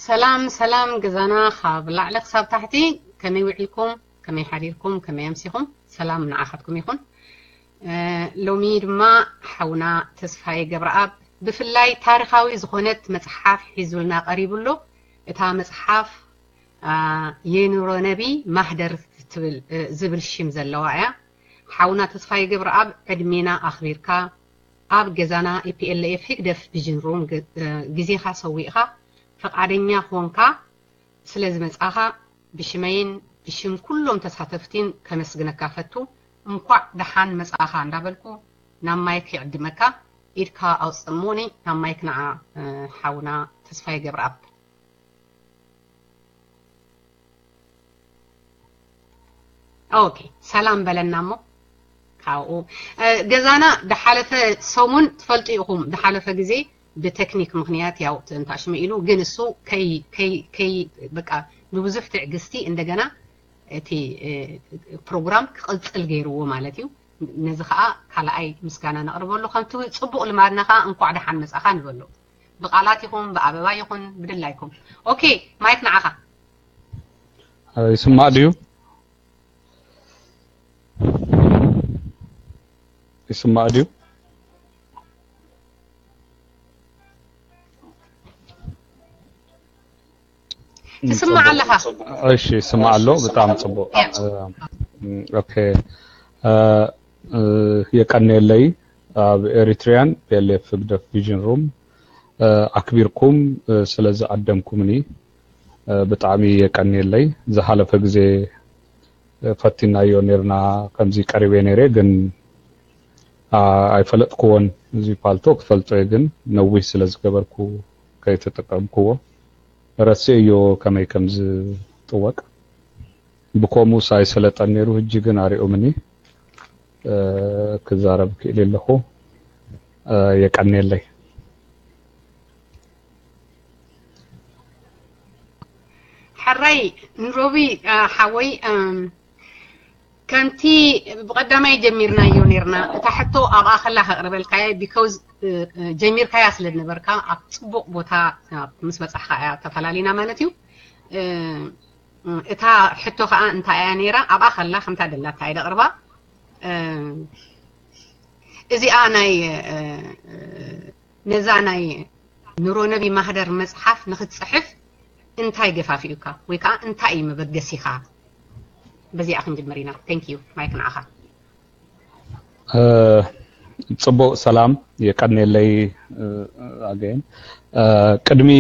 ሰላም ሰላም ገዛና ካብ ላዕሊ ክሳብ ታሕቲ፣ ከመይ ውዒልኩም፣ ከመይ ሓዲርኩም፣ ከመይ ኣምሲኹም? ሰላም ንዓኻትኩም ይኹን። ሎሚ ድማ ሓውና ተስፋዬ ገብረኣብ ብፍላይ ታሪኻዊ ዝኾነት መጽሓፍ ሒዙልና ቀሪቡ ኣሎ። እታ መጽሓፍ የኑሮ ነቢ ማህደር ዝብል ሽም ዘለዋ እያ። ሓውና ተስፋዬ ገብረኣብ ዕድሜና ኣኽቢርካ ኣብ ገዛና EPLF ህግደፍ ቪዥን ሩም ግዜኻ ሰዊእኻ ፈቓደኛ ኮንካ ስለ ዝመጻኻ ብሽመይን ብሽም ኩሎም ተሳተፍቲን ከመስግነካ ፈቱ። እንኳዕ ደሓን መጻኻ እንዳበልኩ ናብ ማይክ ይዕድመካ። ኢድካ ኣውጽእ እሞኒ ናብ ማይክ ንዓ ሓውና ተስፋዬ ገብረኣብ። ኦኬ ሰላም በለና እሞ ካብኡ ገዛና ድሓለፈ ሰሙን ትፈልጡ ኢኹም። ድሓለፈ ግዜ ብቴክኒክ ምኽንያት ያው ትንታሽመ ኢሉ ግን እሱ ከይ ከይ ከይ በቃ ብብዙሕ ትዕግስቲ እንደገና እቲ ፕሮግራም ክቕጽል ገይርዎ ማለት እዩ። ነዚ ከዓ ካልኣይ ምስጋና ነቕርበሉ ከምቲ ጽቡቕ ልማድና ከዓ እንኳዕ ደሓን መጻኻ ንበሎ። ብቃላት ይኹን ብኣበባ ይኹን ብድላይኩም። ኦኬ ማይክ ንዓኻ። ይስማዕ ድዩ? ይስማዕ ድዩ? ትስማዕ ኣለኻ? እሺ ይስማዕ ኣሎ። ብጣዕሚ ጽቡቕ። ኦኬ የቀንየለይ። ኣብ ኤሪትሪያን PLF ህግደፍ ቪዥን ሩም ኣክቢርኩም ስለ ዝኣደምኩምኒ ብጣዕሚ የቀንየለይ። ዝሓለፈ ግዜ ፈቲናዮ ኔርና ከምዚ ቀሪበ ኔረ ግን ኣይፈለጥክዎን። እዚ ፓልቶ ክፈልጦ እየ ግን ነዊህ ስለ ዝገበርኩ ከይተጠቀምክዎ ረስእዮ ከመይ ከም ዝጥወቅ። ብኮሙስ ኣይሰለጠን ኔሩ ህጂ ግን ኣሪኦምኒ ክዛረብ ክእል ኣለኹ። የቀንየለይ። ሕራይ ንሮቢ ሓወይ ከምቲ ብቐዳማይ ጀሚርናዮ ኔርና እታ ሕቶ ኣብኣ ከላ ከቕርበልካየ because ጀሚርካያ ስለ ዝነበርካ ኣብ ጽቡቕ ቦታ ምስ በጻሕካ እያ ተፈላሊና ማለት እዩ። እታ ሕቶ ከዓ እንታይ እያ ነይራ ኣብኣ ከላ ከምታ ደላታ እየ ደቕርባ። እዚኣ ናይ ነዛ ናይ ኑሮ ነቢ ማህደር መጽሓፍ ንክትጽሕፍ እንታይ ገፋፊኡካ ወይ ከዓ እንታይ እዩ መበገሲኻ? በዚኣ ክንጅምር ኢና። Thank you ማይክ ንዓኻ። ጽቡቕ ሰላም የቀንየለይ። ኣገን ቅድሚ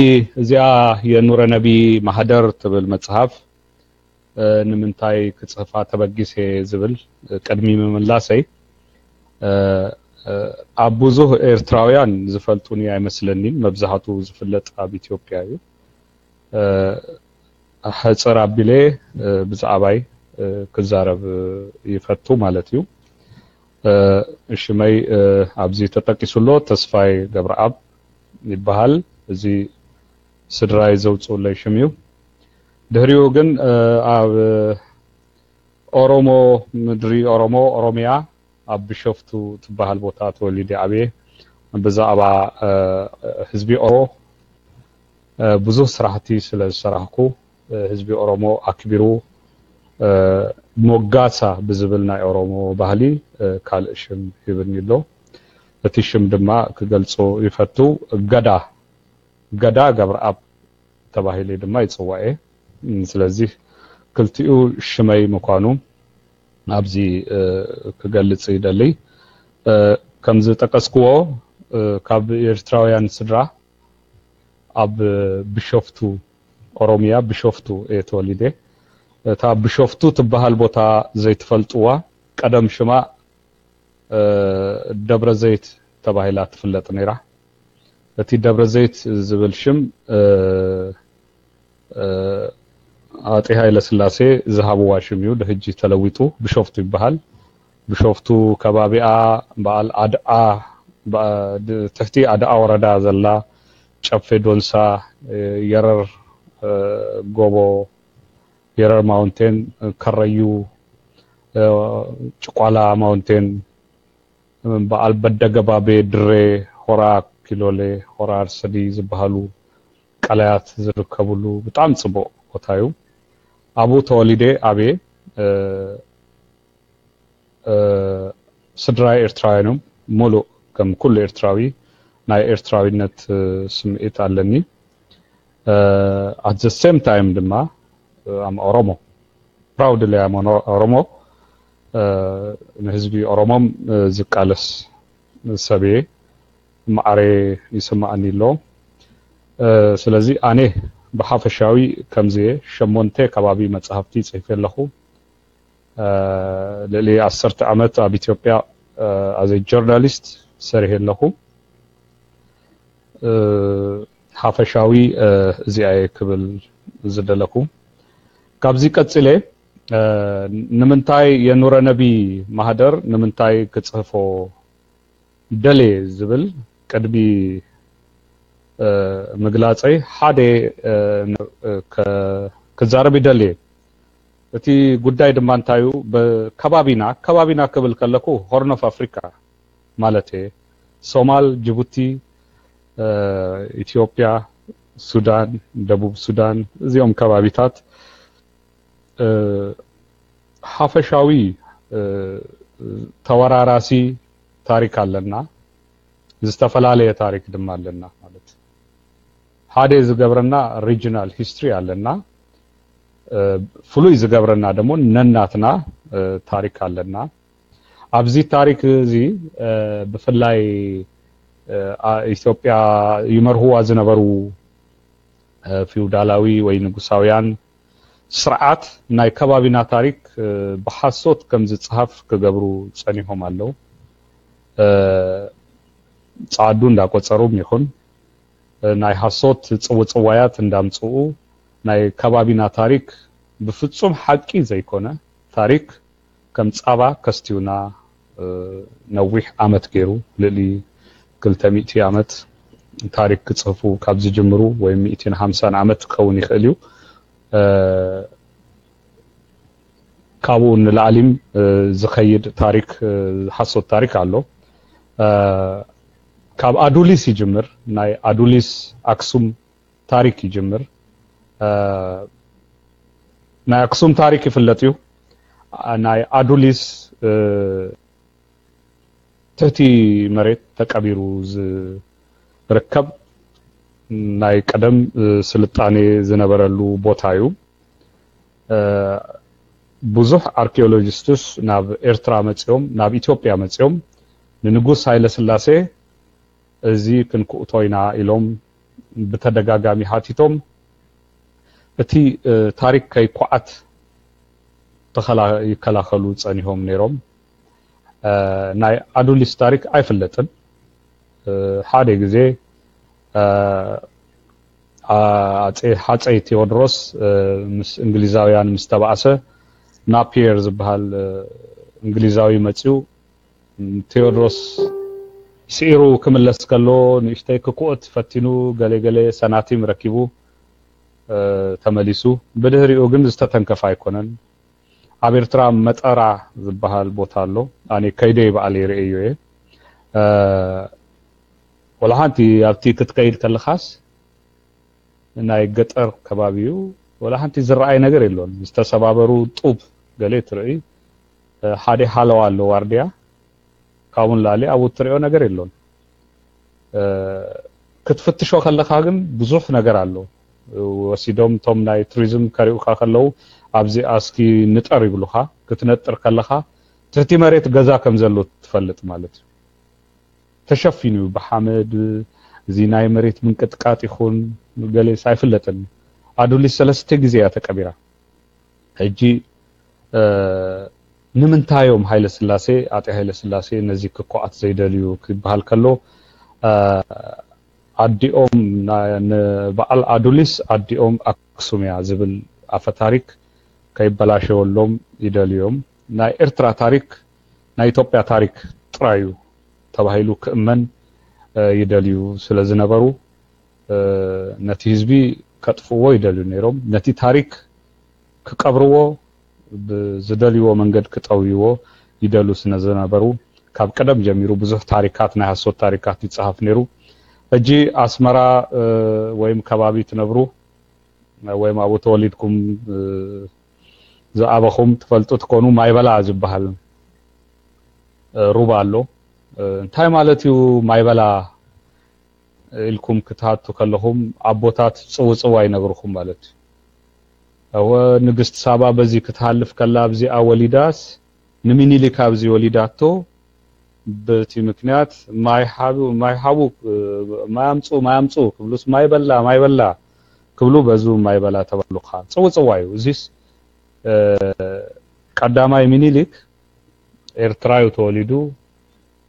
እዚኣ የኑረ ነቢ ማህደር ትብል መጽሓፍ ንምንታይ ክጽሕፋ ተበጊሰ ዝብል ቅድሚ ምምላሰይ ኣብ ብዙህ ኤርትራውያን ዝፈልጡኒ ኣይመስለኒን። መብዛሕቱ ዝፍለጥ ኣብ ኢትዮጵያ እዩ። ሕጽር ኣቢለ ብዛዕባይ ክዛረብ ይፈቱ ማለት እዩ። ሽመይ ኣብዚ ተጠቂሱ ኣሎ፣ ተስፋይ ገብረኣብ ይበሃል። እዚ ስድራይ ዘውፅኡለይ ሽም እዩ። ድሕሪኡ ግን ኣብ ኦሮሞ ምድሪ ኦሮሞ ኦሮሚያ ኣብ ቢሾፍቱ ትበሃል ቦታ ተወሊደ ዓብየ። ብዛዕባ ህዝቢ ኦሮሞ ብዙህ ስራሕቲ ስለ ዝሰራሕኩ ህዝቢ ኦሮሞ ኣክቢሩ ሞጋሳ ብዝብል ናይ ኦሮሞ ባህሊ ካልእ ሽም ሂብኒ ኣሎ። እቲ ሽም ድማ ክገልጾ ይፈቱ። ገዳ ገዳ ገብረኣብ ተባሂለ ድማ ይጽዋዕ እየ። ስለዚህ ክልቲኡ ሽመይ ምዃኑ ኣብዚ ክገልጽ ይደሊ። ከም ዝጠቀስክዎ ካብ ኤርትራውያን ስድራ ኣብ ቢሾፍቱ ኦሮሚያ ቢሾፍቱ እየ ተወሊደ። እታ ቢሾፍቱ ትበሃል ቦታ ዘይትፈልጥዋ ቀደም ሽማ ደብረ ዘይት ተባሂላ ትፍለጥ ነይራ። እቲ ደብረ ዘይት ዝብል ሽም ኣጤ ሃይለ ስላሴ ዝሃብዋ ሽም እዩ። ድሕጂ ተለዊጡ ቢሾፍቱ ይበሃል። ቢሾፍቱ ከባቢኣ በዓል ኣድኣ ትሕቲ ኣድኣ ወረዳ ዘላ ጨፌ ዶንሳ የረር ጎቦ የረር ማውንቴን ከረዩ ጭቋላ ማውንቴን በዓል በደገባቤ ድሬ ሆራ ኪሎሌ ሆራ ኣርሰዲ ዝበሃሉ ቀላያት ዝርከብሉ ብጣዕሚ ጽቡቕ ቦታ እዩ። ኣብኡ ተወሊደ ዓብየ። ስድራይ ኤርትራውያን እዮም። ሙሉእ ከም ኩሉ ኤርትራዊ ናይ ኤርትራዊነት ስምዒት ኣለኒ። At the same time ድማ ኣም ኦሮሞ፣ ፕራውድሊ ኣም ኦሮሞ። ንህዝቢ ኦሮሞም ዝቃለስ ሰብ እየ። ማዕረ ይስማዓኒ ኣሎ። ስለዚ ኣነ ብሓፈሻዊ ከምዚ እየ። ሸሞንተ ከባቢ መጻሕፍቲ ጽሒፈ ኣለኹ። ልዕሊ ዓሰርተ ዓመት ኣብ ኢትዮጵያ as a journalist ሰሪሐ ኣለኹ። ሓፈሻዊ እዚኣ እየ ክብል ዝደለኹ። ካብዚ ቀጺለ ንምንታይ የኑረነቢ ማህደር ንምንታይ ክጽሕፎ ደልየ ዝብል ቅድሚ ምግላጸይ ሓደ ክዛረብ ይደልየ። እቲ ጉዳይ ድማ እንታይ እዩ? ብከባቢና፣ ከባቢና ክብል ከለኩ ሆርን ኦፍ ኣፍሪካ ማለት እየ። ሶማል፣ ጅቡቲ፣ ኢትዮጵያ፣ ሱዳን፣ ደቡብ ሱዳን፣ እዚኦም ከባቢታት ሓፈሻዊ ተወራራሲ ታሪክ ኣለና። ዝተፈላለየ ታሪክ ድማ ኣለና ማለት። ሓደ ዝገብረና ሪጅናል ሂስትሪ ኣለና። ፍሉይ ዝገብረና ደግሞ ነናትና ታሪክ ኣለና። ኣብዚ ታሪክ እዚ ብፍላይ ኢትዮጵያ ይመርህዋ ዝነበሩ ፊውዳላዊ ወይ ንጉሳውያን ስርዓት ናይ ከባቢና ታሪክ ብሓሶት ከም ዝፅሃፍ ክገብሩ ፀኒሖም ኣለዉ። ፀዓዱ እንዳቆፀሩም ይኹን ናይ ሓሶት ፅውፅዋያት እንዳምፅኡ ናይ ከባቢና ታሪክ ብፍፁም ሓቂ ዘይኮነ ታሪክ ከም ፃባ ከስትዩና ነዊሕ ዓመት ገይሩ፣ ልዕሊ ክልተ ሚእቲ ዓመት ታሪክ ክፅህፉ ካብ ዝጅምሩ ወይ ሚእትን ሓምሳን ዓመት ክኸውን ይኽእል እዩ። ካብኡ ንላዕሊም ዝኸይድ ታሪክ፣ ሓሶት ታሪክ ኣሎ። ካብ ኣዱሊስ ይጅምር። ናይ ኣዱሊስ ኣክሱም ታሪክ ይጅምር። ናይ ኣክሱም ታሪክ ይፍለጥ እዩ። ናይ ኣዱሊስ ትሕቲ መሬት ተቀቢሩ ዝርከብ ናይ ቀደም ስልጣኔ ዝነበረሉ ቦታ እዩ። ብዙሕ ኣርኪኦሎጂስትስ ናብ ኤርትራ መጺኦም፣ ናብ ኢትዮጵያ መጺኦም ንንጉስ ሃይለስላሴ እዚ ክንክእቶ ኢና ኢሎም ብተደጋጋሚ ሓቲቶም። እቲ ታሪክ ከይኳዓት ይከላኸሉ ጸኒሆም ነይሮም። ናይ ኣዱሊስ ታሪክ ኣይፍለጥን። ሓደ ግዜ ኣጼ ሃጸይ ቴዎድሮስ ምስ እንግሊዛውያን ምስ ተባእሰ፣ ናፒየር ዝበሃል እንግሊዛዊ መጺኡ ቴዎድሮስ ስዒሩ ክምለስ ከሎ ንእሽተይ ክክኦት ፈቲኑ፣ ገለ ገለ ሰናቲም ረኪቡ ተመሊሱ። ብድሕሪኡ ግን ዝተተንከፈ ኣይኮነን። ኣብ ኤርትራ መጠራ ዝበሃል ቦታ ኣሎ። ኣነ ከይደ ባዕለይ ርእየዮ እየ። ወላ ሓንቲ ኣብቲ ክትከይድ ከለኻስ ናይ ገጠር ከባቢ እዩ። ወላ ሓንቲ ዝረኣይ ነገር የሎን። ዝተሰባበሩ ጡብ ገለ ትርኢ። ሓደ ሃለዋ ኣሎ ዋርድያ። ካብኡ ንላዕሊ ኣብኡ እትሪኦ ነገር የሎን። ክትፍትሾ ከለኻ ግን ብዙሕ ነገር ኣሎ። ወሲዶም እቶም ናይ ቱሪዝም ከሪኡካ ከለዉ ኣብዚ ኣስኪ ንጠር ይብሉኻ። ክትነጥር ከለኻ ትሕቲ መሬት ገዛ ከም ዘሎ ትፈልጥ ማለት እዩ። ተሸፊኑ እዩ ብሓመድ። እዚ ናይ መሬት ምንቅጥቃጥ ይኹን ገሌስ ኣይፍለጥን። ኣዱሊስ ሰለስተ ግዜ እያ ተቀቢራ። ሕጂ ንምንታይ እዮም ሃይለ ስላሴ፣ ኣጤ ሃይለ ስላሴ ነዚ ክኮኣት ዘይደልዩ ክበሃል ከሎ ኣዲኦም ንበዓል ኣዱሊስ ኣዲኦም ኣክሱም እያ ዝብል ኣፈ ታሪክ ከይበላሸወሎም ይደልዩ እዮም። ናይ ኤርትራ ታሪክ ናይ ኢትዮጵያ ታሪክ ጥራይ እዩ ተባሂሉ ክእመን ይደልዩ ስለ ዝነበሩ ነቲ ህዝቢ ከጥፍእዎ ይደልዩ ነይሮም። ነቲ ታሪክ ክቀብርዎ ብዝደልይዎ መንገድ ክጠውይዎ ይደሉ ስለ ዝነበሩ ካብ ቀደም ጀሚሩ ብዙሕ ታሪካት ናይ ሃሶት ታሪካት ይጸሃፍ ነይሩ። ሕጂ ኣስመራ ወይም ከባቢ ትነብሩ ወይም ኣብኡ ተወሊድኩም ዝኣበኹም ትፈልጡ ትኮኑ፣ ማይበላ ዝበሃል ሩባ ኣሎ። እንታይ ማለት እዩ ማይበላ ኢልኩም ክትሃቱ ከለኹም፣ ኣቦታት ጽውጽዋ ይነግርኹም ማለት እዩ። እወ፣ ንግስቲ ሳባ በዚ ክትሃልፍ ከላ ኣብዚኣ ወሊዳስ፣ ንሚኒሊክ ኣብዚ ወሊዳቶ፣ በቲ ምክንያት ማይ ሓቡ፣ ማይ ሓቡ፣ ማይ ኣምጹ፣ ማይ ኣምጹ ክብሉስ፣ ማይ በላ፣ ማይ በላ ክብሉ፣ በዙ ማይ በላ ተባሉኻ። ጽውጽዋ እዩ። እዚስ ቀዳማይ ሚኒሊክ ኤርትራ እዩ ተወሊዱ፣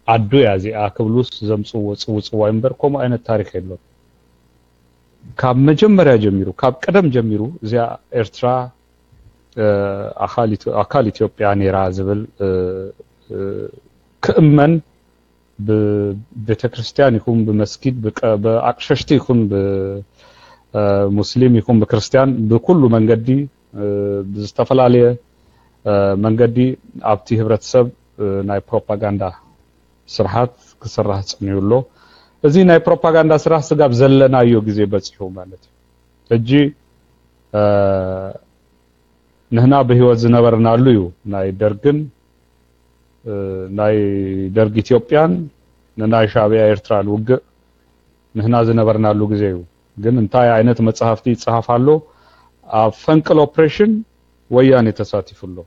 ዓዱ እያ እዚኣ ክብሉስ ዘምጽዎ ጽውጽዋይ እምበር፣ ከምኡ ዓይነት ታሪኽ የሎን። ካብ መጀመርያ ጀሚሩ፣ ካብ ቀደም ጀሚሩ እዚኣ ኤርትራ ኣካል ኢትዮጵያ ነይራ ዝብል ክእመን፣ ብቤተክርስትያን ይኹን ብመስጊድ፣ ብኣቅሸሽቲ ይኹን ብሙስሊም ይኹን ብክርስትያን፣ ብኩሉ መንገዲ፣ ብዝተፈላለየ መንገዲ ኣብቲ ህብረተሰብ ናይ ፕሮፓጋንዳ ስርሓት ክስራሕ ጸኒሑ ኣሎ። እዚ ናይ ፕሮፓጋንዳ ስራሕ ስጋብ ዘለናዮ ግዜ በጺሑ ማለት እዩ። ሕጂ ንህና ብህይወት ዝነበርናሉ እዩ። ናይ ደርግን ናይ ደርግ ኢትዮጵያን ንናይ ሻዕብያ ኤርትራን ውግእ ንህና ዝነበርናሉ ግዜ እዩ። ግን እንታይ ዓይነት መጽሓፍቲ ይጽሓፍ ኣሎ? ኣብ ፈንቅል ኦፕሬሽን ወያኔ ተሳቲፉ ኣሎ።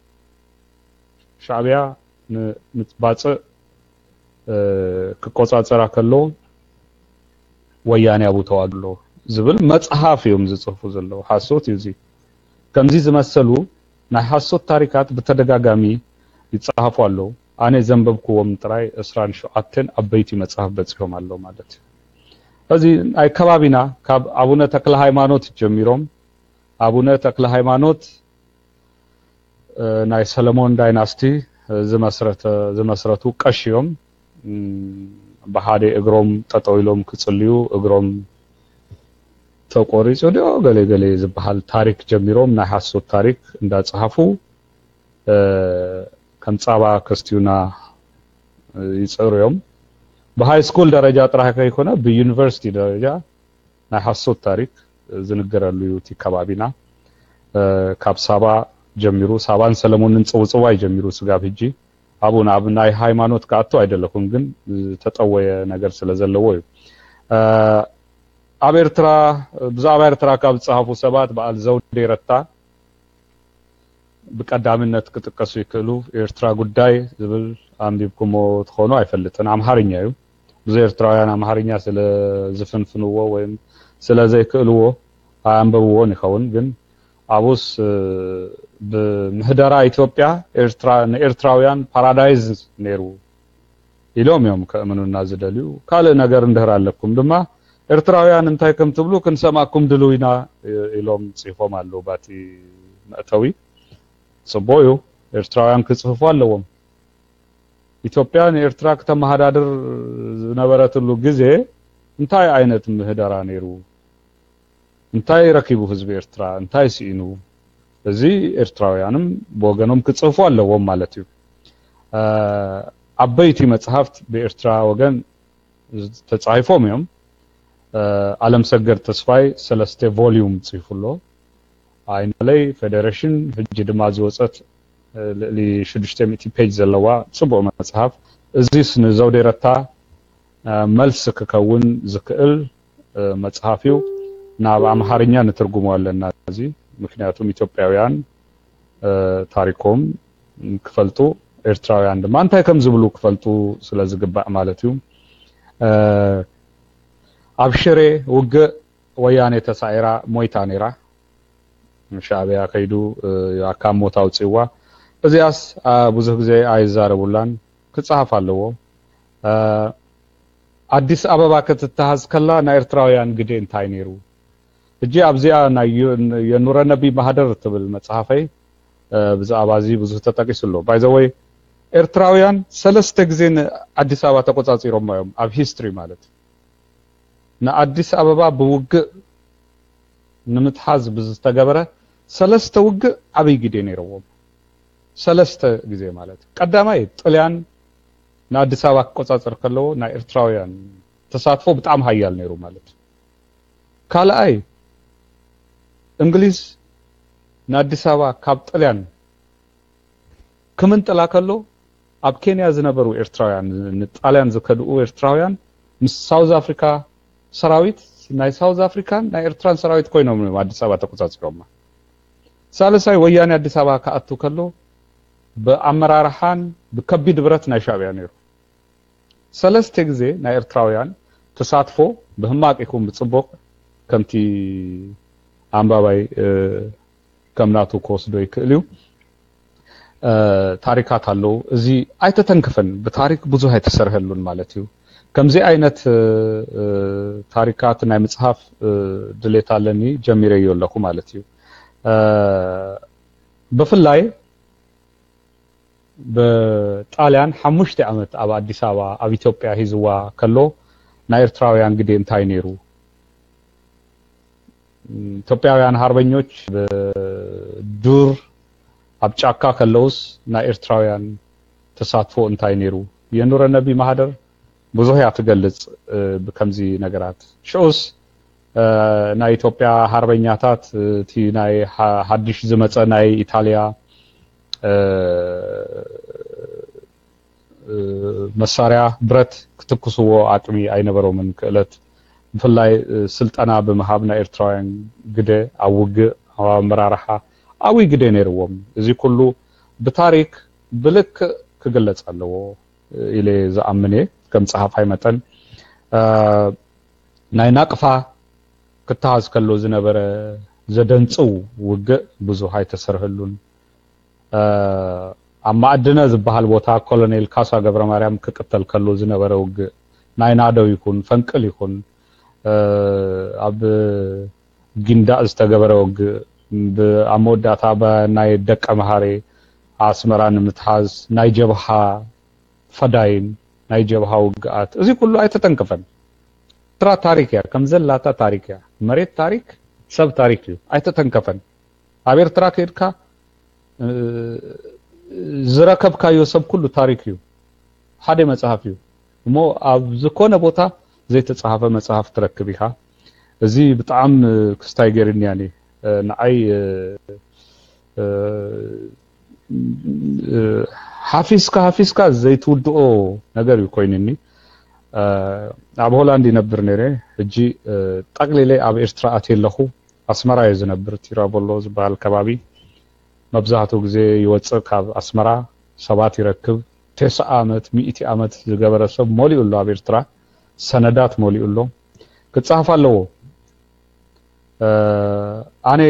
ሻዕብያ ንባጽዕ ክቆጻጸራ ከሎ ወያኔ ኣብኡ ተዋግሎ ዝብል መጽሓፍ እዮም ዝጽሕፉ ዘለዉ። ሓሶት እዩ እዚ። ከምዚ ዝመሰሉ ናይ ሓሶት ታሪካት ብተደጋጋሚ ይጸሓፉ ኣለዉ። ኣነ ዘንበብክዎም ጥራይ ዕስራን ሸውዓተን ዓበይቲ መጽሓፍ በጺሖም ኣለዉ ማለት እዩ። እዚ ናይ ከባቢና ካብ ኣቡነ ተክለ ሃይማኖት ጀሚሮም፣ ኣቡነ ተክለ ሃይማኖት ናይ ሰለሞን ዳይናስቲ ዝመስረቱ ቀሺ እዮም። ብሓደ እግሮም ጠጠው ኢሎም ክጽልዩ እግሮም ተቆሪጹ ድዮ ገለ ገለ ዝበሃል ታሪክ ጀሚሮም፣ ናይ ሓሶት ታሪክ እንዳጸሓፉ ከም ጻባ ከስትዩና ይጽዕሩ እዮም። ብሃይ ስኩል ደረጃ ጥራሕ ከይኮነ ብዩኒቨርሲቲ ደረጃ ናይ ሓሶት ታሪክ ዝንገረሉ እዩ እቲ ከባቢና። ካብ ሳባ ጀሚሩ፣ ሳባን ሰለሞንን ጽውጽዋይ ጀሚሩ ስጋብ ሕጂ ኣብኡ ናብ ናይ ሃይማኖት ክኣቱ ኣይደለኹን፣ ግን ዝተጠወየ ነገር ስለ ዘለዎ እዩ። ኣብ ኤርትራ፣ ብዛዕባ ኤርትራ ካብ ዝጸሃፉ ሰባት በዓል ዘውዴ ረታ ብቀዳምነት ክጥቀሱ ይክእሉ። ኤርትራ ጉዳይ ዝብል ኣንቢብኩሞ ትኾኑ ኣይፈልጥን። ኣምሓርኛ እዩ። ብዙ ኤርትራውያን ኣምሓርኛ ስለ ዝፍንፍንዎ ወይም ስለ ዘይክእልዎ ኣንበብዎን ይኸውን። ግን ኣብኡስ ብምህደራ ኢትዮጵያ ኤርትራ ንኤርትራውያን ፓራዳይዝ ነይሩ ኢሎም እዮም ከእምኑና ዝደልዩ። ካልእ ነገር እንድህር ኣለኩም ድማ ኤርትራውያን እንታይ ከም ትብሉ ክንሰማኩም ድልው ኢና ኢሎም ጽፎም ኣለዉ ባቲ መእተዊ። ጽቡቅ እዩ፣ ኤርትራውያን ክጽፍፉ ኣለዎም። ኢትዮጵያ ንኤርትራ ክተመሃዳድር ዝነበረትሉ ግዜ እንታይ ዓይነት ምህደራ ነይሩ? እንታይ ረኪቡ ህዝቢ ኤርትራ? እንታይ ስኢኑ? እዚ ኤርትራውያንም ብወገኖም ክጽፉ ኣለዎም ማለት እዩ። ዓበይቲ መጽሓፍት ብኤርትራ ወገን ተጻሒፎም እዮም። ኣለምሰገድ ተስፋይ ሰለስተ ቮሊዩም ጽሒፉ ኣሎ። ኣይናለይ ፌደሬሽን ሕጂ ድማ ዝወጸት ልዕሊ ሽዱሽተ ሚእቲ ፔጅ ዘለዋ ጽቡቕ መጽሓፍ። እዚስ ንዘውዴ ረታ መልሲ ክከውን ዝክእል መጽሓፍ እዩ። ናብ ኣምሓርኛ ንትርጉሞ ኣለና እዚ፣ ምክንያቱም ኢትዮጵያውያን ታሪኮም ክፈልጡ፣ ኤርትራውያን ድማ እንታይ ከም ዝብሉ ክፈልጡ ስለ ዝግባእ ማለት እዩ። ኣብ ሽሬ ውግእ ወያኔ ተሳዒራ ሞይታ ነይራ። ሻዕብያ ከይዱ ኣካብ ሞት ኣውፅእዋ። እዚኣስ ብዙሕ ግዜ ኣይዛረቡላን፣ ክፀሃፍ ኣለዎ። ኣዲስ ኣበባ ክትተሃዝ ከላ ናይ ኤርትራውያን ግደ እንታይ ነይሩ? ሕጂ ኣብዚኣ ናይ የኑረ ነቢ ማህደር ትብል መፅሓፈይ ብዛዕባ እዚ ብዙሕ ተጠቂሱ ኣሎ። ባይዘወይ ኤርትራውያን ሰለስተ ግዜ ንኣዲስ ኣበባ ተቆፃፂሮማ እዮም ኣብ ሂስትሪ ማለት። ንኣዲስ ኣበባ ብውግእ ንምትሓዝ ብዝተገበረ ሰለስተ ውግእ ዓብይ ግደ ነይረዎም። ሰለስተ ግዜ ማለት ቀዳማይ ጥልያን ንኣዲስ ኣበባ ክቆፃፀር ከለዎ ናይ ኤርትራውያን ተሳትፎ ብጣዕሚ ሃያል ነይሩ ማለት እዩ። ካልኣይ፣ እንግሊዝ ንኣዲስ ኣበባ ካብ ጥልያን ክምንጥላ ከሎ፣ ኣብ ኬንያ ዝነበሩ ኤርትራውያን፣ ንጣልያን ዝከድኡ ኤርትራውያን ምስ ሳውዝ ኣፍሪካ ሰራዊት፣ ናይ ሳውዝ ኣፍሪካን ናይ ኤርትራን ሰራዊት ኮይኖም እዮም ኣዲስ ኣበባ ተቆጻጺሮማ። ሳልሳይ፣ ወያኔ ኣዲስ ኣበባ ክኣቱ ከሎ ብኣመራርሓን ብከቢድ ብረት ናይ ሻዕብያ ነይሩ። ሰለስተ ግዜ ናይ ኤርትራውያን ተሳትፎ፣ ብህማቅ ይኹን ብጽቡቅ፣ ከምቲ ኣንባባይ ከም ናቱ ክወስዶ ይክእል እዩ። ታሪካት ኣለዉ። እዚ ኣይተተንከፈን፣ ብታሪክ ብዙሕ ኣይተሰርሐሉን ማለት እዩ። ከምዚ ዓይነት ታሪካት ናይ ምጽሓፍ ድሌት ኣለኒ፣ ጀሚረዮ ኣለኹ ማለት እዩ። ብፍላይ ብጣልያን ሓሙሽተ ዓመት ኣብ ኣዲስ ኣበባ ኣብ ኢትዮጵያ ሂዝዋ ከሎ ናይ ኤርትራውያን ግዴ እንታይ ነይሩ? ኢትዮጵያውያን ሃርበኞች ብዱር ኣብ ጫካ ከለውስ ናይ ኤርትራውያን ተሳትፎ እንታይ ነይሩ? የኑረ ነቢ ማህደር ብዙሕ እያ ትገልጽ ብከምዚ ነገራት። ሽኡስ ናይ ኢትዮጵያ ሃርበኛታት እቲ ናይ ሓድሽ ዝመጸ ናይ ኢታልያ መሳርያ ብረት ክትኩስዎ ኣቅሚ ኣይነበሮምን። ክእለት ብፍላይ ስልጠና ብምሃብ ናይ ኤርትራውያን ግደ ኣብ ውግእ ኣብ ኣመራርሓ ዓብይ ግደ ነይርዎም። እዚ ኩሉ ብታሪክ ብልክእ ክግለጽ ኣለዎ ኢለ ዝኣምን እየ። ከም ጸሓፋይ መጠን ናይ ናቅፋ ክተሃዝ ከሎ ዝነበረ ዘደንጽው ውግእ ብዙሕ ኣይተሰርህሉን። ኣብ ማዕድነ ዝበሃል ቦታ ኮሎኔል ካሳ ገብረ ማርያም ክቅተል ከሎ ዝነበረ ውግእ፣ ናይ ናዶ ይኹን ፈንቅል ይኹን ኣብ ጊንዳእ ዝተገበረ ውግእ፣ ኣብ መወዳእታ ናይ ደቀ መሃሬ ኣስመራ ንምትሓዝ ናይ ጀብሃ ፈዳይን ናይ ጀብሃ ውግኣት፣ እዚ ኩሉ ኣይተተንከፈን። ኤርትራ ታሪክ እያ፣ ከም ዘላታ ታሪክ እያ። መሬት ታሪክ፣ ሰብ ታሪክ እዩ፣ ኣይተተንከፈን። ኣብ ኤርትራ ከይድካ ዝረከብካዮ ሰብ ኩሉ ታሪክ እዩ። ሓደ መጽሓፍ እዩ እሞ፣ ኣብ ዝኾነ ቦታ ዘይተጻሓፈ መጽሓፍ ትረክብ ኢኻ። እዚ ብጣዕሚ ክስታይ ገይርኒ ያኒ ንዓይ ሓፊስካ ሓፊስካ ዘይትውድኦ ነገር እዩ ኮይንኒ። ኣብ ሆላንድ ይነብር ነይረ። ሕጂ ጠቅሊለ ኣብ ኤርትራ ኣትየ ኣለኹ። ኣስመራ እየ ዝነብር፣ ቲራቦሎ ዝበሃል ከባቢ። መብዛሕትኡ ግዜ ይወፅእ ካብ ኣስመራ፣ ሰባት ይረክብ። ተስዓ ዓመት፣ ሚእቲ ዓመት ዝገበረ ሰብ መሊኡ ኣሎ ኣብ ኤርትራ። ሰነዳት መሊኡ ኣሎ። ክፀሃፍ ኣለዎ። ኣነ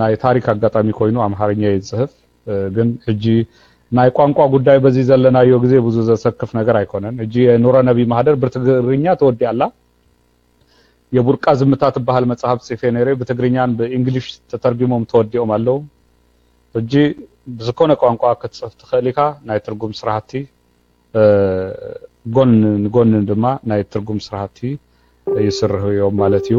ናይ ታሪክ ኣጋጣሚ ኮይኑ ኣምሓርኛ እየ ዝፅህፍ። ግን ሕጂ ናይ ቋንቋ ጉዳይ በዚ ዘለናዮ ግዜ ብዙ ዘሰክፍ ነገር ኣይኮነን። ሕጂ የኑረ ነቢ ማህደር ብትግርኛ ተወዲኣ ኣላ። የቡርቃ ዝምታ ትበሃል መጽሓፍ ጽፌ ነይረ፣ ብትግርኛን ብእንግሊሽ ተተርጊሞም ተወዲኦም ኣለዉ። ሕጂ ብዝኮነ ቋንቋ ክትጽፍ ትኽእል ኢኻ። ናይ ትርጉም ስራሕቲ ጎን ንጎን ድማ ናይ ትርጉም ስራሕቲ ይስርሑ እዮም ማለት እዩ።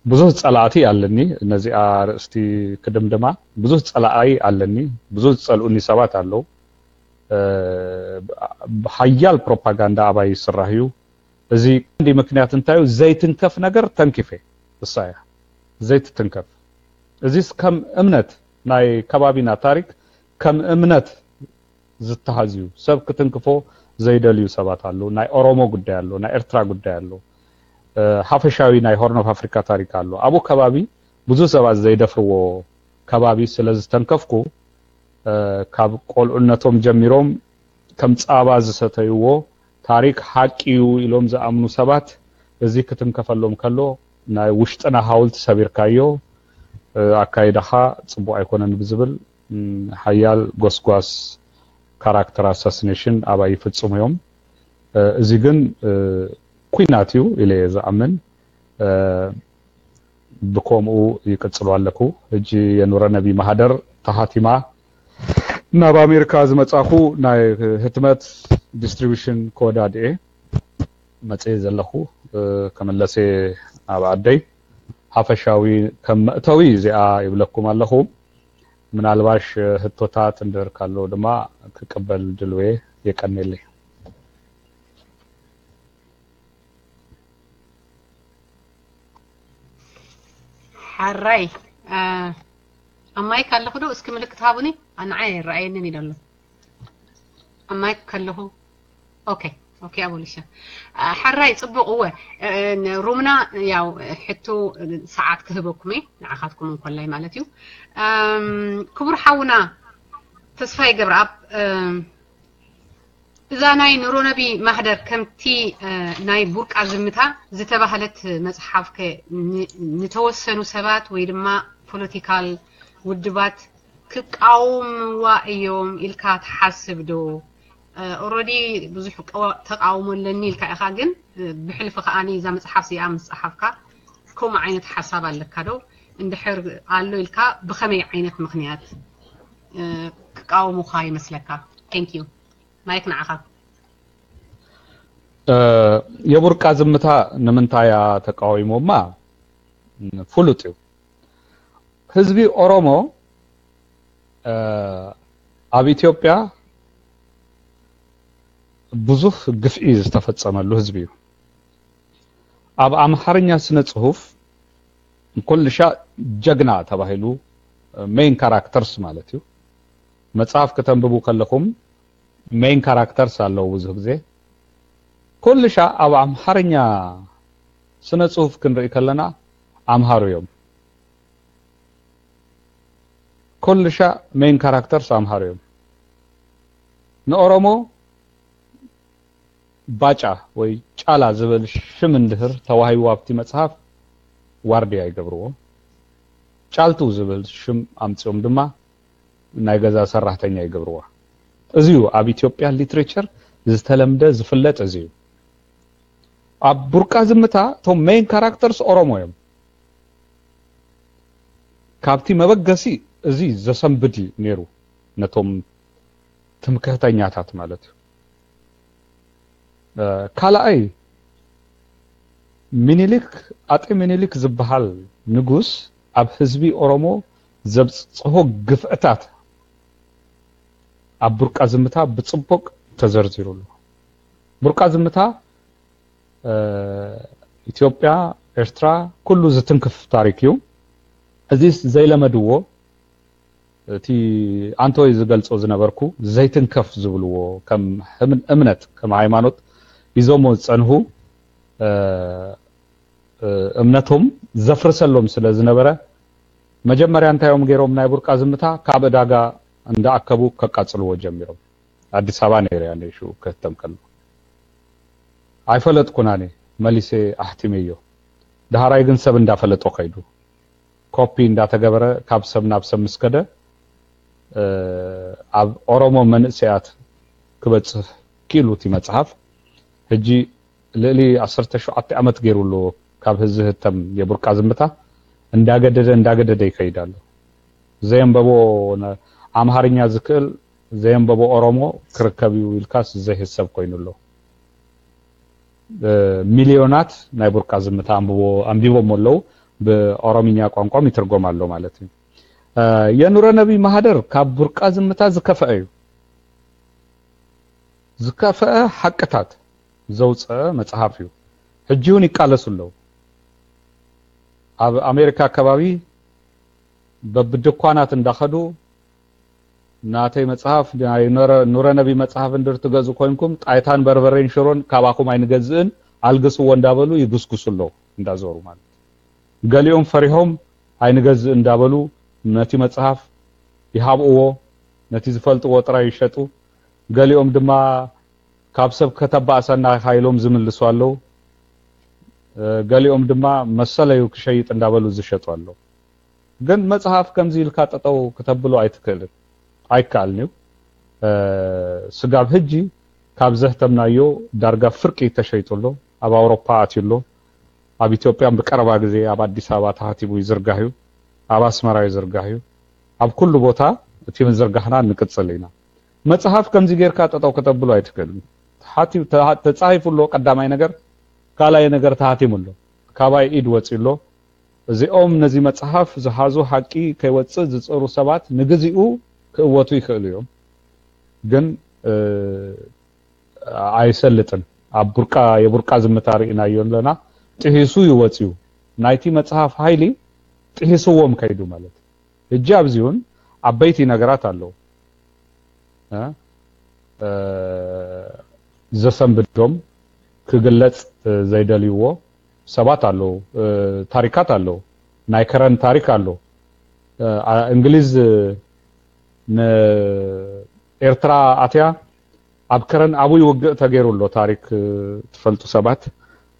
ብዙህ ጸላእቲ ኣለኒ። ነዚኣ ኣርእስቲ ክድምድማ፣ ብዙህ ጸላኣይ ኣለኒ። ብዙህ ዝጸልኡኒ ሰባት ኣለዉ። ብሓያል ፕሮፓጋንዳ ኣባይ ይስራሕ እዩ። እዚ ቀንዲ ምክንያት እንታይ እዩ? ዘይትንከፍ ነገር ተንኪፈ፣ እሳ እያ ዘይትትንከፍ። እዚስ ከም እምነት፣ ናይ ከባቢና ታሪክ ከም እምነት ዝተሃዝዩ ሰብ ክትንክፎ ዘይደልዩ ሰባት ኣለዉ። ናይ ኦሮሞ ጉዳይ ኣሎ፣ ናይ ኤርትራ ጉዳይ ኣሎ፣ ሓፈሻዊ ናይ ሆርን ኦፍ ኣፍሪካ ታሪክ ኣሎ። ኣብኡ ከባቢ ብዙ ሰባት ዘይደፍርዎ ከባቢ ስለ ዝተንከፍኩ፣ ካብ ቆልዑነቶም ጀሚሮም ከም ጻባ ዝሰተይዎ ታሪክ ሓቂ እዩ ኢሎም ዝኣምኑ ሰባት፣ እዚ ክትንከፈሎም ከሎ ናይ ውሽጥና ሃውልቲ ሰቢርካዮ፣ ኣካይዳኻ ጽቡቕ ኣይኮነን ብዝብል ሓያል ጎስጓስ፣ ካራክተር ኣሳሲኔሽን ኣባይ ይፍጽሙ እዮም። እዚ ግን ኩናት እዩ ኢለ እየ ዝኣምን። ብከምኡ ይቅጽሉ ኣለኩ። ሕጂ የኑረ ነቢ ማህደር ተሃቲማ ናብ ኣሜሪካ ዝመጻኹ ናይ ህትመት ዲስትሪቢሽን ክወዳድኤ መጽየ ዘለኹ። ከመለሰ ኣብ ኣደይ ሓፈሻዊ ከም መእተዊ እዚኣ ይብለኩም ኣለኹ። ምናልባሽ ህቶታት እንድህር ካሎ ድማ ክቅበል ድልዌ። የቀኔለይ። ሓራይ ኣብ ማይክ ኣለኹ ዶ? እስኪ ምልክት ሃቡኒ። ኣንዓይ ኣይረኣየንን እዩ ዘሎ ኣብ ማይክ ከለኹ። ኦኬ ኦኬ። ኣቦሊሻ ሓራይ ጽቡቕ። እወ ሩምና ያው ሕቶ ሰዓት ክህበኩም እየ ንዓኻትኩም እንኮላይ ማለት እዩ። ክቡር ሓውና ተስፋይ ገብረኣብ፣ እዛ ናይ ኑሮነቢ ማህደር ከምቲ ናይ ቡርቃ ዝምታ ዝተባህለት መጽሓፍከ ንተወሰኑ ሰባት ወይ ድማ ፖለቲካል ውድባት ክቃወምዋ እዮም ኢልካ ትሓስብ ዶ? ኦረዲ ብዙሕ ተቃውሞ ኣለኒ ኢልካ ኢኻ፣ ግን ብሕልፊ ከኣ እዛ መጽሓፍ እዚኣ ምስ ጸሓፍካ ከምኡ ዓይነት ሓሳብ ኣለካ ዶ? እንድሕር ኣሎ ኢልካ ብኸመይ ዓይነት ምኽንያት ክቃወሙኻ ይመስለካ? Thank you። ማይክ ንዓኻ። የቡርቃ ዝምታ ንምንታይ እያ ተቃዊሞማ? ፍሉጥ እዩ። ህዝቢ ኦሮሞ ኣብ ኢትዮጵያ ብዙሕ ግፍዒ ዝተፈጸመሉ ህዝቢ እዩ። ኣብ ኣምሓርኛ ስነ ጽሁፍ ኩልሻ ጀግና ተባሂሉ ሜይን ካራክተርስ ማለት እዩ። መጽሓፍ ከተንብቡ ከለኹም ሜይን ካራክተርስ ኣለዉ። ብዙሕ ግዜ ኩልሻ ኣብ ኣምሓርኛ ስነ ጽሁፍ ክንርኢ ከለና ኣምሃሩ እዮም። ኩልሻ ሜይን ካራክተርስ ኣምሃሩ እዮም። ንኦሮሞ ባጫ ወይ ጫላ ዝብል ሽም እንድህር ተዋሂቡ ኣብቲ መጽሓፍ ዋርድያ ይገብርዎ። ጫልቱ ዝብል ሽም ኣምጺኦም ድማ ናይ ገዛ ሰራሕተኛ ይገብርዋ። እዚ እዩ ኣብ ኢትዮጵያ ሊትሬቸር ዝተለምደ ዝፍለጥ እዚ እዩ። ኣብ ቡርቃ ዝምታ እቶም ሜይን ካራክተርስ ኦሮሞ እዮም። ካብቲ መበገሲ እዚ ዘሰንብድ እዩ ነይሩ ነቶም ትምክህተኛታት ማለት እዩ። ካልኣይ ሚኒሊክ ኣጤ ሚኒሊክ ዝበሃል ንጉስ ኣብ ህዝቢ ኦሮሞ ዘብፅሆ ግፍዕታት ኣብ ቡርቃ ዝምታ ብፅቡቅ ተዘርዚሩ ኣሎ። ቡርቃ ዝምታ ኢትዮጵያ፣ ኤርትራ ኩሉ ዝትንክፍ ታሪክ እዩ። እዚስ ዘይለመድዎ እቲ ኣንቶይ ዝገልጾ ዝነበርኩ ዘይትንከፍ ዝብልዎ ከም እምነት ከም ሃይማኖት ሒዞሞ ዝጸንሁ እምነቶም ዘፍርሰሎም ስለ ዝነበረ መጀመርያ እንታይ እዮም ገይሮም? ናይ ቡርቃ ዝምታ ካብ ዕዳጋ እንዳኣከቡ ከቃጽልዎ ጀሚሮም። ኣዲስ ኣበባ ነይረ እያ ሽኡ ክህተም ከሎ ኣይፈለጥኩን ኣነ መሊሰ ኣሕቲመዮ። ዳህራይ ግን ሰብ እንዳፈለጦ ከይዱ ኮፒ እንዳተገበረ ካብ ሰብ ናብ ሰብ ምስ ከደ ኣብ ኦሮሞ መንእሰያት ክበጽሕ ኪኢሉ እቲ መጽሓፍ። ሕጂ ልእሊ ዓሰርተ ሸውዓተ ዓመት ገይሩ ኣሎ ካብ ህዚ ህተም የቡርቃ ዝምታ እንዳገደደ እንዳገደደ ይከይድ ኣሎ። ዘየንበቦ ኣምሃርኛ ዝክእል ዘየንበቦ ኦሮሞ ክርከብ እዩ ኢልካስ ዘይህሰብ ኮይኑ ኣሎ። ሚልዮናት ናይ ቡርቃ ዝምታ ኣንቢቦሞ ኣለዉ። ብኦሮምኛ ቋንቋም ይትርጎም ኣሎ ማለት እዩ። የኑረ ነቢ ማህደር ካብ ቡርቃ ዝምታ ዝከፈአ እዩ። ዝከፈአ ሓቅታት ዘውፀአ መፅሓፍ እዩ። ሕጂ እውን ይቃለሱ ኣለዉ። ኣብ ኣሜሪካ ኣከባቢ በብድኳናት እንዳኸዱ ናተይ መጽሓፍ ናይ ኑረ ነቢ መጽሓፍ እንድር ትገዝኡ ኮይንኩም ጣይታን በርበሬን ሽሮን ካባኹም ኣይንገዝእን ኣልግስዎ እንዳበሉ ይጉስጉሱ ኣለዉ እንዳዞሩ ማለት። ገሊኦም ፈሪሆም ኣይንገዝእ እንዳበሉ ነቲ መጽሓፍ ይሃብእዎ፣ ነቲ ዝፈልጥዎ ጥራይ ይሸጡ። ገሊኦም ድማ ካብ ሰብ ከተባእሰና ኢኻ ኢሎም ዝምልሱ ኣለዉ። ገሊኦም ድማ መሰለዩ ክሸይጥ እንዳበሉ ዝሸጡ ኣለዉ። ግን መጽሓፍ ከምዚ ኢልካ ጠጠው ክተብሎ ኣይትክእልን ኣይከኣልን እዩ። ስጋብ ሕጂ ካብ ዘህተምናዮ ዳርጋ ፍርቂ ተሸይጡ ኣሎ። ኣብ ኣውሮፓ ኣትዩ ኣሎ። ኣብ ኢትዮጵያ ብቀረባ ግዜ ኣብ ኣዲስ ኣበባ ተሃቲሙ ይዝርጋሕ እዩ። ኣብ ኣስመራ ይዝርጋሕ እዩ። ኣብ ኩሉ ቦታ እቲ ምዝርጋሕና ንቅጽል ኢና። መጽሓፍ ከምዚ ጌርካ ጠጠው ከተብሎ ኣይትክእልን። ተጻሒፉ ኣሎ ቀዳማይ ነገር፣ ካልኣይ ነገር ተሃቲሙ ኣሎ። ካባይ ኢድ ወጺኡ ኣሎ። እዚኦም ነዚ መጽሓፍ ዝሓዙ ሓቂ ከይወጽእ ዝጽሩ ሰባት ንግዚኡ ክእወቱ ይኽእሉ እዮም፣ ግን ኣይሰልጥን። ኣብ ቡርቃ የቡርቃ ዝምታ ርኢናዮ ኣለና። ጥሒሱ ይወጽዩ። ናይቲ መጽሓፍ ሓይሊ ጥሂስዎም ከይዱ ማለት እዩ። ሕጂ ኣብዚ እውን ዓበይቲ ነገራት ኣለዉ። ዘሰንብዶም፣ ክግለጽ ዘይደልይዎ ሰባት ኣለዉ። ታሪካት ኣለዉ። ናይ ከረን ታሪክ ኣሎ። እንግሊዝ ንኤርትራ ኣትያ ኣብ ከረን ኣብይ ውግእ ተገይሩ ኣሎ። ታሪክ ትፈልጡ ሰባት፣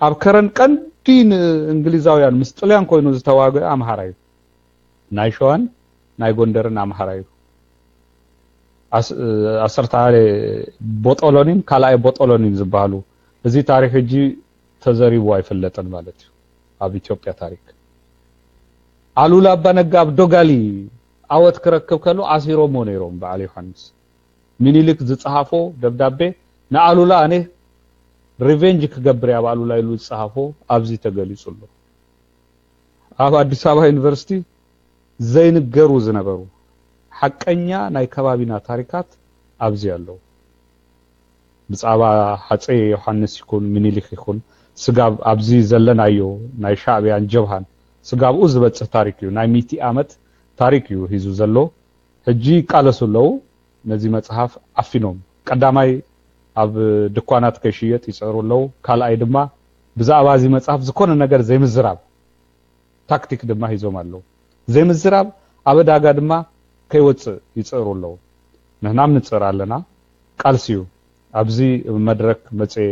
ኣብ ከረን ቀንዲ ንእንግሊዛውያን ምስ ጥልያን ኮይኑ ዝተዋግአ ኣምሃራ እዩ። ናይ ሸዋን ናይ ጎንደርን ኣምሃራ እዩ። ዓሰርተ ሓደ ቦጦሎኒን ካልኣይ ቦጦሎኒን ዝበሃሉ፣ እዚ ታሪክ ሕጂ ተዘሪቡ ኣይፍለጥን ማለት እዩ። ኣብ ኢትዮጵያ ታሪክ ኣሉላ ኣባነጋ ኣብ ዶጋሊ ዓወት ክረክብ ከሎ ኣሲሮሞ ነይሮም። በዓል ዮሃንስ ሚኒሊክ ዝጸሃፎ ደብዳቤ ንኣሉላ፣ ኣነ ሪቬንጅ ክገብር ኣብ ኣሉላ ኢሉ ዝጸሃፎ ኣብዚ ተገሊጹ ኣሎ። ኣብ ኣዲስ ኣበባ ዩኒቨርሲቲ ዘይንገሩ ዝነበሩ ሓቀኛ ናይ ከባቢና ታሪካት ኣብዚ ኣለዉ። ብዛዕባ ሃፀይ ዮሃንስ ይኹን ሚኒሊክ ይኹን ስጋብ ኣብዚ ዘለናዮ ናይ ሻዕብያን ጀብሃን ስጋብኡ ዝበፅህ ታሪክ እዩ። ናይ ሚእቲ ዓመት ታሪክ እዩ ሂዙ ዘሎ። ሕጂ ይቃለሱ ኣለዉ። ነዚ መፅሓፍ ዓፊኖም፣ ቀዳማይ ኣብ ድኳናት ከይሽየጥ ይፅዕሩ ኣለዉ። ካልኣይ ድማ ብዛዕባ እዚ መፅሓፍ ዝኾነ ነገር ዘይምዝራብ ታክቲክ ድማ ሂዞም ኣለዉ። ዘይምዝራብ ኣብ ዕዳጋ ድማ ከይወፅእ ይፅዕሩ ኣለዉ። ንሕናም ንፅዕር ኣለና። ቃልሲ እዩ። ኣብዚ መድረክ መፅየ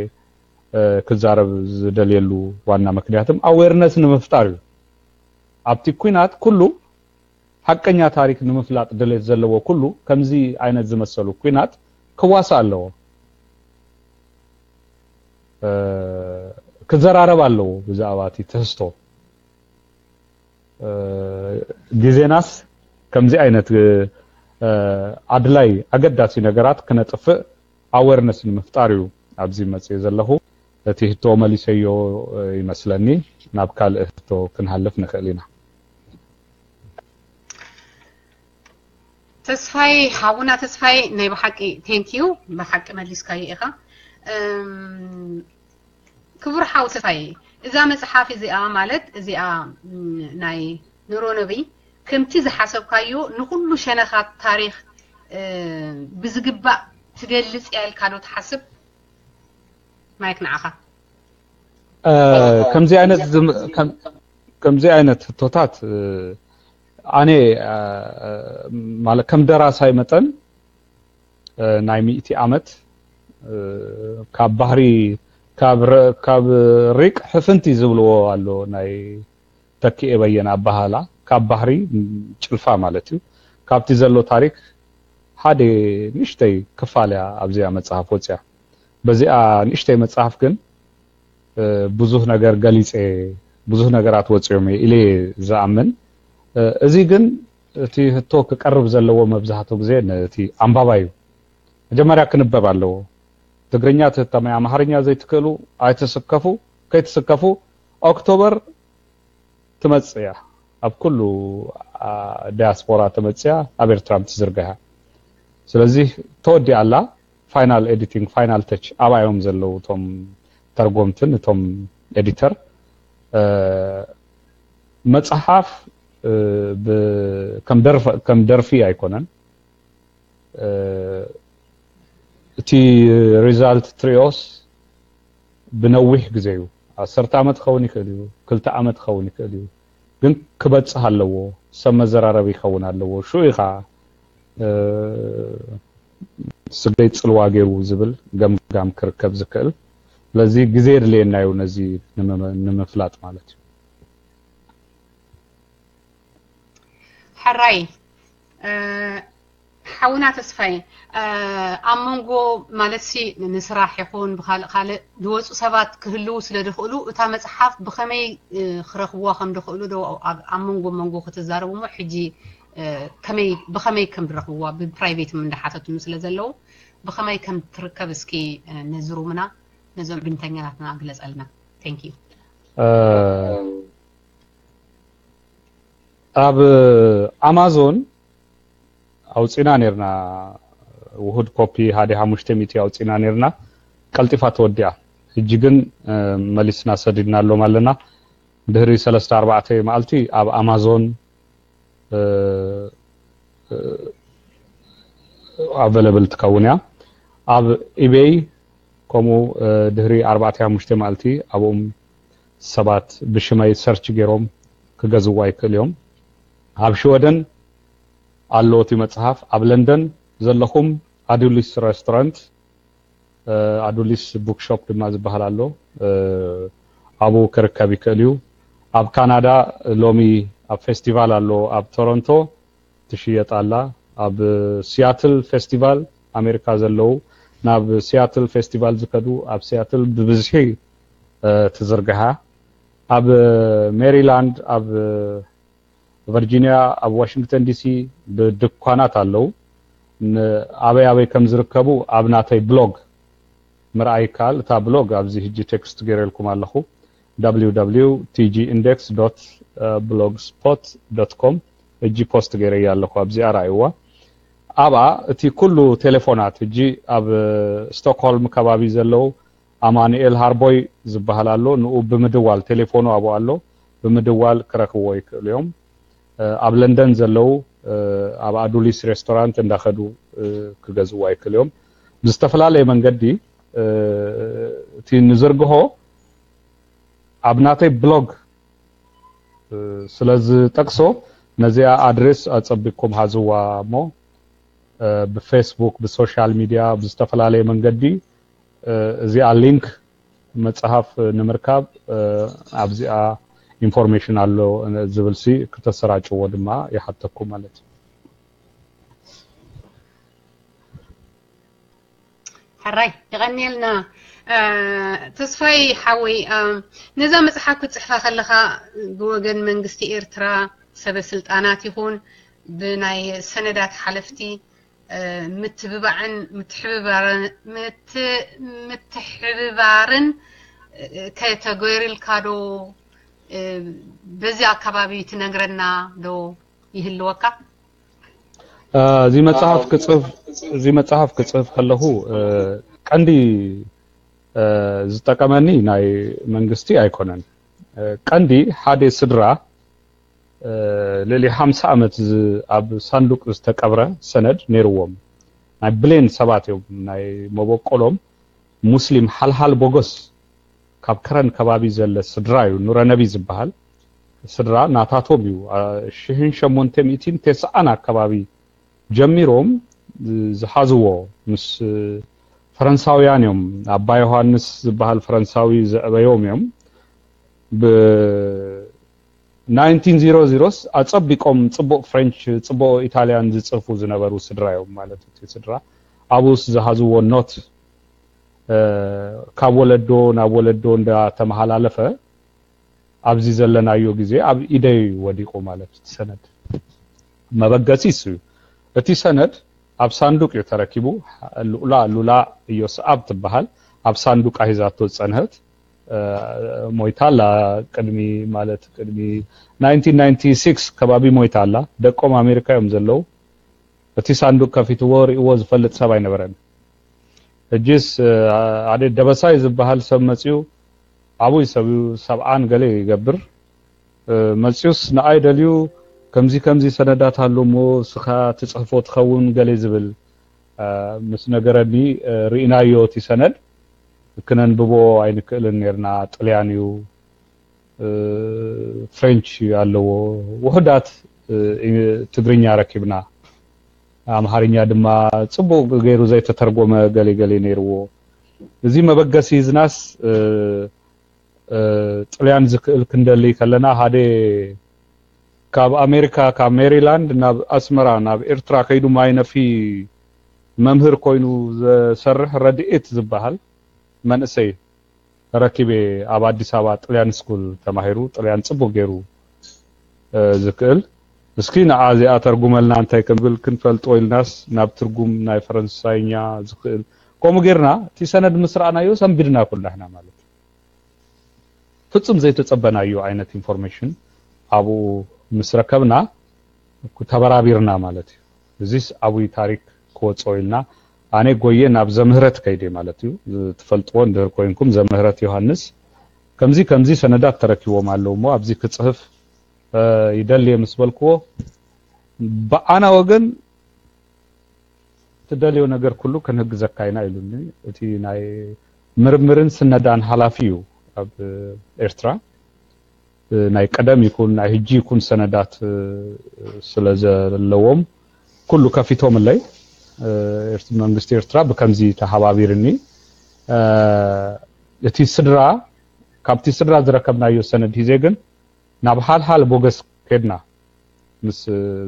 ክዛረብ ዝደልየሉ ዋና ምክንያትም ኣዌርነስ ንምፍጣር እዩ። ኣብቲ ኲናት ኩሉ ሓቀኛ ታሪክ ንምፍላጥ ድሌት ዘለዎ ኩሉ ከምዚ ዓይነት ዝመሰሉ ኲናት ክዋሳእ ኣለዎ። ክዘራረብ ኣለዎ ብዛዕባ እቲ ትሕዝቶ። ግዜናስ ከምዚ ዓይነት ኣድላይ ኣገዳሲ ነገራት ክነጥፍእ ኣዌርነስ ንምፍጣር እዩ ኣብዚ መፅየ ዘለኹ። እቲ ህቶ መሊሰዮ ይመስለኒ። ናብ ካልእ ህቶ ክንሃልፍ ንኽእል ኢና። ተስፋይ፣ ሓውና ተስፋይ፣ ናይ ብሓቂ ቴንኪዩ፣ ብሓቂ መሊስካዮ ኢኻ። ክቡር ሓው ተስፋይ፣ እዛ መፅሓፍ እዚኣ ማለት እዚኣ ናይ ኑሮ ነብይ ከምቲ ዝሓሰብካዮ ንኹሉ ሸነኻት ታሪኽ ብዝግባእ ትገልፅ እያ ኢልካ ዶ ትሓስብ? ማይክ ንዓኻ። ከምዚ ዓይነት ከምዚ ዓይነት ህቶታት ኣነ ማለት ከም ደራሳይ መጠን ናይ ሚእቲ ዓመት ካብ ባህሪ ካብ ሪቅ ሕፍንቲ ዝብልዎ ኣሎ ናይ ተኪኤ በየነ ኣባሃላ ካብ ባህሪ ጭልፋ ማለት እዩ። ካብቲ ዘሎ ታሪክ ሓደ ንእሽተይ ክፋል እያ ኣብዚኣ መጽሓፍ ወፅያ። በዚኣ ንእሽተይ መጽሓፍ ግን ብዙህ ነገር ገሊፀ፣ ብዙህ ነገራት ወፅዮም ኢለ ዝኣምን። እዚ ግን እቲ ህቶ ክቀርብ ዘለዎ መብዛሕትኡ ግዜ ነቲ ኣንባባይ እዩ። መጀመርያ ክንበብ ኣለዎ። ትግርኛ ትህተመይ ኣምሓርኛ ዘይትክእሉ ኣይትስከፉ፣ ከይትስከፉ። ኦክቶበር ትመጽእ እያ። ኣብ ኩሉ ዳያስፖራ ተመጽያ ኣብ ኤርትራ ትዝርጋያ። ስለዚ ተወዲኣ ኣላ። ፋይናል ኤዲቲንግ፣ ፋይናል ተች ኣብኣ እዮም ዘለዉ እቶም ተርጎምትን እቶም ኤዲተር። መጽሓፍ ከም ደርፊ ኣይኮነን። እቲ ሪዛልት ትሪኦስ ብነዊሕ ግዜ እዩ። ዓሰርተ ዓመት ክኸውን ይኽእል እዩ፣ ክልተ ዓመት ክኸውን ይኽእል እዩ። ግን ክበጽሕ ኣለዎ፣ ሰብ መዘራረቢ ይኸውን ኣለዎ። ሽኡ ኢኻ ስገይ ጽልዋ ገይሩ ዝብል ገምጋም ክርከብ ዝክእል። ስለዚ ግዜ የድልየና እዩ ነዚ ንምፍላጥ ማለት እዩ። ሕራይ ሓውና ተስፋይ፣ ኣብ መንጎ ማለት ሲ ንስራሕ ይኹን ብካልእ ካልእ ዝወፁ ሰባት ክህልዉ ስለ ዝኽእሉ እታ መፅሓፍ ብኸመይ ክረኽብዋ ከም ዝኽእሉ ዶ ኣብ መንጎ መንጎ ክትዛረቡ እሞ ሕጂ ከመይ ብኸመይ ከም ዝረኽብዋ ብፕራይቬት እንዳሓተቱኒ ስለ ዘለዉ ብኸመይ ከም ትርከብ እስኪ ነዚ ሩምና ነዞም ዕድምተኛታትና ግለፀልና። Thank you። ኣብ ኣማዞን ኣውፂና ነርና ውሁድ ኮፒ ሓደ ሓሙሽተ ሚእቲ ኣውፂና ነርና። ቀልጢፋ ተወዲኣ። ሕጂ ግን መሊስና ሰዲድናሎም ኣለና። ድሕሪ ሰለስተ ኣርባዕተ መዓልቲ ኣብ ኣማዞን available ትከውን እያ። ኣብ ኢቤይ ከምኡ ድሕሪ ኣርባዕተ ሓሙሽተ መዓልቲ ኣብኦም ሰባት ብሽመይ ሰርች ገይሮም ክገዝዋ ይክእል እዮም። ኣብ ሽወደን ኣሎ እቲ መጽሓፍ። ኣብ ለንደን ዘለኹም ኣዱሊስ ሬስቶራንት፣ ኣዱሊስ ቡክሾፕ ድማ ዝበሃል ኣሎ፣ ኣብኡ ክርከብ ይክእል እዩ። ኣብ ካናዳ ሎሚ ኣብ ፌስቲቫል ኣሎ ኣብ ቶሮንቶ ትሽየጥ ኣላ። ኣብ ሲያትል ፌስቲቫል ኣሜሪካ ዘለዉ ናብ ሲያትል ፌስቲቫል ዝከዱ ኣብ ሲያትል ብብዝሒ ትዝርግሓ። ኣብ ሜሪላንድ፣ ኣብ ቨርጂኒያ፣ ኣብ ዋሽንግተን ዲሲ ብድኳናት ኣለዉ። ኣበይ ኣበይ ከም ዝርከቡ ኣብ ናተይ ብሎግ ምርኣይ ይከኣል። እታ ብሎግ ኣብዚ ሕጂ ቴክስት ገይረልኩም ኣለኹ፣ www tgindex blogspot com። ሕጂ ፖስት ገይረያ ኣለኹ፣ ኣብዚኣ ረኣይዋ። ኣብኣ እቲ ኩሉ ቴሌፎናት፣ ሕጂ ኣብ ስቶክሆልም ከባቢ ዘለዉ ኣማኑኤል ሃርቦይ ዝበሃል ኣሎ። ንኡ ብምድዋል፣ ቴሌፎኑ ኣብኡ ኣሎ፣ ብምድዋል ክረኽብዎ ይክእሉ እዮም። ኣብ ለንደን ዘለዉ ኣብ ኣዱሊስ ሬስቶራንት እንዳኸዱ ክገዝእዋ ይክእሉ እዮም። ብዝተፈላለየ መንገዲ እቲ ንዝርግሆ ኣብ ናተይ ብሎግ ስለ ዝጠቅሶ፣ ነዚኣ ኣድሬስ ኣጸቢቅኩም ሃዝዋ እሞ፣ ብፌስቡክ፣ ብሶሻል ሚድያ፣ ብዝተፈላለየ መንገዲ እዚኣ ሊንክ መጽሓፍ ንምርካብ ኣብዚኣ ኢንፎርሜሽን ኣሎ ዝብል ሲ ክተሰራጭዎ ድማ ይሓተኩም ማለት እዩ። ሕራይ፣ የቐንየልና። ተስፋይ ሓወይ፣ ነዛ መጽሓፍ ክትጽሕፋ ከለኻ ብወገን መንግስቲ ኤርትራ ሰበ ስልጣናት ይኹን ብናይ ሰነዳት ሓለፍቲ ምትብባዕን ምትሕብባርን ከተገይርልካ ዶ? በዚ ኣከባቢ ትነግረና ዶ ይህልወካ? እዚ መጽሓፍ ክጽፍ እዚ መጽሓፍ ክጽፍ ከለኹ ቀንዲ ዝጠቀመኒ ናይ መንግስቲ ኣይኮነን። ቀንዲ ሓደ ስድራ ልዕሊ ሓምሳ ዓመት ኣብ ሳንዱቅ ዝተቀብረ ሰነድ ነይርዎም። ናይ ብሌን ሰባት እዮም። ናይ መበቆሎም ሙስሊም ሓልሓል ቦጎስ ካብ ከረን ከባቢ ዘለ ስድራ እዩ። ኑረነቢ ዝበሃል ስድራ ናታቶም እዩ። ሽሕን ሸሞንተ ሚእትን ተስዓን ኣከባቢ ጀሚሮም ዝሓዝዎ ምስ ፈረንሳውያን እዮም። ኣባ ዮሃንስ ዝበሃል ፈረንሳዊ ዘዕበዮም እዮም። ብ ናይንቲን ዜሮ ዜሮስ ኣጸቢቆም ጽቡቕ ፍሬንች፣ ጽቡቕ ኢታልያን ዝጽፉ ዝነበሩ ስድራ እዮም ማለት እዩ። እቲ ስድራ ኣብኡስ ዝሃዝዎ ኖት ካብ ወለዶ ናብ ወለዶ እንዳተመሃላለፈ ኣብዚ ዘለናዮ ግዜ ኣብ ኢደይ ወዲቑ ማለት እዩ። እቲ ሰነድ መበገሲ እሱ እዩ። እቲ ሰነድ ኣብ ሳንዱቅ እዩ ተረኪቡ። ሉላ ሉላ ኢዮስኣብ ትበሃል ኣብ ሳንዱቃ ሒዛቶ ዝጸንሀት ሞይታ ኣላ። ቅድሚ ማለት ቅድሚ ናይንቲን ናይንቲ ሲክስ ከባቢ ሞይታ ኣላ። ደቆም ኣሜሪካ እዮም ዘለዉ። እቲ ሳንዱቅ ከፊትዎ ርእይዎ ዝፈልጥ ሰብ ኣይነበረን። ሕጂስ ሓደ ደበሳይ ዝበሃል ሰብ መጺኡ፣ ዓቡይ ሰብ እዩ፣ ሰብዓን ገለ ይገብር። መጺኡስ ንኣይ ደልዩ ከምዚ ከምዚ ሰነዳት ኣሎ እሞ ስኻ ትጽሕፎ ትኸውን ገለ ዝብል ምስ ነገረኒ ርኢናዮ እቲ ሰነድ ክነንብቦ ኣይንክእልን ነርና። ጥልያን እዩ፣ ፍሬንች ኣለዎ፣ ውሑዳት ትግርኛ ረኪብና፣ ኣምሓርኛ ድማ ጽቡቕ ገይሩ ዘይተተርጎመ ገለ ገለ ነይርዎ። እዚ መበገሲ ሂዝናስ ጥልያን ዝክእል ክንደሊ ከለና ሓደ ካብ ኣሜሪካ ካብ ሜሪላንድ ናብ ኣስመራ ናብ ኤርትራ ከይዱ ማይ ነፊ መምህር ኮይኑ ዘሰርሕ ረድኤት ዝበሃል መንእሰይ ረኪበ። ኣብ ኣዲስ ኣበባ ጥልያን ስኩል ተማሂሩ ጥልያን ጽቡቅ ገይሩ ዝክእል። እስኪ ንዓ እዚኣ ተርጉመልና እንታይ ከም ዝብል ክንፈልጦ ኢልናስ ናብ ትርጉም ናይ ፈረንሳይኛ ዝክእል ከምኡ ጌርና እቲ ሰነድ ምስ ረኣናዮ ሰንቢድና ኩላሕና ማለት እዩ። ፍጹም ዘይተጸበናዮ ዓይነት ኢንፎርሜሽን ኣብኡ ምስ ረከብና ተበራቢርና ማለት እዩ። እዚስ ዓብይ ታሪክ ክወጽኦ ኢልና ኣነ ጎየ ናብ ዘምህረት ከይደ ማለት እዩ። ትፈልጥዎ እንድህር ኮይንኩም ዘምህረት ዮሃንስ ከምዚ ከምዚ ሰነዳት ተረኪቦም ኣለዉ እሞ ኣብዚ ክጽህፍ ይደልየ ምስ በልክዎ፣ ብኣና ወገን ትደልዮ ነገር ኩሉ ክንህግዘካ ኢና ኢሉኒ። እቲ ናይ ምርምርን ስነዳን ሓላፊ እዩ ኣብ ኤርትራ። ናይ ቀደም ይኩን ናይ ህጂ ይኩን ሰነዳት ስለ ዘለዎም ኩሉ ከፊቶምለይ። መንግስቲ ኤርትራ ብከምዚ ተሓባቢርኒ። እቲ ስድራ ካብቲ ስድራ ዝረከብናዮ ሰነድ ሂዜ ግን ናብ ሓልሓል ቦገስ ከድና ምስ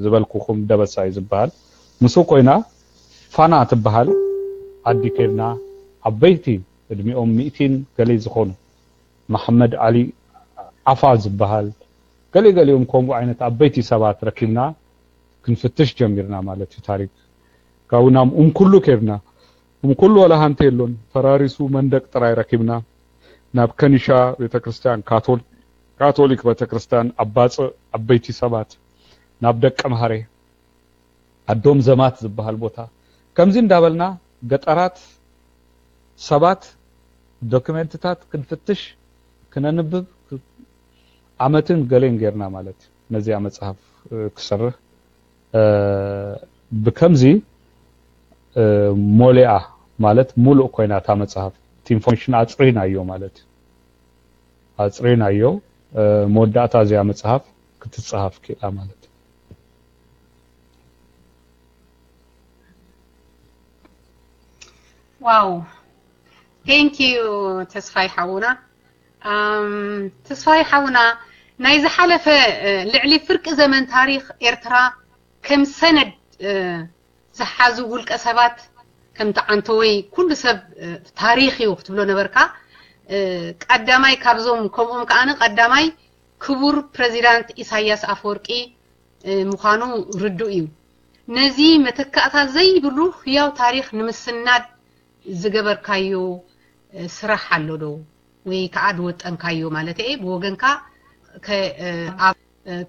ዝበልኩኹም ደበሳ እዩ ዝበሃል። ምስኡ ኮይና ፋና ትበሃል ዓዲ ከድና ዓበይቲ እድሚኦም ሚእቲን ገለይ ዝኾኑ መሓመድ ዓሊ ዓፋ ዝበሃል ገለ ገሊኦም ከምኡ ዓይነት ዓበይቲ ሰባት ረኪብና ክንፍትሽ ጀሚርና ማለት እዩ። ታሪክ ካብኡ ናብ ኡምኩሉ ከድና። ኡምኩሉ ዋላ ሃንቲ የሎን፣ ፈራሪሱ መንደቅ ጥራይ ረኪብና። ናብ ከኒሻ ቤተክርስትያን ካቶል- ካቶሊክ ቤተክርስትያን ኣባጽእ ዓበይቲ ሰባት ናብ ደቀ መሃሬ ኣዶም ዘማት ዝበሃል ቦታ ከምዚ እንዳበልና ገጠራት ሰባት ዶክመንትታት ክንፍትሽ ክነንብብ ዓመትን ገሌን ጌርና ማለት እዩ። ነዚኣ መጽሓፍ ክሰርህ ብከምዚ ሞሊኣ ማለት ሙሉእ ኮይና እታ መጽሓፍ እቲ ኢንፎርሜሽን ኣጽሪናዮ ማለት እዩ። ኣጽሪናዮ መወዳእታ እዚኣ መጽሓፍ ክትጽሃፍ ክኢላ ማለት እዩ። ዋው thank you ተስፋይ ሓውና። ተስፋይ ሓውና ናይ ዝሓለፈ ልዕሊ ፍርቂ ዘመን ታሪኽ ኤርትራ ከም ሰነድ ዝሓዙ ውልቀ ሰባት ከምቲ ዓንተወይ ኩሉ ሰብ ታሪኽ እዩ ክትብሎ ነበርካ። ቀዳማይ ካብዞም ከምኦም ከኣ ቀዳማይ ክቡር ፕሬዚዳንት ኢሳያስ ኣፈወርቂ ምዃኑ ርዱእ እዩ። ነዚ መተካእታ ዘይብሉ ህያው ታሪኽ ንምስናድ ዝገበርካዮ ስራሕ ኣሎ ዶ ወይ ከዓ ዝወጠንካዮ ማለት እየ ብወገንካ ኣብ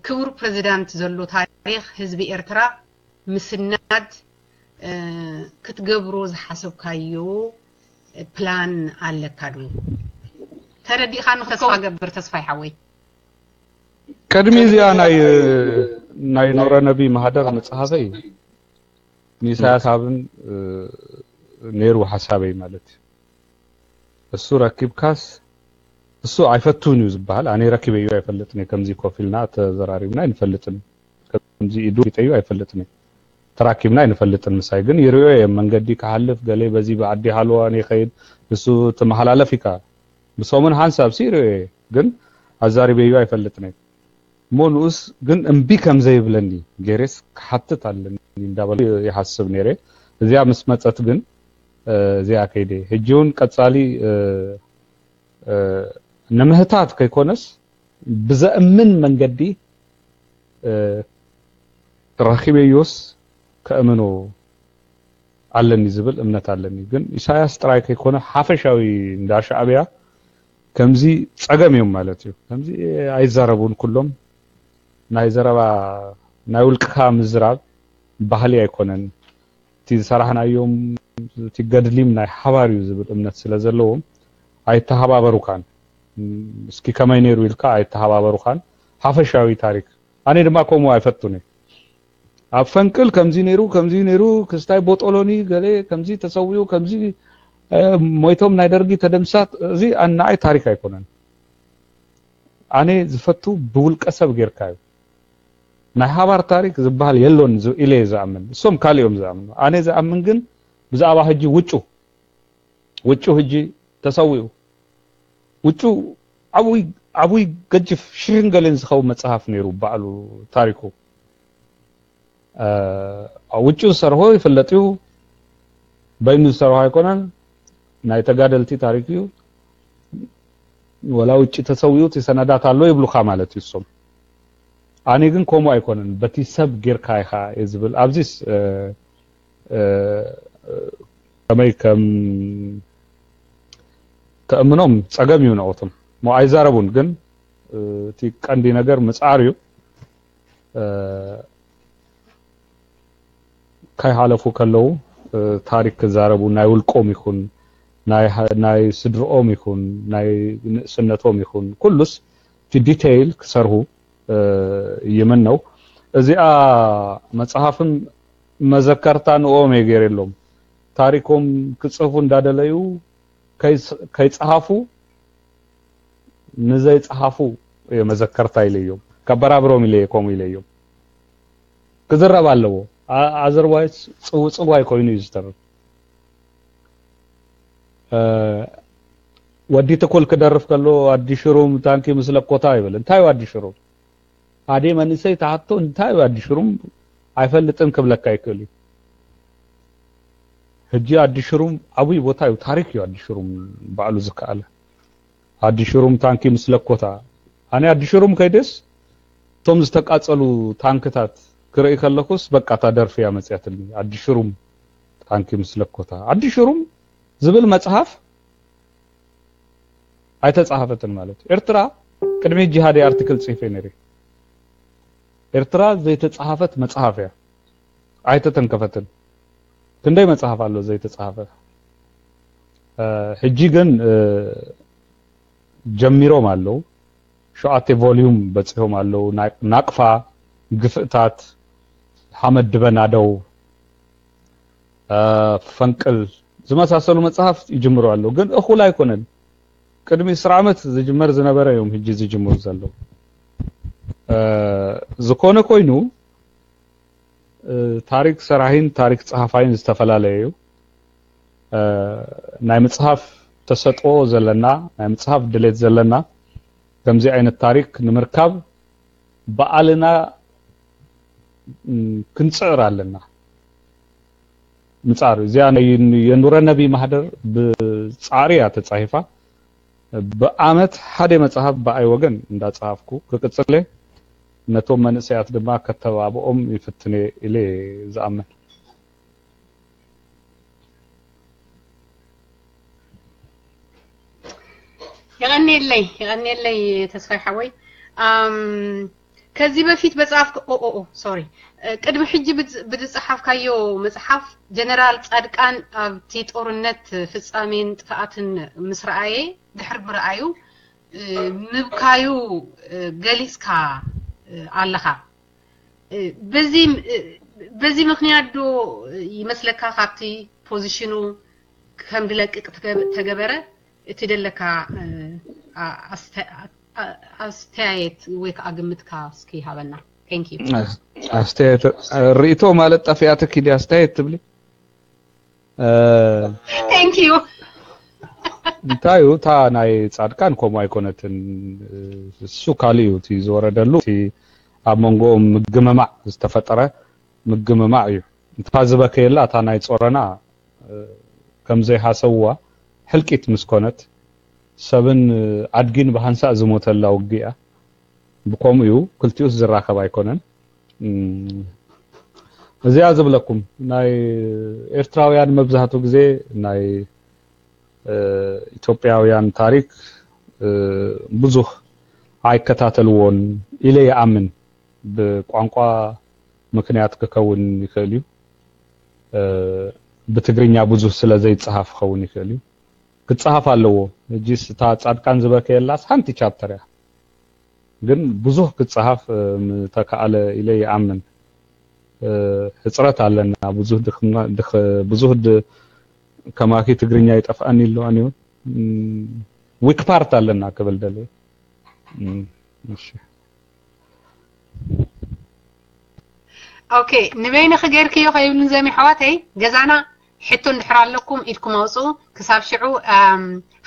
ክቡር ፕሬዚዳንት ዘሎ ታሪኽ ህዝቢ ኤርትራ ምስናድ ክትገብሮ ዝሓሰብካዮ ፕላን ኣለካ ዶ? ተረዲእካኒ ተስፋ ገብር ተስፋይ ሓወይ። ቅድሚ እዚኣ ናይ ናይ ኑረ ነቢ ማህደር መጽሓፈይ ንኢሳያስ ኣብን ነይሩ ሓሳበይ ማለት እዩ። እሱ ረኪብካስ እሱ ኣይፈቱን እዩ ዝበሃል። ኣነ ረኪበዮ ኣይፈልጥን እየ። ከምዚ ኮፍ ኢልና ተዘራሪብና ኣይንፈልጥን። ከምዚ ኢዱ ፊጠዩ ኣይፈልጥን እየ። ተራኪብና ኣይንፈልጥን። ምሳይ ግን ይርእዮ እየ። መንገዲ ክሓልፍ ገለ በዚ ብዓዲ ሃለዋ ይኸይድ። እሱ ትመሓላለፍ ኢካ። ብሰሙን ሓንሳብ ሲ ይርእዮ እየ። ግን ኣዛሪበዮ ኣይፈልጥን እየ። እሞ ንኡስ ግን እምቢ ከም ዘይብለኒ ገይሬስ ክሓትት ኣለኒ እንዳበሉ ይሓስብ ነይረ። እዚኣ ምስ መጸት ግን እዚኣ ከይደ ሕጂ እውን ቀጻሊ ንምህታት ከይኮነስ ብዘእምን መንገዲ ረኺበዮስ ከእምኖ ኣለኒ ዝብል እምነት ኣለኒ። ግን ኢሳያስ ጥራይ ከይኮነ ሓፈሻዊ እንዳ ሻዕብያ ከምዚ ጸገም እዮም ማለት እዩ። ከምዚ ኣይዛረቡን ኩሎም ናይ ዘረባ ናይ ውልቅካ ምዝራብ ባህሊ ኣይኮነን። እቲ ዝሰራሕናዮም እቲ ገድሊም ናይ ሓባር እዩ ዝብል እምነት ስለ ዘለዎም ኣይተሓባበሩካን። እስኪ ከመይ ነይሩ ኢልካ ኣይተሓባበሩካን። ሓፈሻዊ ታሪክ ኣነ ድማ ከምኡ ኣይፈቱን እየ። ኣብ ፈንቅል ከምዚ ነይሩ ከምዚ ነይሩ ክስታይ ቦጦሎኒ ገለ ከምዚ ተሰዊኡ ከምዚ ሞይቶም ናይ ደርጊ ተደምሳት እዚ ንዓይ ታሪክ ኣይኮነን። ኣነ ዝፈቱ ብውልቀ ሰብ ጌርካ እዩ። ናይ ሓባር ታሪክ ዝበሃል የሎን ኢለ ዝኣምን። እሶም ካልኦም ዝኣምኑ ኣነ ዝኣምን ግን ብዛዕባ ሕጂ ውጩ ውጩ ሕጂ ተሰዊኡ ውጩ ዓብይ ዓብይ ገጅፍ ሽሕን ገለን ዝኸውን መጽሓፍ ነይሩ ባዕሉ ታሪኩ ውጩ ዝሰርሖ ይፍለጥ እዩ። በይኑ ዝሰርሖ ኣይኮነን። ናይ ተጋደልቲ ታሪክ እዩ። ወላ ውጭ ተሰዊኡ እቲ ሰነዳት ኣሎ ይብሉካ ማለት እዩ እሶም። ኣነ ግን ከምኡ ኣይኮነን። በቲ ሰብ ጌርካ ኢኻ እየ ዝብል። ኣብዚስ ከመይ ከም ተእምኖም ጸገም እዩ ንኦቶም። ሞ ኣይዛረቡን ግን እቲ ቀንዲ ነገር ምጽዓር እዩ። ከይሓለፉ ከለዉ ታሪክ ክዛረቡ ናይ ውልቆም ይኹን ናይ ስድርኦም ይኹን ናይ ንእስነቶም ይኹን ኩሉስ እቲ ዲቴይል ክሰርሁ ይምነው። እዚኣ መፅሓፍን መዘከርታ ንኦም እየ ገይረሎም። ታሪኮም ክፅህፉ እንዳደለዩ ከይፀሃፉ ንዘይፀሃፉ እየ መዘከርታ ኢለዮም። ከበራብሮም ኢለ ከምኡ ኢለዮም። ክዝረብ ኣለዎ። ኣዘርዋይስ ፅውፅዋይ ኮይኑ እዩ ዝተርፍ። ወዲ ትኩል ክደርፍ ከሎ ኣዲ ሽሩም ታንኪ ምስ ለኮታ ይብል። እንታይ እዩ ኣዲ ሽሩም? ኣደ መንእሰይ ተሓቶ እንታይ እዩ ኣዲ ሽሩም ኣይፈልጥን ክብለካ ይክእል እዩ። ሕጂ ኣዲ ሽሩም ዓብይ ቦታ እዩ፣ ታሪክ እዩ ኣዲ ሽሩም ባዕሉ ዝከኣለ። ኣዲ ሽሩም ታንኪ ምስ ለኮታ፣ ኣነ ኣዲ ሽሩም ከይደስ እቶም ዝተቃጸሉ ታንክታት ክርኢ ከለኩስ በቃ እታ ደርፊ እያ መጽያትልኒ። ኣዲ ሽሩም ታንኪ ምስ ለኮታ። ኣዲ ሽሩም ዝብል መጽሓፍ ኣይተጻሓፈትን ማለት እዩ። ኤርትራ ቅድሚ ሕጂ ሓደ ኣርቲክል ጽሒፈ ነይረ። ኤርትራ ዘይተጻሓፈት መጽሓፍ እያ፣ ኣይተተንከፈትን። ክንደይ መጽሓፍ ኣሎ ዘይተጻሓፈ። ሕጂ ግን ጀሚሮም ኣለዉ። ሸውዓተ ቮልዩም በጺሖም ኣለዉ። ናቅፋ፣ ግፍእታት፣ ሓመድ ድበናደው፣ ፈንቅል ዝመሳሰሉ መጽሓፍቲ ይጅምሩ ኣለዉ። ግን እኹል ኣይኮነን። ቅድሚ ዕስራ ዓመት ዝጅመር ዝነበረ እዮም ሕጂ ዝጅምሩ ዘለዉ። ዝኾነ ኮይኑ ታሪክ ሰራሒን ታሪክ ጸሓፋይን ዝተፈላለየ እዩ። ናይ ምጽሓፍ ተሰጥኦ ዘለና፣ ናይ ምጽሓፍ ድሌት ዘለና ከምዚ ዓይነት ታሪክ ንምርካብ ባዕልና ክንጽዕር ኣለና። ምጻር እዚኣ ናይ የኑረ ነቢ ማህደር ብጻዕሪ እያ ተጻሂፋ። ብዓመት ሓደ መጽሓፍ ብኣይ ወገን እንዳጸሃፍኩ ክቅጽል እየ። ነቶም መንእሰያት ድማ ከተባብኦም ይፍትነ ኢለ ዝኣምን። የቐንየለይ የቐንየለይ ተስፋይ ሓወይ። ከዚህ በፊት በጻፍክ ኦ ኦ ኦ ሶሪ ቅድሚ ሕጂ ብዝጸሓፍካዮ መጽሓፍ ጀነራል ጻድቃን ኣብቲ ጦርነት ፍጻሜን ጥፍኣትን ምስ ረኣየ ድሕሪ ምርኣዩ ምብካዩ ገሊጽካ ኣለኻ። በዚ ምክንያት ዶ ይመስለካ ካብቲ ፖዚሽኑ ከም ድለቅቅ ተገበረ? እቲ ደለካ ኣስተያየት ወይ ከዓ ግምትካ እስኪ ሃበና። Thank you። ኣስተያየት ርእቶ ማለት ጠፊኣትኪ ድያ ኣስተያየት ትብሊ? Thank you። እንታይ እዩ እታ ናይ ጻድቃን ከምኡ ኣይኮነትን። እሱ ካልእ እዩ እቲ ዝወረደሉ። እቲ ኣብ መንጎኦም ምግምማዕ ዝተፈጠረ ምግምማዕ እዩ። እታ ዝበከየላ እታ ናይ ጾረና ከም ዘይሃሰብዋ ሕልቂት ምስ ኮነት ሰብን ኣድጊን ብሃንሳእ ዝሞተላ ውግእ እያ። ብከምኡ እዩ ክልቲኡስ ዝራኸብ ኣይኮነን። እዚኣ ዝብለኩም ናይ ኤርትራውያን መብዛሕትኡ ግዜ ናይ ኢትዮጵያውያን ታሪክ ብዙህ ኣይከታተልዎን ኢለ ይኣምን። ብቋንቋ ምክንያት ክከውን ይኽእል እዩ። ብትግርኛ ብዙህ ስለ ዘይጸሃፍ ክኸውን ይኽእል እዩ። ክጸሃፍ ኣለዎ። ሕጂስ እታ ጻድቃን ዝበከየላስ ሓንቲ ቻፕተር እያ። ግን ብዙህ ክጸሃፍ ምተካኣለ ኢለ ይኣምን። ሕጽረት ኣለና። ብዙህ ብዙህ ከማኪ ትግርኛ ይጠፍኣኒ ኣሎ ኣንዮ weak part ኣለና ክብል ደለ። እሺ okay ንበይንኺ ገይርክዮ ከይብልን ዘሚ ኣሕዋተይ ገዛና ሕቶ እንድሕር ኣለኩም ኢድኩም ኣውፅኡ። ክሳብ ሽዑ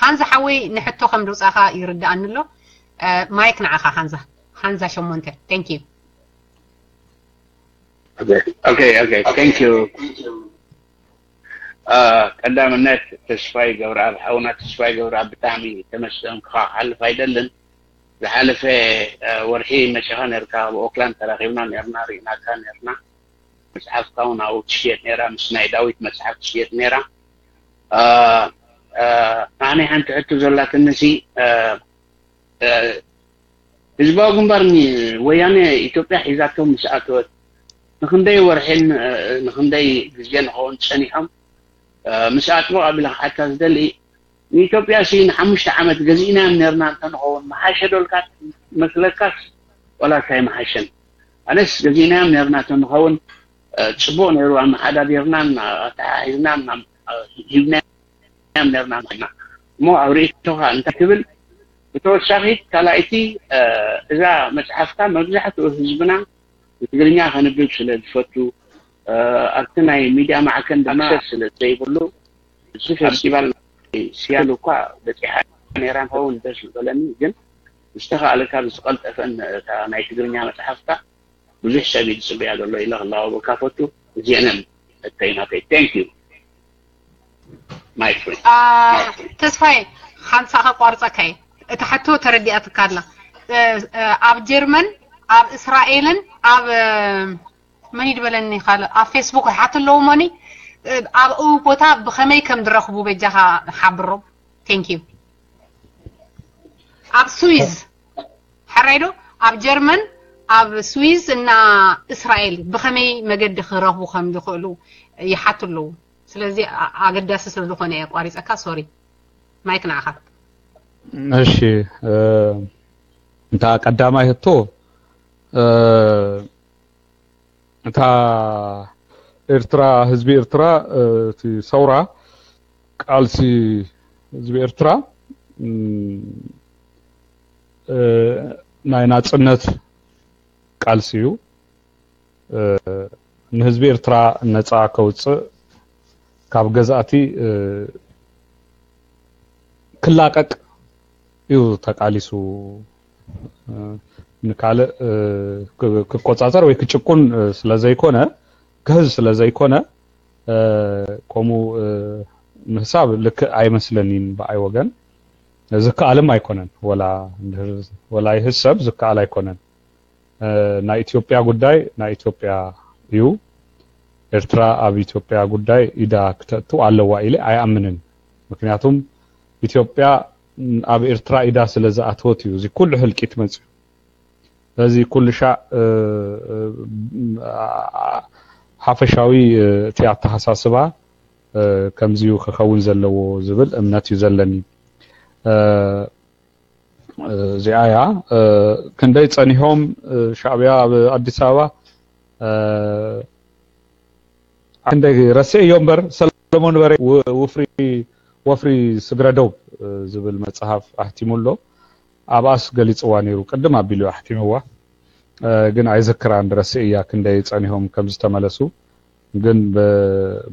ሃንዛ ሓወይ ንሕቶ ከም ድውፃእካ ይርድኣኒ ኣሎ። ማይክ ንዓኻ ሃንዛ። ሃንዛ ሸሞንተ። Thank you። Okay okay thank you። ቀዳምነት ተስፋይ ገብረኣብ ሓውና ተስፋይ ገብረኣብ ብጣዕሚ ተመስገንካ ክሓልፍ ኣይደልን። ዝሓለፈ ወርሒ መሸኻ ነርካ ኣብ ኦክላንድ ተራኺብና ነርና ርኢናካ ነርና። መፅሓፍካ እውን ኣብኡ ትሽየጥ ነራ ምስ ናይ ዳዊት መፅሓፍ ትሽየጥ ነራ። ኣነ ሓንቲ ሕቶ ዘላትኒ ሲ ህዝባዊ ግንባር ወያነ ኢትዮጵያ ሒዛቶም ምስ ኣተወት ንክንደይ ወርሒን ንክንደይ ግዜ ንኸውን ፀኒሖም? ምስ ኣጥብቕ ኣቢለ ክሓታ ዝደሊ ንኢትዮጵያ ሲ ንሓሙሽተ ዓመት ገዚእናዮም ነርና እንተንኸውን መሓሸ ዶልካ መስለካስ? ዋላ እንታይ መሓሸን? ኣነስ ገዚእናዮም ነርና እንተንኸውን ጽቡቕ ነይሩ። ኣመሓዳዲርናን ኣተሓሒዝናን ሂብናዮም ነርና። እሞ ኣብ ርእይቶኻ እንታይ ትብል? ብተወሳኺ ካልኣይቲ እዛ መጽሓፍካ መብዛሕትኡ ህዝብና ብትግርኛ ከንብብ ስለ ዝፈቱ ኣብቲ ናይ ሚድያ ማዕከን ድማ ኣክሰስ ስለ ዘይብሉ እዚ ፌስቲቫል ናይ ሲያትል እኳ በፂሓ ነይራ ንኸውን ደስ ዝበለኒ፣ ግን ዝተኻእለካ ብዝቐልጠፈን እታ ናይ ትግርኛ መፅሓፍካ ብዙሕ ሰብ እዩ ዝፅበያ ዘሎ ኢለ ክላወበካ ፈቱ። እዚአንን እተይ ናተይ። Thank you my friend። ተስፋዬ ሓንሳ ከቋርፀካ እየ። እቲ ሕቶ ተረዲኣትካ ኣላ። ኣብ ጀርመን ኣብ እስራኤልን ኣብ መን ይድበለኒ ካልእ ኣብ ፌስቡክ ይሓት ኣለዉ መኒ ኣብኡ ቦታ ብኸመይ ከም ዝረኽቡ በጃኻ ሓብሮም። Thank you። ኣብ ስዊዝ ሕራይ ዶ ኣብ ጀርመን ኣብ ስዊዝ እና እስራኤል ብኸመይ መገዲ ክረኽቡ ከም ዝኽእሉ ይሓቱ ኣለዉ። ስለዚ ኣገዳሲ ስለ ዝኾነ እየ ኣቋሪፀካ። ሶሪ ማይክ ንዓኻ። እሺ እታ ቀዳማይ ህቶ እታ ኤርትራ ህዝቢ ኤርትራ እቲ ሰውራ ቃልሲ ህዝቢ ኤርትራ ናይ ናጽነት ቃልሲ እዩ። ንህዝቢ ኤርትራ ነጻ ከውጽእ ካብ ገዛእቲ ክላቀቅ እዩ ተቃሊሱ። ንካልእ ክቆጻጸር ወይ ክጭቁን ስለዘይኮነ ክህዝ ስለዘይኮነ ከምኡ ምህሳብ ልክእ ኣይመስለኒን ብኣይ ወገን። ዝከኣልም ኣይኮነን። ወላ ይህሰብ ዝከኣል ኣይኮነን። ናይ ኢትዮጵያ ጉዳይ ናይ ኢትዮጵያ እዩ። ኤርትራ ኣብ ኢትዮጵያ ጉዳይ ኢዳ ክተእቱ ኣለዋ ኢለ ኣይኣምንን። ምክንያቱም ኢትዮጵያ ኣብ ኤርትራ ኢዳ ስለ ዝኣተወት እዩ እዚ ኩሉ ህልቂት መፅዩ። ስለዚ ኩሉ ሻዕ ሓፈሻዊ እቲ ኣተሓሳስባ ከምዚዩ ክኸውን ዘለዎ ዝብል እምነት እዩ ዘለኒ። እዚኣ እያ። ክንደይ ጸኒሖም ሻዕብያ ኣብ ኣዲስ ኣበባ ክንደይ ረስኤዮ እምበር ሰለሞን በሬ ውፍሪ ወፍሪ ስግረዶብ ዝብል መጽሓፍ ኣሕቲሙ ኣሎ። ኣብኣስ ገሊጽዋ ነይሩ ቅድም ኣቢሉ ኣሕቲምዋ። ግን ኣይዝክራን ረስኤያ ክንደይ ጸኒሖም ከም ዝተመለሱ። ግን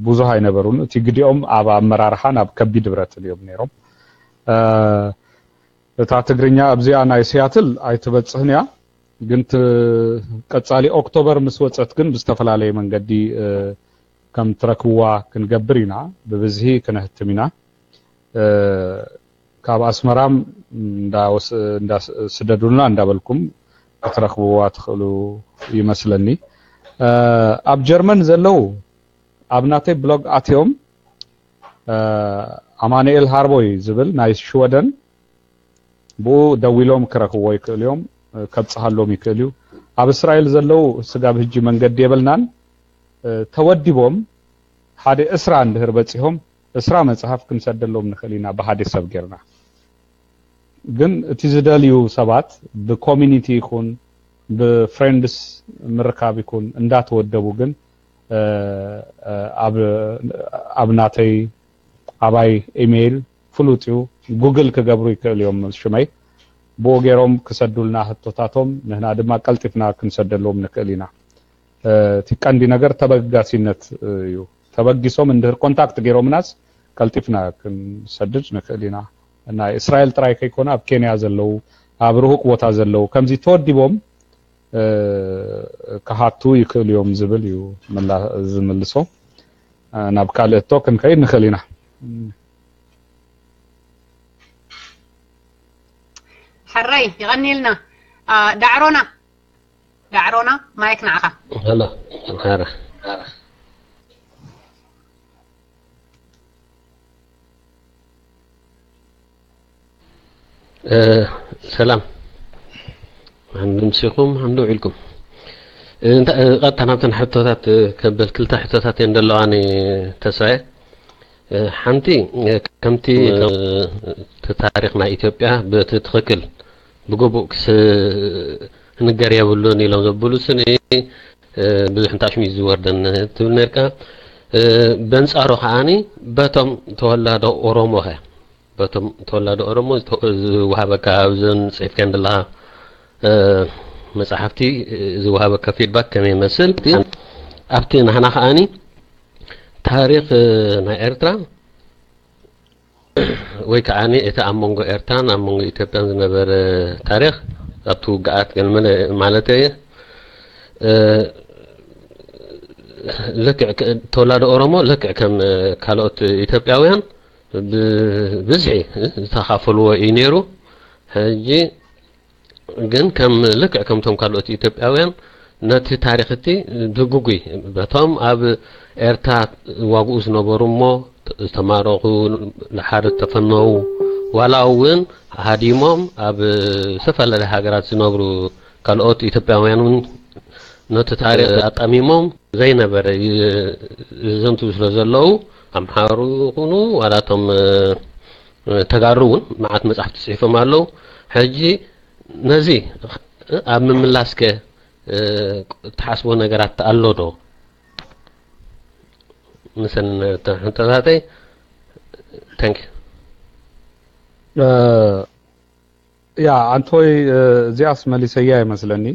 ብዙህ ኣይነበሩን። እቲ ግዲኦም ኣብ ኣመራርሓን ኣብ ከቢድ ብረትን እዮም ነይሮም። እታ ትግርኛ ኣብዚኣ ናይ ሲያትል ኣይትበጽህን እያ። ግን ቀጻሊ ኦክቶበር ምስ ወጸት ግን ብዝተፈላለየ መንገዲ ከም ትረክብዋ ክንገብር ኢና። ብብዝሂ ክነህትም ኢና። ካብ ኣስመራም እንዳስደዱልና እንዳበልኩም ክትረክብዋ ትኽእሉ ይመስለኒ። ኣብ ጀርመን ዘለዉ ኣብ ናተይ ብሎግ ኣትዮም ኣማኑኤል ሃርቦይ ዝብል ናይ ሽወደን ብኡ ደዊሎም ክረክብዎ ይክእሉ እዮም። ከብፅሃሎም ይክእል እዩ። ኣብ እስራኤል ዘለዉ ስጋብ ህጂ መንገዲ የብልናን። ተወዲቦም ሓደ እስራ እንድህር በፂሆም እስራ መፅሃፍ ክንሰደሎም ንክእል ኢና ብሓደ ሰብ ጌርና። ግን እቲ ዝደልዩ ሰባት ብኮሚኒቲ ይኹን ብፍሬንድስ ምርካብ ይኹን እንዳተወደቡ ግን ኣብ ናተይ ኣባይ ኢሜይል ፍሉጥ እዩ። ጉግል ክገብሩ ይክእል እዮም ሽመይ። ብኡ ገይሮም ክሰዱልና ህቶታቶም ንህና ድማ ቀልጢፍና ክንሰደሎም ንክእል ኢና። እቲ ቀንዲ ነገር ተበጋሲነት እዩ። ተበጊሶም እንድህር ኮንታክት ገይሮምናስ ቀልጢፍና ክንሰድድ ንክእል ኢና። ናይ እስራኤል ጥራይ ከይኮነ ኣብ ኬንያ ዘለዉ ኣብ ርሁቅ ቦታ ዘለዉ ከምዚ ተወዲቦም ክሃቱ ይክእሉ እዮም ዝብል እዩ ዝምልሶ። ናብ ካልእ እቶ ክንከይድ ንክእል ኢና። ሕራይ ይቐኒልና። ዳዕሮና ዳዕሮና ማይክ ንዓኻ። ሄሎ ሄሎ ሰላም ሓምዱ ምሲኹም ሓምዱ ውዒልኩም። ቀጥታ ናብተን ሕቶታት ከብል ክልተ ሕቶታት እየን ዘለዋኒ ተስፋየ። ሓንቲ ከምቲ እቲ ታሪኽ ናይ ኢትዮጵያ ብቲ ትኽክል ብግቡእ ክስ ንገር የብሉን ኢሎም ዘብሉ ስኒ ብዙሕ እንታሽሚ ዝወርደን ትብል ነርካ። በንጻሩ ከዓኒ በቶም ተወላዶ ኦሮሞ ኸ በቶም ተወላዶ ኦሮሞ ዝወሃበካ ኣብዘን ጽሒፍከን ዘለኻ መጽሓፍቲ ዝወሃበካ ፊድባክ ከመይ ይመስል? ኣብቲ ናህና ከዓኒ ታሪኽ ናይ ኤርትራ ወይ ከዓ እቲ ኣብ መንጎ ኤርትራን ኣብ መንጎ ኢትዮጵያን ዝነበረ ታሪኽ ኣብቲ ውግኣት ገለመለ ማለት እየ ልክዕ ተወላዶ ኦሮሞ ልክዕ ከም ካልኦት ኢትዮጵያውያን ብብዝሒ ዝተኻፈልዎ እዩ ነይሩ። ሕጂ ግን ከም ልክዕ ከምቶም ካልኦት ኢትዮጵያውያን ነቲ ታሪኽ እቲ ድጉጉይ በቶም ኣብ ኤርትራ ዋግኡ ዝነበሩ እሞ ዝተማረኹ፣ ንሓደ ዝተፈነዉ፣ ዋላ እውን ሃዲሞም ኣብ ዝተፈላለያ ሃገራት ዝነብሩ ካልኦት ኢትዮጵያውያን እውን ነቲ ታሪኽ ኣጣሚሞም ዘይነበረ ይዘንቱ ስለ ዘለዉ ኣምሓሩ ይኹኑ ዋላ እቶም ተጋሩ እውን መዓት መጻሕፍቲ ጽሒፎም ኣለዉ። ሕጂ ነዚ ኣብ ምምላስከ ትሓስቦ ነገራት ኣሎ ዶ? ምሰን ተታታይ። Thank you። ያ ኣንቶይ፣ እዚኣስ መሊሰያ ይመስለኒ።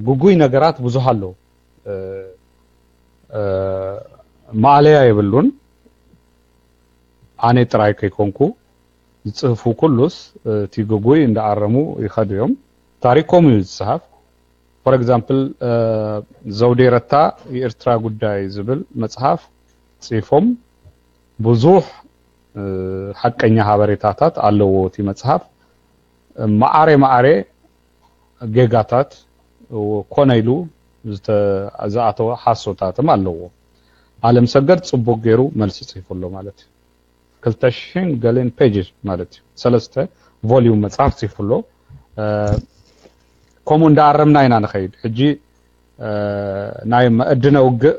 ግጉይ ነገራት ብዙሕ ኣሎ። ማእለያ የብሉን። ኣነ ጥራይ ከይኮንኩ ዝጽህፉ ኩሉስ እቲ ግጉይ እንዳኣረሙ ይኸዱ እዮም። ታሪኮም እዩ ዝጽሃፍ። For example ዘውዴ ረታ የኤርትራ ጉዳይ ዝብል መጽሓፍ ጽፎም ብዙሕ ሓቀኛ ሃበሬታታት ኣለዎ። እቲ መጽሓፍ ማዓሬ ማዓሬ ጌጋታት ኮነ ኢሉ ዝኣተወ ሓሶታትም ኣለዎ። ኣለም ሰገድ ጽቡቅ ገይሩ መልሲ ጽሒፉ ኣሎ ማለት እዩ። ክልተ ሽሕን ገሌን ፔጅ ማለት እዩ። ሰለስተ ቮሊዩም መጽሓፍ ጽሒፉ ኣሎ። ከምኡ እንዳኣረምና ኢና ንኸይድ። ሕጂ ናይ መእድነ ውግእ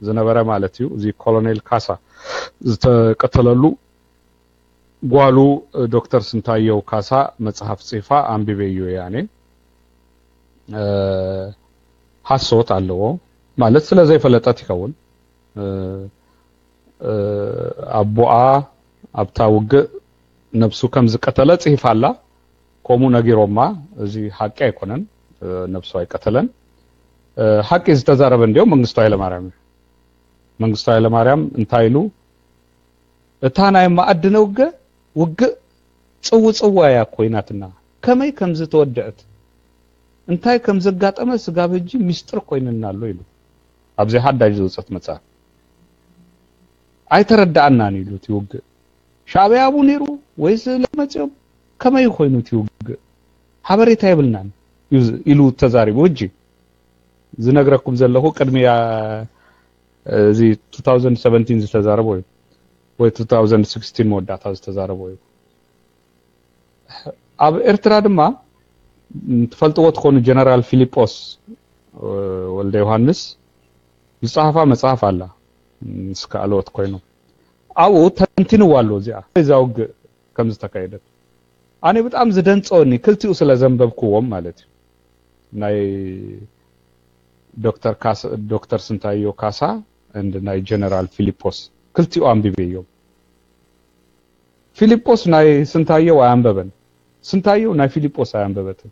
ዝነበረ ማለት እዩ። እዚ ኮሎኔል ካሳ ዝተቀተለሉ ጓሉ ዶክተር ስንታየው ካሳ መጽሓፍ ጽፋ ኣንቢበ እዩ ያኔ ሓሶት ኣለዎ ማለት ስለ ዘይፈለጠት ይኸውን። ኣቦኣ ኣብታ ውግእ ነብሱ ከም ዝቀተለ ጽሒፋ ኣላ። ከምኡ ነጊሮማ። እዚ ሓቂ ኣይኮነን። ነብሱ ኣይቀተለን። ሓቂ ዝተዛረበ እንዲያው መንግስቱ ኃይለማርያም እዩ። መንግስቱ ኃይለማርያም እንታይ ኢሉ እታ ናይ መኣድነ ውገ ውግእ ጽውጽዋ እያ ኮይናትና ከመይ ከም ዝተወደአት እንታይ ከም ዘጋጠመ ስጋብ ሕጂ ሚስጥር ኮይንና ኣሎ ኢሉ ኣብዚ ሓዳሽ ዝወጸት መጽሓፍ ኣይተረዳኣናን ኢሉ እቲ ውግእ ሻዕብያ ኣብኡ ነይሩ ወይስ ለመጽኦም ከመይ ኮይኑ እቲ ውግእ ሓበሬታ የብልናን ኢሉ ተዛሪቡ ሕጂ ዝነግረኩም ዘለኹ ቅድሚያ እዚ two thousand seventeen ዝተዛረቦ እዩ ወይ two thousand sixteen መወዳእታ ዝተዛረቦ እዩ ኣብ ኤርትራ ድማ ትፈልጥዎ ትኾኑ ጀነራል ፊሊጶስ ወልደ ዮሃንስ ዝጸሓፋ መጽሓፍ ኣላ ምስ ካልኦት ኮይኖም ኣብኡ ተንቲንዋ ኣሎ እዚኣ እዛ ውግእ ከም ዝተካየደት ኣነ ብጣዕሚ ዝደንጸወኒ ክልቲኡ ስለ ዘንበብክዎም ማለት እዩ ናይ ዶክተር ካሳ ዶክተር ስንታዮ ካሳ and ናይ ጀነራል ፊሊጶስ ክልቲኡ ኣንቢበዮም ፊሊጶስ ናይ ስንታዮ ኣያንበበን ስንታዮ ናይ ፊሊጶስ ኣያንበበትን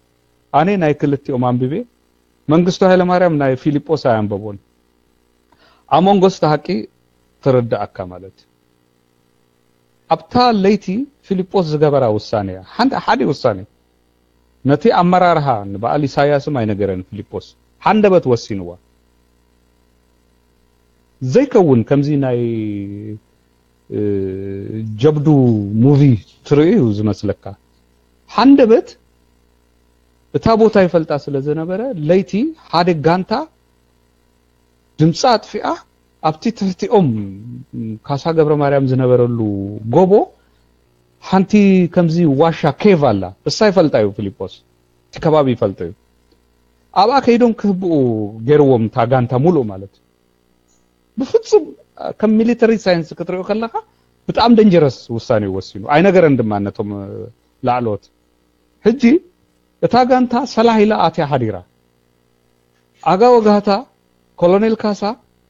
ኣነ ናይ ክልቲኦም ኣንቢቤ መንግስቱ ኃይለማርያም ናይ ፊሊጶስ ኣያንበቦን ኣሞንጎ ስተ ሐቂ ትርዳኣካ ማለት ኣብታ ለይቲ ፊልጶስ ዝገበራ ውሳኔ እያ። ሓንቲ ሓደ ውሳኔ ነቲ ኣመራርሃ ንበዓል ኢሳያስም ኣይነገረን ፊልጶስ ሓንደበት ወሲንዋ። ዘይከውን ከምዚ ናይ እ፣ ጀብዱ ሙቪ ትርእዩ ዝመስለካ። ሓንደበት እታ ቦታ ይፈልጣ ስለ ዝነበረ ለይቲ ሓደ ጋንታ ድምፂ ኣጥፊኣ ኣብቲ ትሕቲኦም ካሳ ገብረ ማርያም ዝነበረሉ ጎቦ ሓንቲ ከምዚ ዋሻ ኬቭ ኣላ እሳ ይፈልጣ እዩ ፊሊጶስ እቲ ከባቢ ይፈልጦ እዩ ኣብኣ ከይዶም ክህብኡ ገይርዎም እታ ጋንታ ሙሉእ ማለት እዩ ብፍፁም ከም ሚሊተሪ ሳይንስ ክትሪኦ ከለኻ ብጣዕሚ ደንጀረስ ውሳኔ እዩ ወሲኑ። ኣይነገረን ድማ ነቶም ላዕሎት። ሕጂ እታ ጋንታ ሰላህ ኢላ ኣትያ ሓዲራ። ኣጋ ወጋህታ ኮሎኔል ካሳ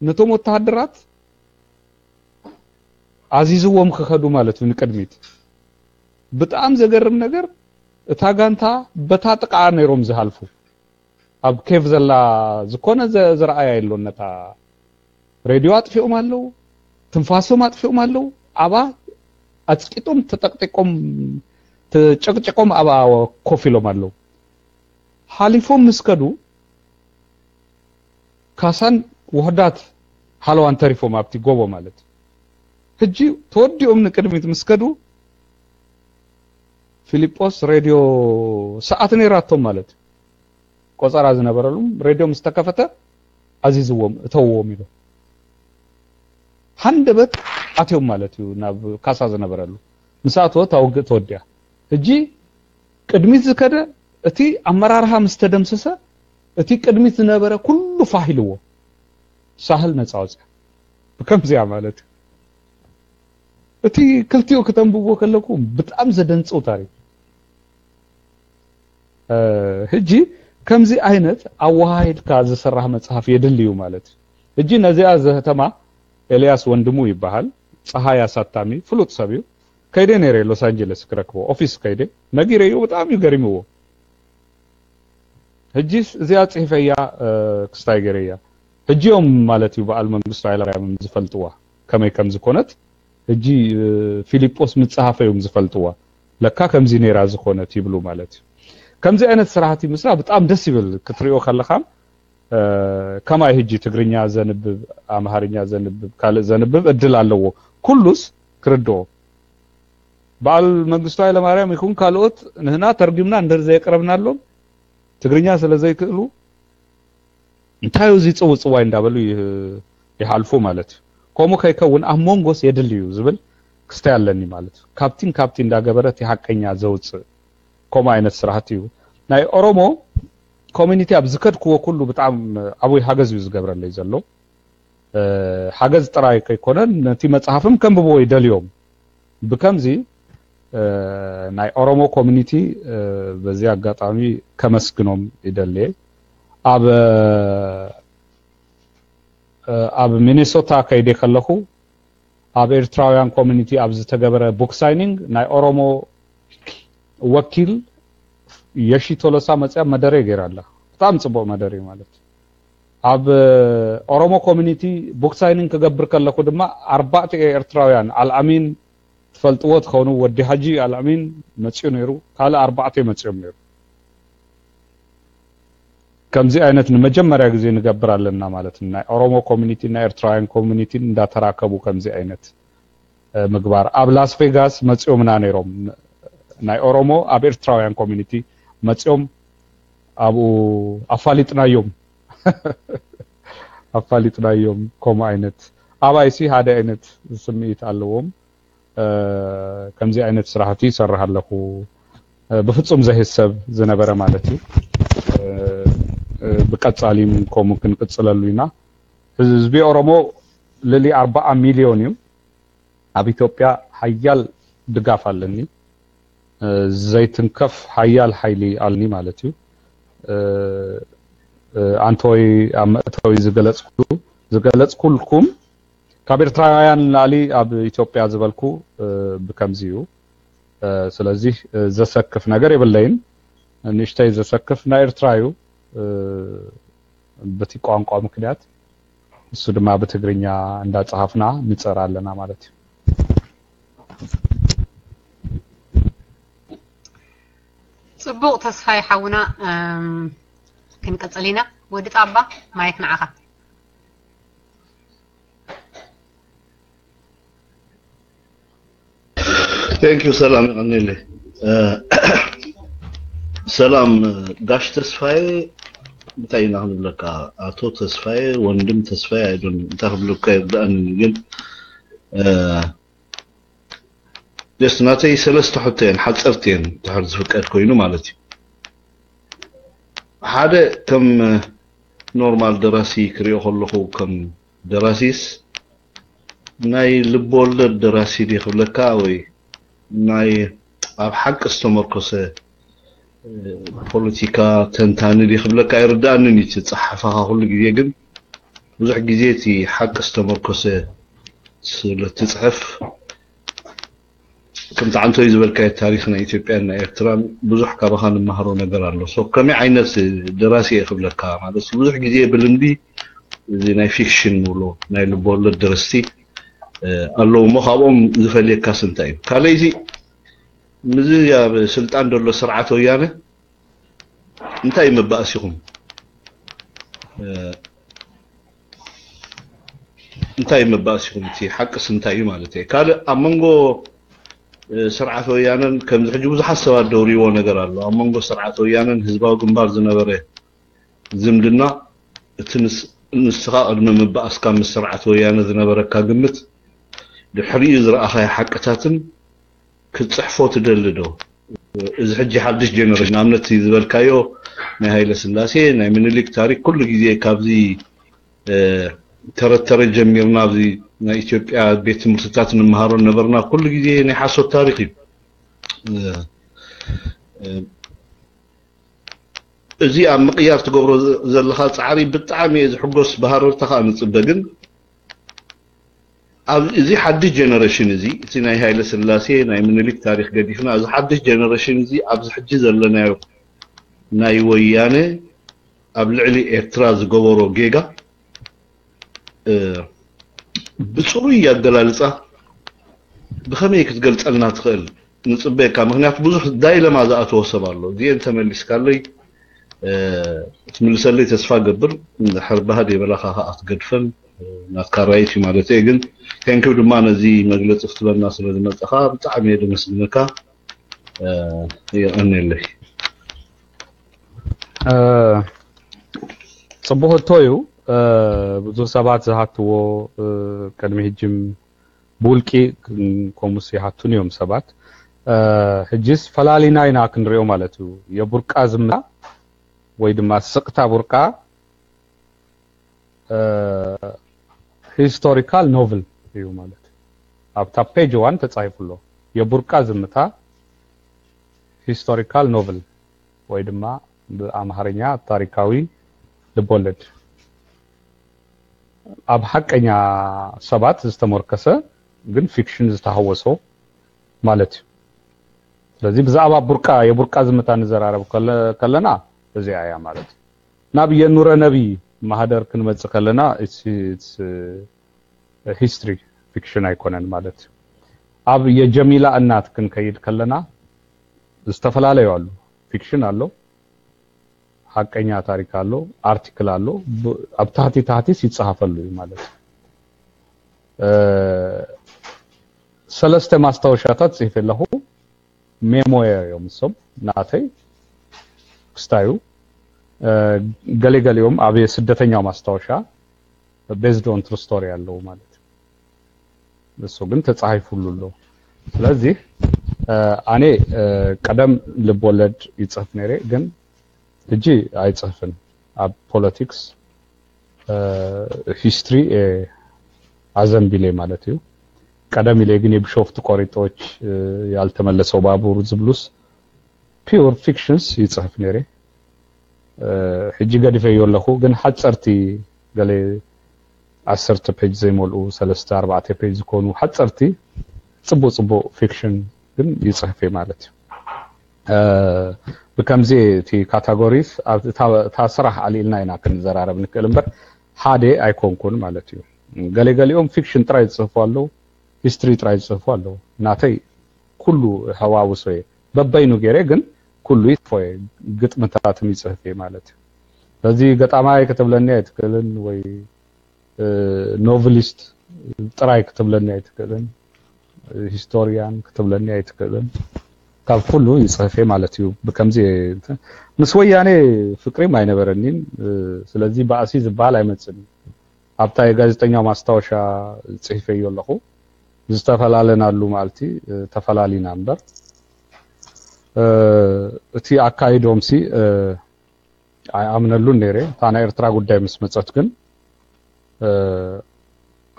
ነቶም ወተሃደራት ኣዚዝዎም ክኸዱ ማለት እዩ ንቅድሚት። ብጣዕሚ ዘገርም ነገር እታ ጋንታ በታ ጥቃ ነይሮም ዝሃልፉ። ኣብ ኬቭ ዘላ ዝኾነ ዘ- ዝረኣያ የሎን። ነታ ሬድዮ ኣጥፊኦም ኣለዉ፣ ትንፋሶም ኣጥፊኦም ኣለዉ። ኣባ ኣጽቂጦም ተጠቅጢቆም ተጨቅጭቆም ኣባ ኮፍ ኢሎም ኣለዉ። ሓሊፎም ምስ ከዱ ካሳን ውሕዳት ሃለዋን ተሪፎም ኣብቲ ጎቦ ማለት እዩ። ሕጂ ተወዲኦም ንቅድሚት ምስ ከዱ ፊሊጶስ ሬድዮ ሰዓት ነይራቶም ማለት እዩ። ቆጸራ ዝነበረሉ ሬድዮ ምስ ተከፈተ ኣዚዝዎም እተውዎም ኢሉ ሃንደበት ኣትዮም ማለት እዩ ናብ ካሳ ዝነበረሉ። ምስ ኣተወ እታ ውግእ ተወዲኣ። ሕጂ ቅድሚት ዝከደ እቲ ኣመራርሃ ምስ ተደምሰሰ እቲ ቅድሚት ዝነበረ ኩሉ ፋህ ኢልዎ ሳህል ነፃ ወፅያ። ብከምዚያ ማለት እዩ። እቲ ክልቲኡ ክተንብቦ ከለኩ ብጣዕሚ ዘደንፅው ታሪክ። ሕጂ ከምዚ ዓይነት ኣወሃሂድካ ዝስራሕ መፅሓፍ የድሊ እዩ ማለት እዩ። ሕጂ ነዚኣ ዘህተማ ኤልያስ ወንድሙ ይበሃል። ፀሃይ ኣሳታሚ ፍሉጥ ሰብ እዩ። ከይደ ነይረ ሎስ ኣንጀለስ ክረክቦ ኦፊስ ከይደ ነጊረዮ ብጣዕሚ እዩ ገሪምዎ። ሕጂስ እዚኣ ጽሒፈያ ክስታይ ገይረያ። ሕጂ እዮም ማለት እዩ በዓል መንግስቱ ኃይለማርያም ዝፈልጥዋ ከመይ ከም ዝኾነት። ሕጂ ፊሊጶስ ምጽሃፈ እዮም ዝፈልጥዋ። ለካ ከምዚ ነይራ ዝኾነት ይብሉ ማለት እዩ። ከምዚ ዓይነት ስራሕቲ ምስራ ብጣም ደስ ይብል ክትሪኦ ከለኻ። ከማይ ሕጂ ትግርኛ ዘንብብ፣ ኣምሃርኛ ዘንብብ፣ ካልእ ዘንብብ እድል ኣለዎ። ኩሉስ ክርድኦ። በዓል መንግስቱ ኃይለማርያም ይኹን ካልኦት ንህና ተርጉምና እንድር ዘየቅረብናሎም ትግርኛ ስለ ዘይክእሉ እንታይ እዩ እዚ ጽውጽዋይ እንዳበሉ ይህ- ይሓልፉ ማለት እዩ። ከምኡ ከይከውን ኣብ መንጎስ የድሊ እዩ ዝብል ክስታይ ኣለኒ ማለት እዩ። ካብቲን ካብቲ እንዳገበረ እቲ ሓቀኛ ዘውፅእ ከምኡ ዓይነት ስራሕቲ እዩ። ናይ ኦሮሞ ኮሚኒቲ ኣብ ዝከድክዎ ኩሉ ብጣዕሚ ዓብይ ሓገዝ እዩ ዝገብረለይ ዘሎ። ሓገዝ ጥራይ ከይኮነ ነቲ መጽሓፍም ከንብብዎ ይደልዮም። ብከምዚ ናይ ኦሮሞ ኮሚኒቲ በዚ ኣጋጣሚ ከመስግኖም ይደልየ። ኣብ ኣብ ሚኔሶታ ከይደ ከለኹ ኣብ ኤርትራውያን ኮሚኒቲ ኣብ ዝተገበረ ቡክ ሳይኒንግ ናይ ኦሮሞ ወኪል የሺ ቶሎሳ መጽያ መደረ ገይራ ኣላ። ብጣዕሚ ጽቡቕ መደረ ማለት ኣብ ኦሮሞ ኮሚኒቲ ቡክ ሳይኒንግ ክገብር ከለኹ ድማ ኣርባዕተ ኤርትራውያን ኣልኣሚን ትፈልጥዎ ትኸውን ወዲ ሓጂ ኣልኣሚን መጽኡ ነይሩ። ካልእ ኣርባዕተ መጽኦም ነይሩ። ከምዚ ዓይነት ንመጀመርያ ግዜ ንገብር ኣለና ማለት እዩ። ናይ ኦሮሞ ኮሚኒቲ ናይ ኤርትራውያን ኮሚኒቲ እንዳተራከቡ ከምዚ ዓይነት ምግባር ኣብ ላስ ቬጋስ መጽኦምና ነይሮም። ናይ ኦሮሞ ኣብ ኤርትራውያን ኮሚኒቲ መጽኦም ኣብኡ ኣፋሊጥናዮም ኣፋሊጥናዮም። ከምኡ ዓይነት ኣባይሲ ሓደ ዓይነት ስምዒት ኣለዎም። ከምዚ ዓይነት ስራሕቲ ይሰርሕ ኣለኹ። ብፍጹም ዘህሰብ ዝነበረ ማለት እዩ። ብቀጻሊም ከምኡ ክንቅጽለሉ ኢና። ህዝቢ ኦሮሞ ልዕሊ ኣርባዓ ሚልዮን እዩ። ኣብ ኢትዮጵያ ሓያል ድጋፍ ኣለኒ። ዘይትንከፍ ሓያል ሓይሊ ኣለኒ ማለት እዩ። ኣንቶይ ኣብ መእተዊ ዝገለጽኩ ዝገለጽኩልኩም ካብ ኤርትራውያን ንላዕሊ ኣብ ኢትዮጵያ ዝበልኩ ብከምዚ እዩ። ስለዚህ ዘሰክፍ ነገር የብለይን። ንእሽተይ ዘሰክፍ ናይ ኤርትራ እዩ። በቲ ቋንቋ ምክንያት እሱ ድማ ብትግርኛ እንዳጸሃፍና ንጸር ኣለና ማለት እዩ። ጽቡቕ ተስፋይ ሓውና ክንቀጽል ኢና። ወዲ ጣባ ማይክ ንዓኻ። Thank you ሰላም ይቐኒለይ። ሰላም ጋሽ ተስፋዬ እንታይ ኢና ክንብለካ? ኣቶ ተስፋዬ ወንድም ተስፋዬ ኣይዶን እንታይ ክብለካ ይርዳእኒ ግን just ናተይ ሰለስተ ሕቶ እየን ሓፀርቲ እየን ድሕር ዝፍቀድ ኮይኑ ማለት እዩ። ሓደ ከም ኖርማል ደራሲ ክሪኦ ከለኹ ከም ደራሲስ ናይ ልብ ወለድ ደራሲ ድየ ክብለካ ወይ ናይ ኣብ ሓቂ ዝተመርኮሰ ፖለቲካ ተንታኒ ድየ ክብለካ ኣይርዳእንን እዩ። እቲ ጸሓፋኻ ኩሉ ግዜ ግን ብዙሕ ግዜ እቲ ሓቂ ዝተመርኮሰ ስለ ትጽሕፍ፣ ከምቲ ዓንቶይ ዝበልካዮ ታሪኽ ናይ ኢትዮጵያን ናይ ኤርትራን ብዙሕ ካባኻ ንመሃሮ ነገር ኣሎ። ሶ ከመይ ዓይነት ደራሲ እየ ክብለካ ማለት ብዙሕ ግዜ ብልምዲ እዚ ናይ ፊክሽን ንብሎ ናይ ልቦወለድ ደረስቲ ኣለዉ እሞ ካብኦም ዝፈልየካስ እንታይ እዩ? ካልእ እዚ ምስዚ ኣብ ስልጣን ዘሎ ስርዓት ወያነ እንታይ እዩ መባእሲኹም? እንታይ መባእሲኹም? እቲ ሓቅስ እንታይ እዩ ማለት እየ። ካልእ ኣብ መንጎ ስርዓት ወያነን ከምዚ ሕጂ ብዙሓት ሰባት ደውርዎ ነገር ኣሎ። ኣብ መንጎ ስርዓት ወያነን ህዝባዊ ግንባር ዝነበረ ዝምድና እቲ ንስኻ ቅድሚ ምባእስካ ምስ ስርዓት ወያነ ዝነበረካ ግምት ድሕሪኡ ዝረኣኻዮ ሓቅታትን ክትፅሕፎ ትደሊ ዶ? እዚ ሕጂ ሓድሽ ጀነሬሽን ንኣብነት ዝበልካዮ ናይ ሃይለ ስላሴ ናይ ምኒልክ ታሪክ ኩሉ ግዜ ካብዚ ተረተረ ጀሚርና ኣብዚ ናይ ኢትዮጵያ ቤት ትምህርትታት ንምሃሮ ነበርና። ኩሉ ግዜ ናይ ሓሶት ታሪክ እዩ። እዚ ኣብ ምቕያር ትገብሮ ዘለኻ ፃዕሪ ብጣዕሚ እየ ዝሕጎስ፣ ብሃረርታ ከዓ ንፅበ። ግን ኣብ እዚ ሓድሽ ጀነሬሽን እዚ እቲ ናይ ሃይለ ስላሴ ናይ ምኒልክ ታሪክ ገዲፍና እዚ ሓድሽ ጀነሬሽን እዚ ኣብዚ ሕጂ ዘለናዮ ናይ ወያነ ኣብ ልዕሊ ኤርትራ ዝገበሮ ጌጋ ብፅሩይ ኣገላልፃ ብኸመይ ክትገልፀልና ትኽእል? ንፅበየካ። ምክንያቱ ብዙሕ ዳይለማ ዝኣተዎ ሰብ ኣሎ። እዚኤን ተመሊስካለይ ትምልሰለይ ተስፋ ገብር። እንድሕር ባህድ የበላኻ ከዓ ክትገድፈን ናትካ ራይት እዩ ማለት እየ። ግን ቴንኪው ድማ ነዚ መግለፂ ክትበና ስለ ዝመፀኻ ብጣዕሚ እየ ደመስግነካ። የቐንየለይ። ፅቡቅ ህቶ እዩ። ብዙሕ ሰባት ዝሃትዎ ቅድሚ ሕጅም ብውልቂ ከምኡስ ይሃቱን እዮም ሰባት። ሕጂስ ፈላሊና ኢና ክንሪኦ ማለት እዩ። የቡርቃ ዝምታ ወይ ድማ ስቅታ ቡርቃ ሂስቶሪካል ኖቭል እዩ ማለት ኣብታ ፔጅ ዋን ተጻሒፉ ኣሎ። የቡርቃ ዝምታ ሂስቶሪካል ኖቭል ወይ ድማ ብኣምሃርኛ ታሪካዊ ልቦለድ ኣብ ሓቀኛ ሰባት ዝተመርከሰ ግን ፊክሽን ዝተሃወሶ ማለት እዩ። ስለዚ ብዛዕባ ቡርቃ የቡርቃ ዝምታ ንዘራረብ ከለና እዚኣ እያ ማለት እዩ። ናብ የኑረ ነቢ ማህደር ክንመጽእ ከለና ሂስትሪ ፊክሽን ኣይኮነን ማለት እዩ። ኣብ የጀሚላ እናት ክንከይድ ከለና ዝተፈላለዩ ኣሉ። ፊክሽን ኣሎ፣ ሓቀኛ ታሪክ ኣሎ፣ ኣርቲክል ኣሎ። ኣብ ታህቲ ታህቲስ ይጸሃፈሉ እዩ ማለት እዩ። ሰለስተ ማስታወሻታት ጽሒፈ ኣለኹ። ሜሞየር እዮም እሶም ናተይ ክስታዩ ገሌ ገሊኦም ኣብ ስደተኛው ማስታወሻ ቤዝድ ኦን ትሩ ስቶሪ ኣለዉ ማለት እዩ። እሱ ግን ተጻሂፉሉ ኣሎ። ስለዚ ኣነ ቀደም ልብ ወለድ ይጽህፍ ነይረ፣ ግን ሕጂ ኣይጽህፍን። ኣብ ፖለቲክስ ሂስትሪ ኣዘንቢለ ማለት እዩ። ቀደም ኢለ ግን የቢሾፍቱ ቆሪጦች፣ ያልተመለሰው ባቡር ዝብሉስ ፒውር ፊክሽንስ ይጽህፍ ነይረ። ሕጂ ገዲፈዮ ኣለኹ፣ ግን ሓጸርቲ ገለ ዓሰርተ ፔጅ ዘይመልኡ ሰለስተ ኣርባዕተ ፔጅ ዝኾኑ ሓጸርቲ ጽቡቅ ጽቡቅ ፊክሽን ግን ይጽህፍ እየ ማለት እዩ። ብከምዚ እቲ ካታጎሪስ እታ ስራሕ ኣልኢልና ኢና ክንዘራረብ ንክእል እምበር ሓደ ኣይኮንኩን ማለት እዩ። ገለ ገሊኦም ፊክሽን ጥራይ ዝጽህፉ ኣለዉ፣ ሂስትሪ ጥራይ ዝጽህፉ ኣለዉ። ናተይ ኩሉ ሕዋውሶ እየ። በበይኑ ገይረ ግን ኩሉ ይጽፎ እየ። ግጥምታትን ይጽህፍ እየ ማለት እዩ። ስለዚ ገጣማይ ክትብለኒ ኣይትክእልን ወይ ኖቭሊስት ጥራይ ክትብለኒ ኣይትክእልን፣ ሂስቶሪያን ክትብለኒ ኣይትክእልን። ካብ ኩሉ ይጽህፍ እየ ማለት እዩ። ብከምዚ ምስ ወያኔ ፍቅሪም ኣይነበረኒን። ስለዚ ባእሲ ዝበሃል ኣይመጽን እዩ። ኣብታ የጋዜጠኛ ማስታወሻ ጽሒፈዮ ኣለኹ። ዝተፈላለናሉ መዓልቲ ተፈላሊና እምበር እቲ ኣካይዶምሲ ኣይኣምነሉን ነይረ። እታ ናይ ኤርትራ ጉዳይ ምስ መጸት ግን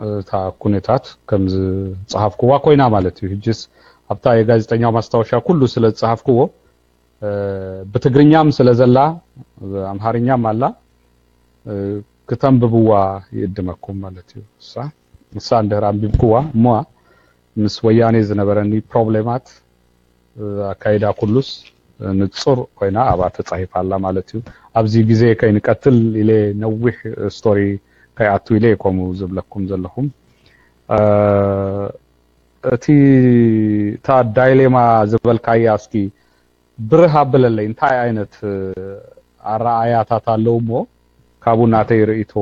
እታ ኩነታት ከም ዝጸሓፍኩዋ ኮይና ማለት እዩ። ሕጅስ ኣብታ የጋዜጠኛው ማስታወሻ ኩሉ ስለ ዝጸሓፍኩዎ፣ እ፣ ብትግርኛም ስለ ዘላ፣ ኣምሓርኛም ኣላ፣ እ፣ ክተንብብዋ ይእድመኩም ማለት እዩ። እሳ፣ እሳ እንድሕር ኣንቢብኩዋ እሞ ምስ ወያኔ ዝነበረኒ ፕሮብሌማት፣ እ፣ ኣካይዳ ኩሉስ ንጹር ኮይና ኣብኣ ተጻሂፋ ኣላ ማለት እዩ። ኣብዚ ግዜ ከይንቀትል ኢለ ነዊሕ ስቶሪ ከይኣቱ ኢለ እየ ከምኡ ዝብለኩም ዘለኹም። እ፣ እቲ፣ እታ ዳይሌማ ዝበልካያ እስኪ ብርህ ኣብለለይ፣ እንታይ ዓይነት፣ እ፣ ኣረኣእያታት ኣለዉ እሞ ካብኡ ናተይ ርእይቶ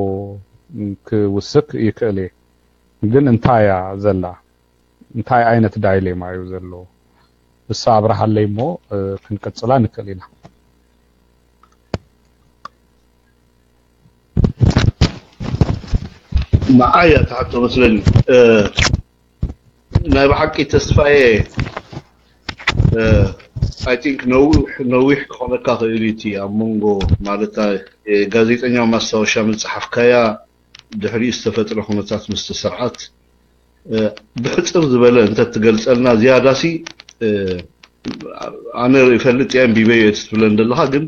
ክውስክ ይክእል እየ። ግን እንታይ እያ ዘላ? እንታይ ዓይነት ዳይሌማ እዩ ዘሎ? እሳ ኣብርሃለይ እሞ፣ እ፣ ክንቅጽላ ንክእል ኢና። ንዓይ እያ ትሓቶ መስለኒ። እ፣ ናይ ብሓቂ ተስፋዬ፣ እ፣ I think ነዊሕ፣ ነዊሕ ክኾነካ ክእል እዩ እቲ ኣብ መንጎ፣ ማለት፣ እ፣ ጋዜጠኛ ማስታወሻ ምጽሓፍካያ ድሕሪኡ ዝተፈጥረ ኩነታት ምስቲ ስርዓት፣ እ፣ ብሕጽር ዝበለ እንተትገልጸልና ዝያዳሲ፣ እ፣ ኣነ ይፈልጥ እየ፣ ኣንቢበዮ እየ ትብለን ዘለኻ፣ ግን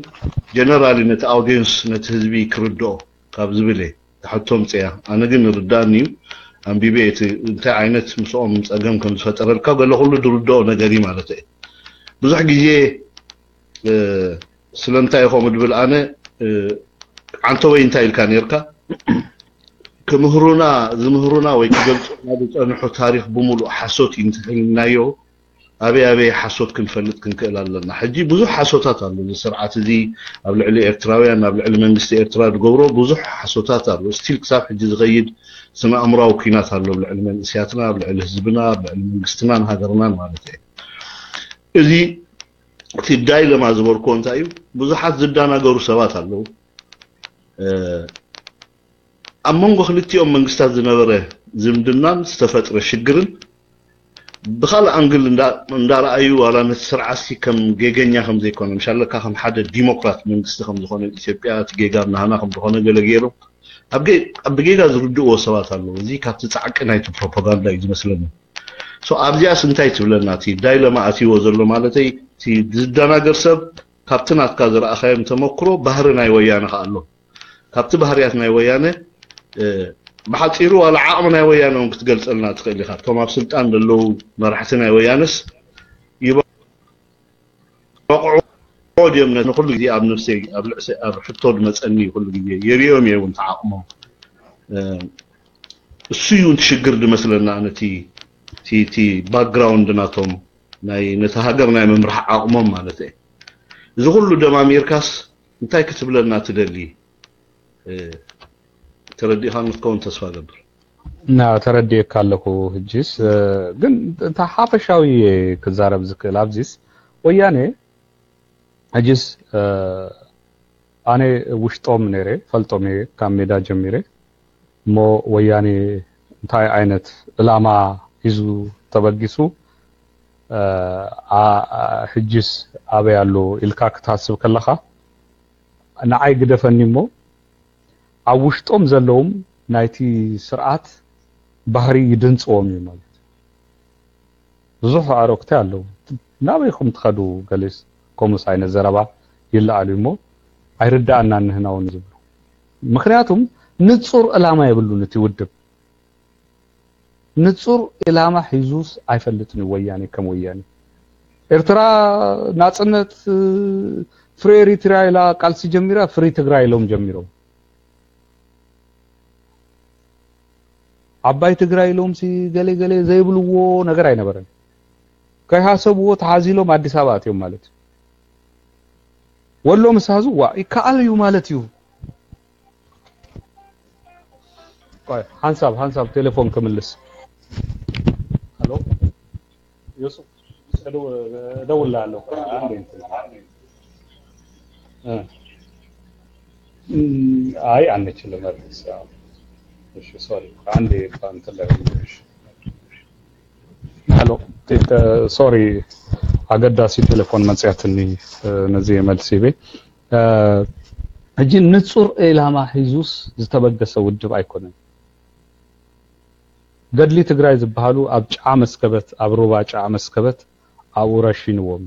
ጀነራሊ ነቲ ኣውዲየንስ፣ ነቲ ህዝቢ ክርድኦ ካብ ዝብል እየ ትሕቶ ምጽያ። ኣነ ግን ይርዳእኒ እዩ፣ ኣንቢበ እቲ እንታይ ዓይነት ምስኦም ጸገም ከም ዝፈጠረልካ ገለ ኩሉ ዝርድኦ ነገር እዩ ማለት እየ። ብዙሕ ግዜ፣ እ፣ ስለምንታይ እዩ ከምኡ ድብል ኣነ፣ እ፣ ዓንተወይ እንታይ ኢልካ ነርካ? ክምህሩና፣ ዝምህሩና ወይ ክገልጹና ዝጸንሑ ታሪኽ ብምሉእ ሓሶት እዩ እንተኢልናዮ፣ ኣበይ ኣበይ ሓሶት ክንፈልጥ ክንክእል ኣለና? ሕጂ ብዙሕ ሓሶታት ኣሎ። እዚ ስርዓት እዚ ኣብ ልዕሊ ኤርትራውያን፣ ኣብ ልዕሊ መንግስቲ ኤርትራ ዝገብሮ ብዙሕ ሓሶታት ኣሎ። ስቲል ክሳብ ሕጂ ዝኸይድ ስነ ኣእምራዊ ኲናት ኣሎ ኣብ ልዕሊ መንእስያትና፣ ኣብ ልዕሊ ህዝብና፣ ኣብ ልዕሊ መንግስትናን ሃገርናን ማለት እዩ። እዚ እቲ ዳይለማ ዝበልክዎ እንታይ እዩ? ብዙሓት ዝደናገሩ ሰባት ኣለዉ። እ፣ ኣብ መንጎ ክልቲኦም መንግስታት ዝነበረ ዝምድናን ዝተፈጥረ ሽግርን ብኻልእ ኣንግል እንዳ-፣ እንዳረኣዩ፣ ዋላ ነቲ ስርዓትሲ ከም ጌገኛ ከም ዘይኮነ፣ ምሻለካ ከም ሓደ ዲሞክራት መንግስቲ ከም ዝኾነ፣ ኢትዮጵያ እቲ ጌጋ ናህና ከም ዝኾነ ገለ ገይሮም ኣብ ጌ-፣ ኣብ ብጌጋ ዝርድእዎ ሰባት ኣለዉ። እዚ ካብቲ ጻዕቂ ናይቲ ፕሮፓጋንዳ እዩ ዝመስለኒ። ሶ ኣብዚኣስ እንታይ ትብለና? እቲ ዳይለማ ኣትይዎ ዘሎ ማለተይ፣ እቲ ዝደናገር ሰብ ካብቲ ናትካ ዝረኣኻዮም ተመክሮ ባህሪ ናይ ወያነ ከኣ ኣሎ። ካብቲ ባህርያት ናይ ወያነ፣ እ፣ ብሓጺሩ ዋላ ዓቕሚ ናይ ወያነ እውን ክትገልጸልና ትኽእል ኢኻ። እቶም ኣብ ስልጣን ዘለዉ መራሕቲ ናይ ወያነስ ይበቕዑ ድዮም? ነቲ ንኹሉ ግዜ ኣብ ነፍሰይ፣ ኣብ ልዕሰ-፣ ኣብ ሕቶ ዝመጸኒ ኩሉ ግዜ የርእዮም እየ እውን ተዓቕሞም። እ፣ እሱ እዩ እቲ ሽግር ዝመስለና፣ ነቲ፣ እቲ፣ እቲ ባክግራውንድ ናቶም ናይ፣ ነቲ ሃገር ናይ ምምራሕ ዓቕሞም ማለት እየ። እዚ ኩሉ ደማሚርካስ እንታይ ክትብለና ትደሊ? እ፣ ተረዲእኻኒ ክትከውን ተስፋ እገብር። ና፣ ተረዲኤካ ኣለኹ። ሕጂስ፣ እ፣ ግን እንታ ሓፈሻዊ እየ ክዛረብ ዝክእል። ኣብዚስ ወያኔ ሕጂስ፣ እ፣ ኣነ ውሽጦም ነይረ፣ ፈልጦም እየ ካብ ሜዳ ጀሚረ። እሞ ወያኔ እንታይ ዓይነት ዕላማ ሒዙ ተበጊሱ፣ እ፣ ኣ-፣ ኣ-፣ ሕጂስ ኣበይ ኣሎ ኢልካ ክትሃስብ ከለኻ፣ ንዓይ ግደፈኒ እሞ፣ ኣብ ውሽጦም ዘለዎም ናይቲ ስርዓት ባህሪ ይድንጽዎም እዩ ማለት እዩ። ብዙሕ ኣዕሩኽቲ ኣለዉ። ናበይኹም ትኸዱ? ገሊስ ከምኡስ ዓይነት ዘረባ ይለኣል እዩ እሞ፣ ኣይርድኣናን ንህና እውን ዝብሉ። ምኽንያቱም ንጹር ዕላማ የብሉን እቲ ውድብ። ንጹር ዕላማ ሒዙስ ኣይፈልጥን እዩ ወያኔ ከም ወያኔ። ኤርትራ ናጽነት፣ እ፣ ፍሪ ኤሪትራ ኢላ ቃልሲ ጀሚራ፣ ፍሪ ትግራይ ኢሎም ጀሚሮም። ዓባይ ትግራይ ኢሎምሲ ገለ ገለ ዘይብልዎ ነገር ኣይነበረን። ከይሃሰብዎ ተሓዚሎም ኣዲስ ኣበባ ኣትዮም ማለት እዩ። ወሎ ምስ ሃዙ ዋ ይከኣል እዩ ማለት እዩ። ቆይ፣ ሓንሳብ፣ ሓንሳብ ቴሌፎን ክምልስ። ሃሎ፣ ዮሱፍ፣ እደው-፣ እደውልልሃለሁ። ቆይ፣ አንዴ እንትን። እ። እም፣ አይ፣ አንችልም። መልስ፣ ያው። እሺ፣ ሶሪ። አንዴ እንትን ልበል። እሺ። ሃሎ፣ ቴ-፣ ሶሪ፣ ኣገዳሲ ቴሌፎን መጽያትኒ፣ እ፣ ነዚ መልሲ ቤ። እ፣ ሕጂ ንጹር ዒላማ ሒዙስ ዝተበገሰ ውድብ ኣይኮነን። ገድሊ ትግራይ ዝበሃሉ ኣብ ጫዓ መስከበት፣ ኣብ ሩባ ጫዓ መስከበት ኣብኡ ረሺንዎም።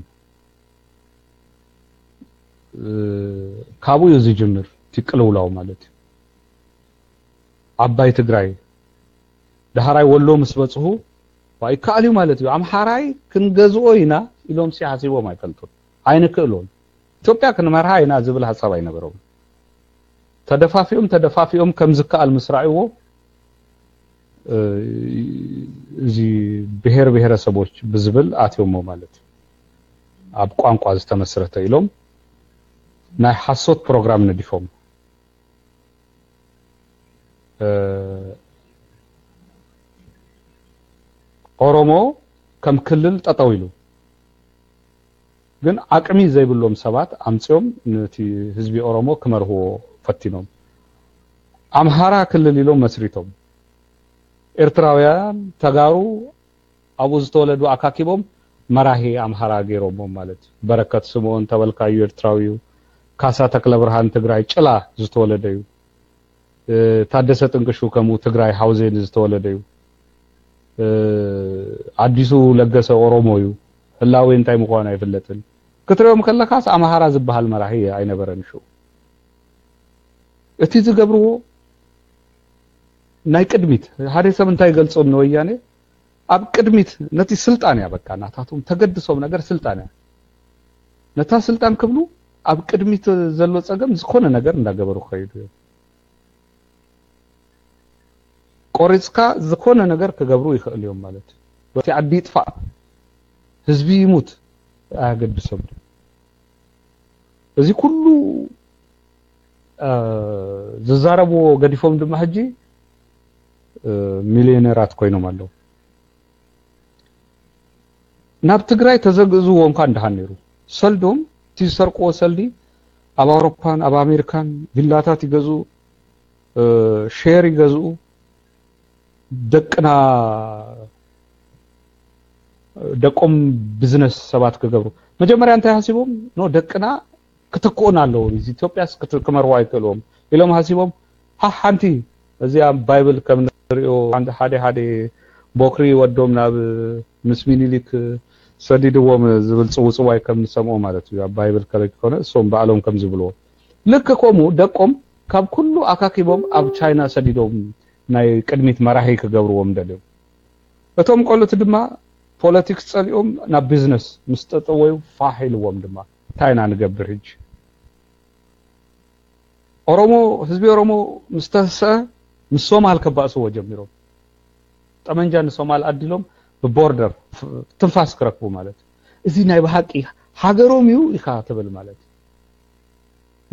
ካብኡ እዩ ዝጅምር እቲ ቅልውላው ማለት እዩ። ዓባይ ትግራይ ዳሕራይ ወሎ ምስ በፅሁ ይከኣል እዩ ማለት እዩ። ኣምሓራይ ክንገዝኦ ኢና ኢሎም ሲ ሓሲቦም ኣይፈልጡን። ኣይንክእሎን። ኢትዮጵያ ክንመርሃ ኢና ዝብል ሓሳብ ኣይነበሮም። ተደፋፊኦም ተደፋፊኦም ከም ዝከኣል ምስ ረኣይዎ እዚ ብሄር ብሄረሰቦች ብዝብል ኣትዮሞ ማለት እዩ። ኣብ ቋንቋ ዝተመስረተ ኢሎም ናይ ሓሶት ፕሮግራም ነዲፎም። ኦሮሞ ከም ክልል ጠጠው ኢሉ ግን ዓቅሚ ዘይብሎም ሰባት ኣምፅኦም ነቲ ህዝቢ ኦሮሞ ክመርህዎ ፈቲኖም። ኣምሃራ ክልል ኢሎም መስሪቶም። ኤርትራውያን ተጋሩ ኣብኡ ዝተወለዱ ኣካኪቦም መራሂ ኣምሃራ ገይሮሞም ማለት እዩ። በረከት ስምኦን ተበልካዩ ኤርትራዊ እዩ። ካሳ ተክለ ብርሃን ትግራይ ጭላ ዝተወለደ እዩ። ታደሰ ጥንቅሹ ከምኡ ትግራይ ሓውዜን ዝተወለደ እዩ። ኣዲሱ ለገሰ ኦሮሞ እዩ። ህላዌ እንታይ ምዃኑ ኣይፍለጥን። ክትሪኦም ከለካስ ኣምሃራ ዝበሃል መራሂ ኣይነበረን ሽኡ። እቲ ዝገብርዎ ናይ ቅድሚት ሓደ ሰብ እንታይ ገልጾም ንወያኔ ኣብ ቅድሚት ነቲ ስልጣን እያ በቃ ናታቶም ተገድሶም ነገር ስልጣን እያ። ነታ ስልጣን ክብሉ ኣብ ቅድሚት ዘሎ ጸገም ዝኾነ ነገር እንዳገበሩ ክኸይዱ እዮም። ቆሪጽካ ዝኾነ ነገር ክገብሩ ይኽእል እዮም ማለት እዩ። በቲ ዓዲ ይጥፋእ ህዝቢ ይሙት ኣያገድሶም። እዚ ኩሉ ዝዛረብዎ ገዲፎም ድማ ሕጂ ሚሊዮነራት ኮይኖም ኣለዉ። ናብ ትግራይ ተዘግእዝዎ እንኳ እንዳሃን ነይሩ ሰልዶም እቲ ዝሰርቅዎ ሰልዲ ኣብ ኣውሮፓን ኣብ ኣሜሪካን ቪላታት ይገዝኡ፣ ሼር ይገዝኡ፣ ደቅና ደቆም ቢዝነስ ሰባት ክገብሩ መጀመርያ እንታይ ሓሲቦም ኖ ደቅና ክትክኡን ኣለዉ ኢትዮጵያስ ክመርዋ ኣይክእልዎም ኢሎም ሓሲቦም ሓንቲ እዚኣ ባይብል ከም ንሪኦ ሓደ ሓደ ቦክሪ ወዶም ናብ ምስ ሚኒሊክ ሰዲድዎም ዝብል ፅውፅዋይ ከም ንሰምኦ ማለት እዩ። ኣብ ባይብል ከረጅ ኮነ እሶም ባዕሎም ከም ዝብልዎ ልክ ከምኡ ደቆም ካብ ኩሉ ኣካኪቦም ኣብ ቻይና ሰዲዶም ናይ ቅድሚት መራሒ ክገብርዎም ደልዮም። እቶም ቆልት ድማ ፖለቲክስ ጸሊኦም ናብ ቢዝነስ ምስ ጠጠወዩ ፋሕ ኢልዎም ድማ እንታይ ኢና ንገብር ሕጂ? ኦሮሞ ህዝቢ ኦሮሞ ምስ ተሰአ ምስ ሶማል ከባእስዎ ጀሚሮም። ጠመንጃ ንሶማል ኣዲሎም ብቦርደር ትንፋስ ክረክቡ ማለት እዚ ናይ ብሓቂ ሃገሮም እዩ ኢኻ ትብል ማለት።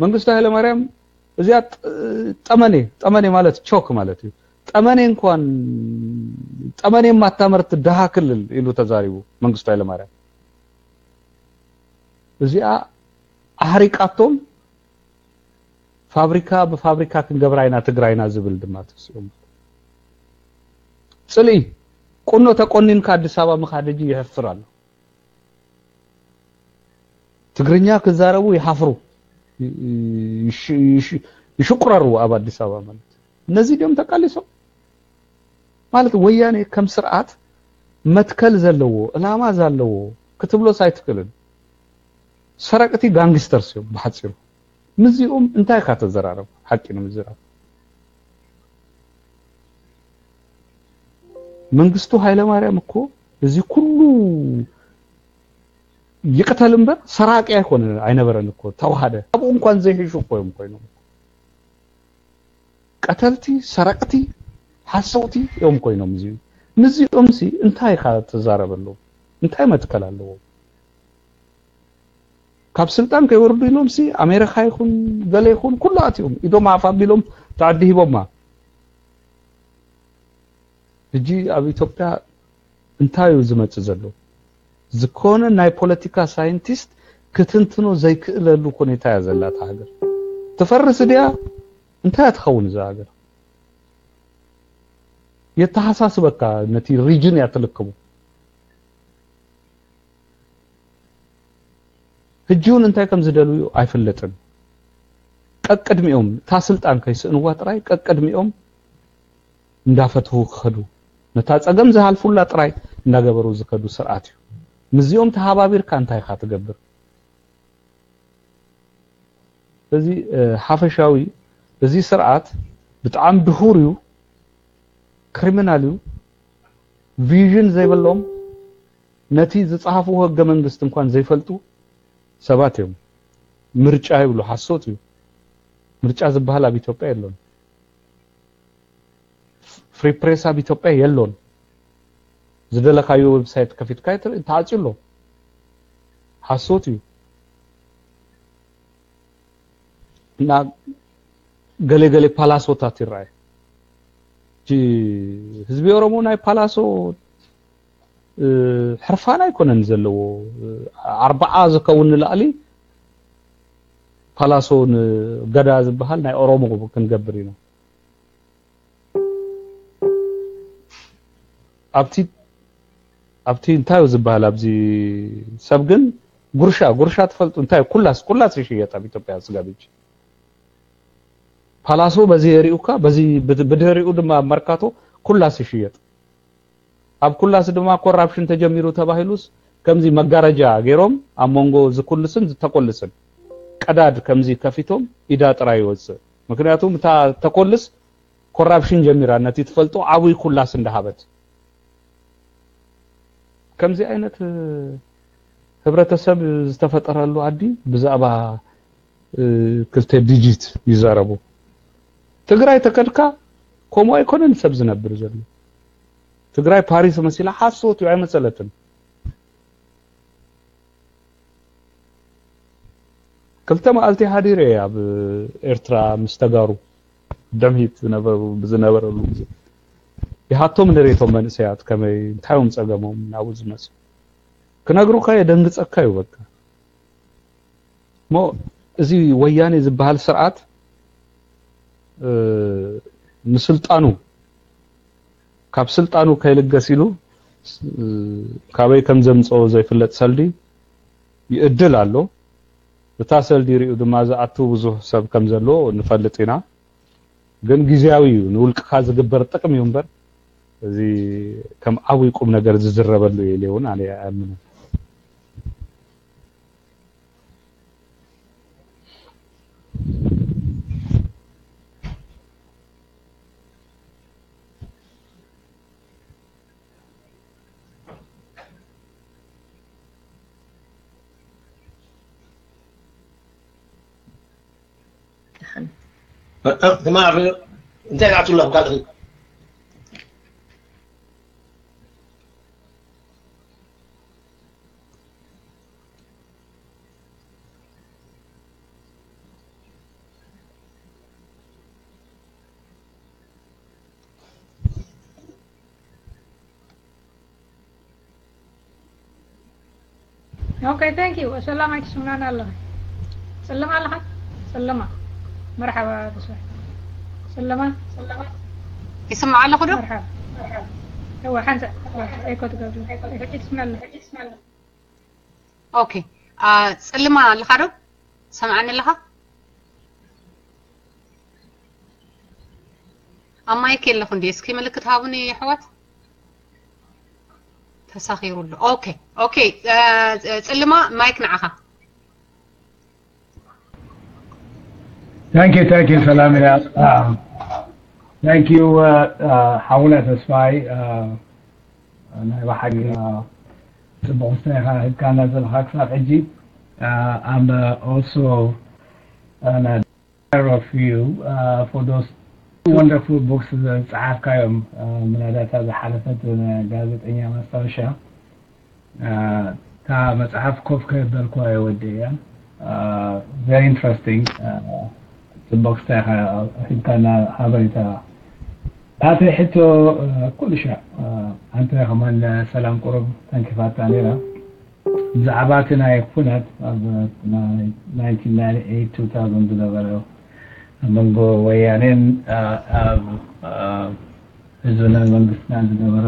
መንግስቱ ኃይለማርያም እዚኣ ጠመኔ ጠመኔ ማለት ቾክ ማለት እዩ። ጠመኔ እንኳን ጠመኔ የማታመርት ድሃ ክልል ኢሉ ተዛሪቡ መንግስቱ ኃይለማርያም። እዚኣ ኣሕሪቃቶም ፋብሪካ ብፋብሪካ ክንገብራ ኢና ትግራይና ዝብል ድማ ተሲኦም። ፅልኢ ቁኖ ተቆኒንካ ኣዲስ ኣበባ ምኻድ ሕጂ ይሕፍር ኣሎ። ትግርኛ ክዛረቡ ይሓፍሩ፣ ይሽቁረሩ ኣብ ኣዲስ ኣበባ ማለት ነዚ ድዮም ተቃሊሶም ማለት ወያኔ ከም ስርዓት መትከል ዘለዎ ዕላማ ዘለዎ ክትብሎስ ኣይትክእልን። ሰረቅቲ ጋንግስተርስ እዮም ብሓፂሩ። ምዚኦም እንታይ ኢካ ተዘራረብ ሓቂ ንምዝራብ መንግስቱ ኃይለማርያም እኮ እዚ ኩሉ ይቅተል እምበር ሰራቂ ኣይኮነ ኣይነበረን እኮ ተዋሃደ ኣብኡ እንኳን ዘይሕሹ እኮ እዮም ኮይኖም ቀተልቲ ሰረቅቲ ሓሰውቲ እዮም ኮይኖም እዚ ምዚኦም ሲ እንታይ ኢካ ተዛረበሎም እንታይ መትከል ኣለዎም ካብ ስልጣን ከይወርዱ ኢሎም ሲ ኣሜሪካ ይኹን ገለ ይኹን ኩሉ ኣትዮም ኢዶም ኣፍ ኣቢሎም ተዓዲ ሂቦማ ሕጂ ኣብ ኢትዮጵያ እንታይ እዩ ዝመጽእ ዘሎ ዝኾነ ናይ ፖለቲካ ሳይንቲስት ክትንትኖ ዘይክእለሉ ሁኔታ እያ ዘላታ ሃገር ትፈርስ ድያ እንታይ ትኸውን እዛ ሃገር የተሓሳስበካ ነቲ ሪጅን እያ ትልክቡ ሕጂ እውን እንታይ ከም ዝደልዩ ኣይፍለጥን ቀቅድሚኦም እታ ስልጣን ከይስእንዋ ጥራይ ቀቅድሚኦም እንዳፈትሁ ክኸዱ ነታ ጸገም ዝሃልፉላ ጥራይ እንዳገበሩ ዝከዱ ስርዓት እዩ። ምስዚኦም ተሃባቢርካ እንታይ ኢኻ ትገብር? እዚ ሓፈሻዊ፣ እዚ ስርዓት ብጣዕሚ ድሁር እዩ፣ ክሪሚናል እዩ። ቪዥን ዘይብሎም፣ ነቲ ዝጸሃፍዎ ህገ መንግስቲ እንኳን ዘይፈልጡ ሰባት እዮም። ምርጫ ይብሉ፣ ሓሶት እዩ። ምርጫ ዝበሃል ኣብ ኢትዮጵያ የሎን። ፍሪ ፕሬስ ኣብ ኢትዮጵያ የሎን። ዝደለካዮ ዌብሳይት ከፊትካ ተዓፅዩ ኣሎ። ሓሶት እዩ። እና ገለ ገለ ፓላሶታት ይረኣይ። ህዝቢ ኦሮሞ ናይ ፓላሶ ሕርፋን ኣይኮነን ዘለዎ። ኣርባዓ ዝከውን ንላዕሊ ፓላሶ ንገዳ ዝበሃል ናይ ኦሮሞ ክንገብር ኢና። ኣብቲ ኣብቲ እንታይ እዩ ዝበሃል ኣብዚ ሰብ ግን ጉርሻ ጉርሻ ትፈልጡ እንታይ ኩላስ ኩላስ ይሽየጥ ኣብ ኢትዮጵያ ስጋ ቤት። ፓላሶ በዚ የሪኡካ በዚ ብድህሪኡ ድማ ኣብ መርካቶ ኩላስ ይሽየጥ። ኣብ ኩላስ ድማ ኮራፕሽን ተጀሚሩ ተባሂሉስ ከምዚ መጋረጃ ገይሮም ኣብ መንጎ ዝኩልስን ዝተኮልስን ቀዳድ ከምዚ ከፊቶም ኢዳ ጥራይ ይወፅእ። ምክንያቱ እታ ተኮልስ ኮራፕሽን ጀሚራ ነቲ ትፈልጦ ዓብይ ኩላስ እንዳሃበት። ከምዚ ዓይነት ህብረተሰብ ዝተፈጠረሉ ዓዲ ብዛዕባ ክልተ ዲጂት ይዛረቡ። ትግራይ ተከድካ ከምኡ ኣይኮነን ሰብ ዝነብር ዘሎ። ትግራይ ፓሪስ መሲላ ሓሶት እዩ ኣይመሰለትን። ክልተ መዓልቲ ሃዲረ ኣብ ኤርትራ ምስ ተጋሩ ደምሂት ዝነበሩ ብዝነበረሉ ግዜ ይሃቶም ንሬቶም መንእሰያት ከመይ እንታይ እዮም ጸገሞም ናብኡ ዝመጹ ክነግሩካ የደንግጸካ እዩ በቃ። እሞ እዚ ወያኔ ዝበሃል ስርዓት እ፣ ንስልጣኑ ካብ ስልጣኑ ከይልገስ ኢሉ እ፣ ካበይ ከም ዘምፀኦ ዘይፍለጥ ሰልዲ ይእድል ኣሎ። እታ ሰልዲ ሪኡ ድማ ዝኣቱ ብዙህ ሰብ ከም ዘሎ ንፈልጥ ኢና። ግን ግዝያዊ እዩ፣ ንውልቅኻ ዝግበር ጥቅሚ እዩ እምበር እዚ ከም ዓብይ ቁም ነገር ዝዝረበሉ እዩ ኢለ እውን ኣነ ኣይኣምንን። ትማር እንታይ ናቱ ኣለኹ ካልእ Okay, thank you. ሰላም ኣይትስምናን ኣለኻ። ጸለማ ኣለኻ? ጸለማ። መርሓባ ተስፋ። ጸለማ፣ ጸለማ። ይስማዕ ኣለኹ ዶ? መርሓባ። እወ ሓንሳ ኤኮ ትገብሪ። ሕጂ ትስምዕ ኣለኻ። ኦኬ። አ ጸልማ ኣለኻ ዶ? ሰምዓኒ ኣለኻ? ኣብ ማይክ የለኹ እንዴ? እስኪ ምልክት ሃቡኒ ኣሕዋት። ተሳኺሩ ኣሎ። ኦኬ ኦኬ። ጽልማ ማይክ ንዓኻ። Thank you, thank you, ሰላም ኢላ። Thank you ሓውና ተስፋይ። ናይ ብሓቂ ጽቡቕ ምስታ ኢኻ ሂብካና ዘለኻ ክሳብ ሕጂ። I'm also an admirer of you for those wonderful books ዝጸሓፍካዮም። ምናልባት እታ ዝሓለፈት ጋዜጠኛ ማስታወሻ እታ መጽሓፍ ኮፍ ከየበልኩዋ እየ ወዲእያ። Very interesting። ጽቡቕ ክስታይ ኢኻ ሂብካና ሓበሬታ። ናተይ ሕቶ ኩሉ ሻዕ ኣንተ ከማን ሰላም ቁሩብ ተንኪፋታ ነይራ። ብዛዕባ እቲ ናይ ኩናት ኣብ nineteen ninety-eight two thousand ዝነበረ ኣብ መንጎ ወያኔን ኣብ ህዝብናን መንግስትናን ዝነበረ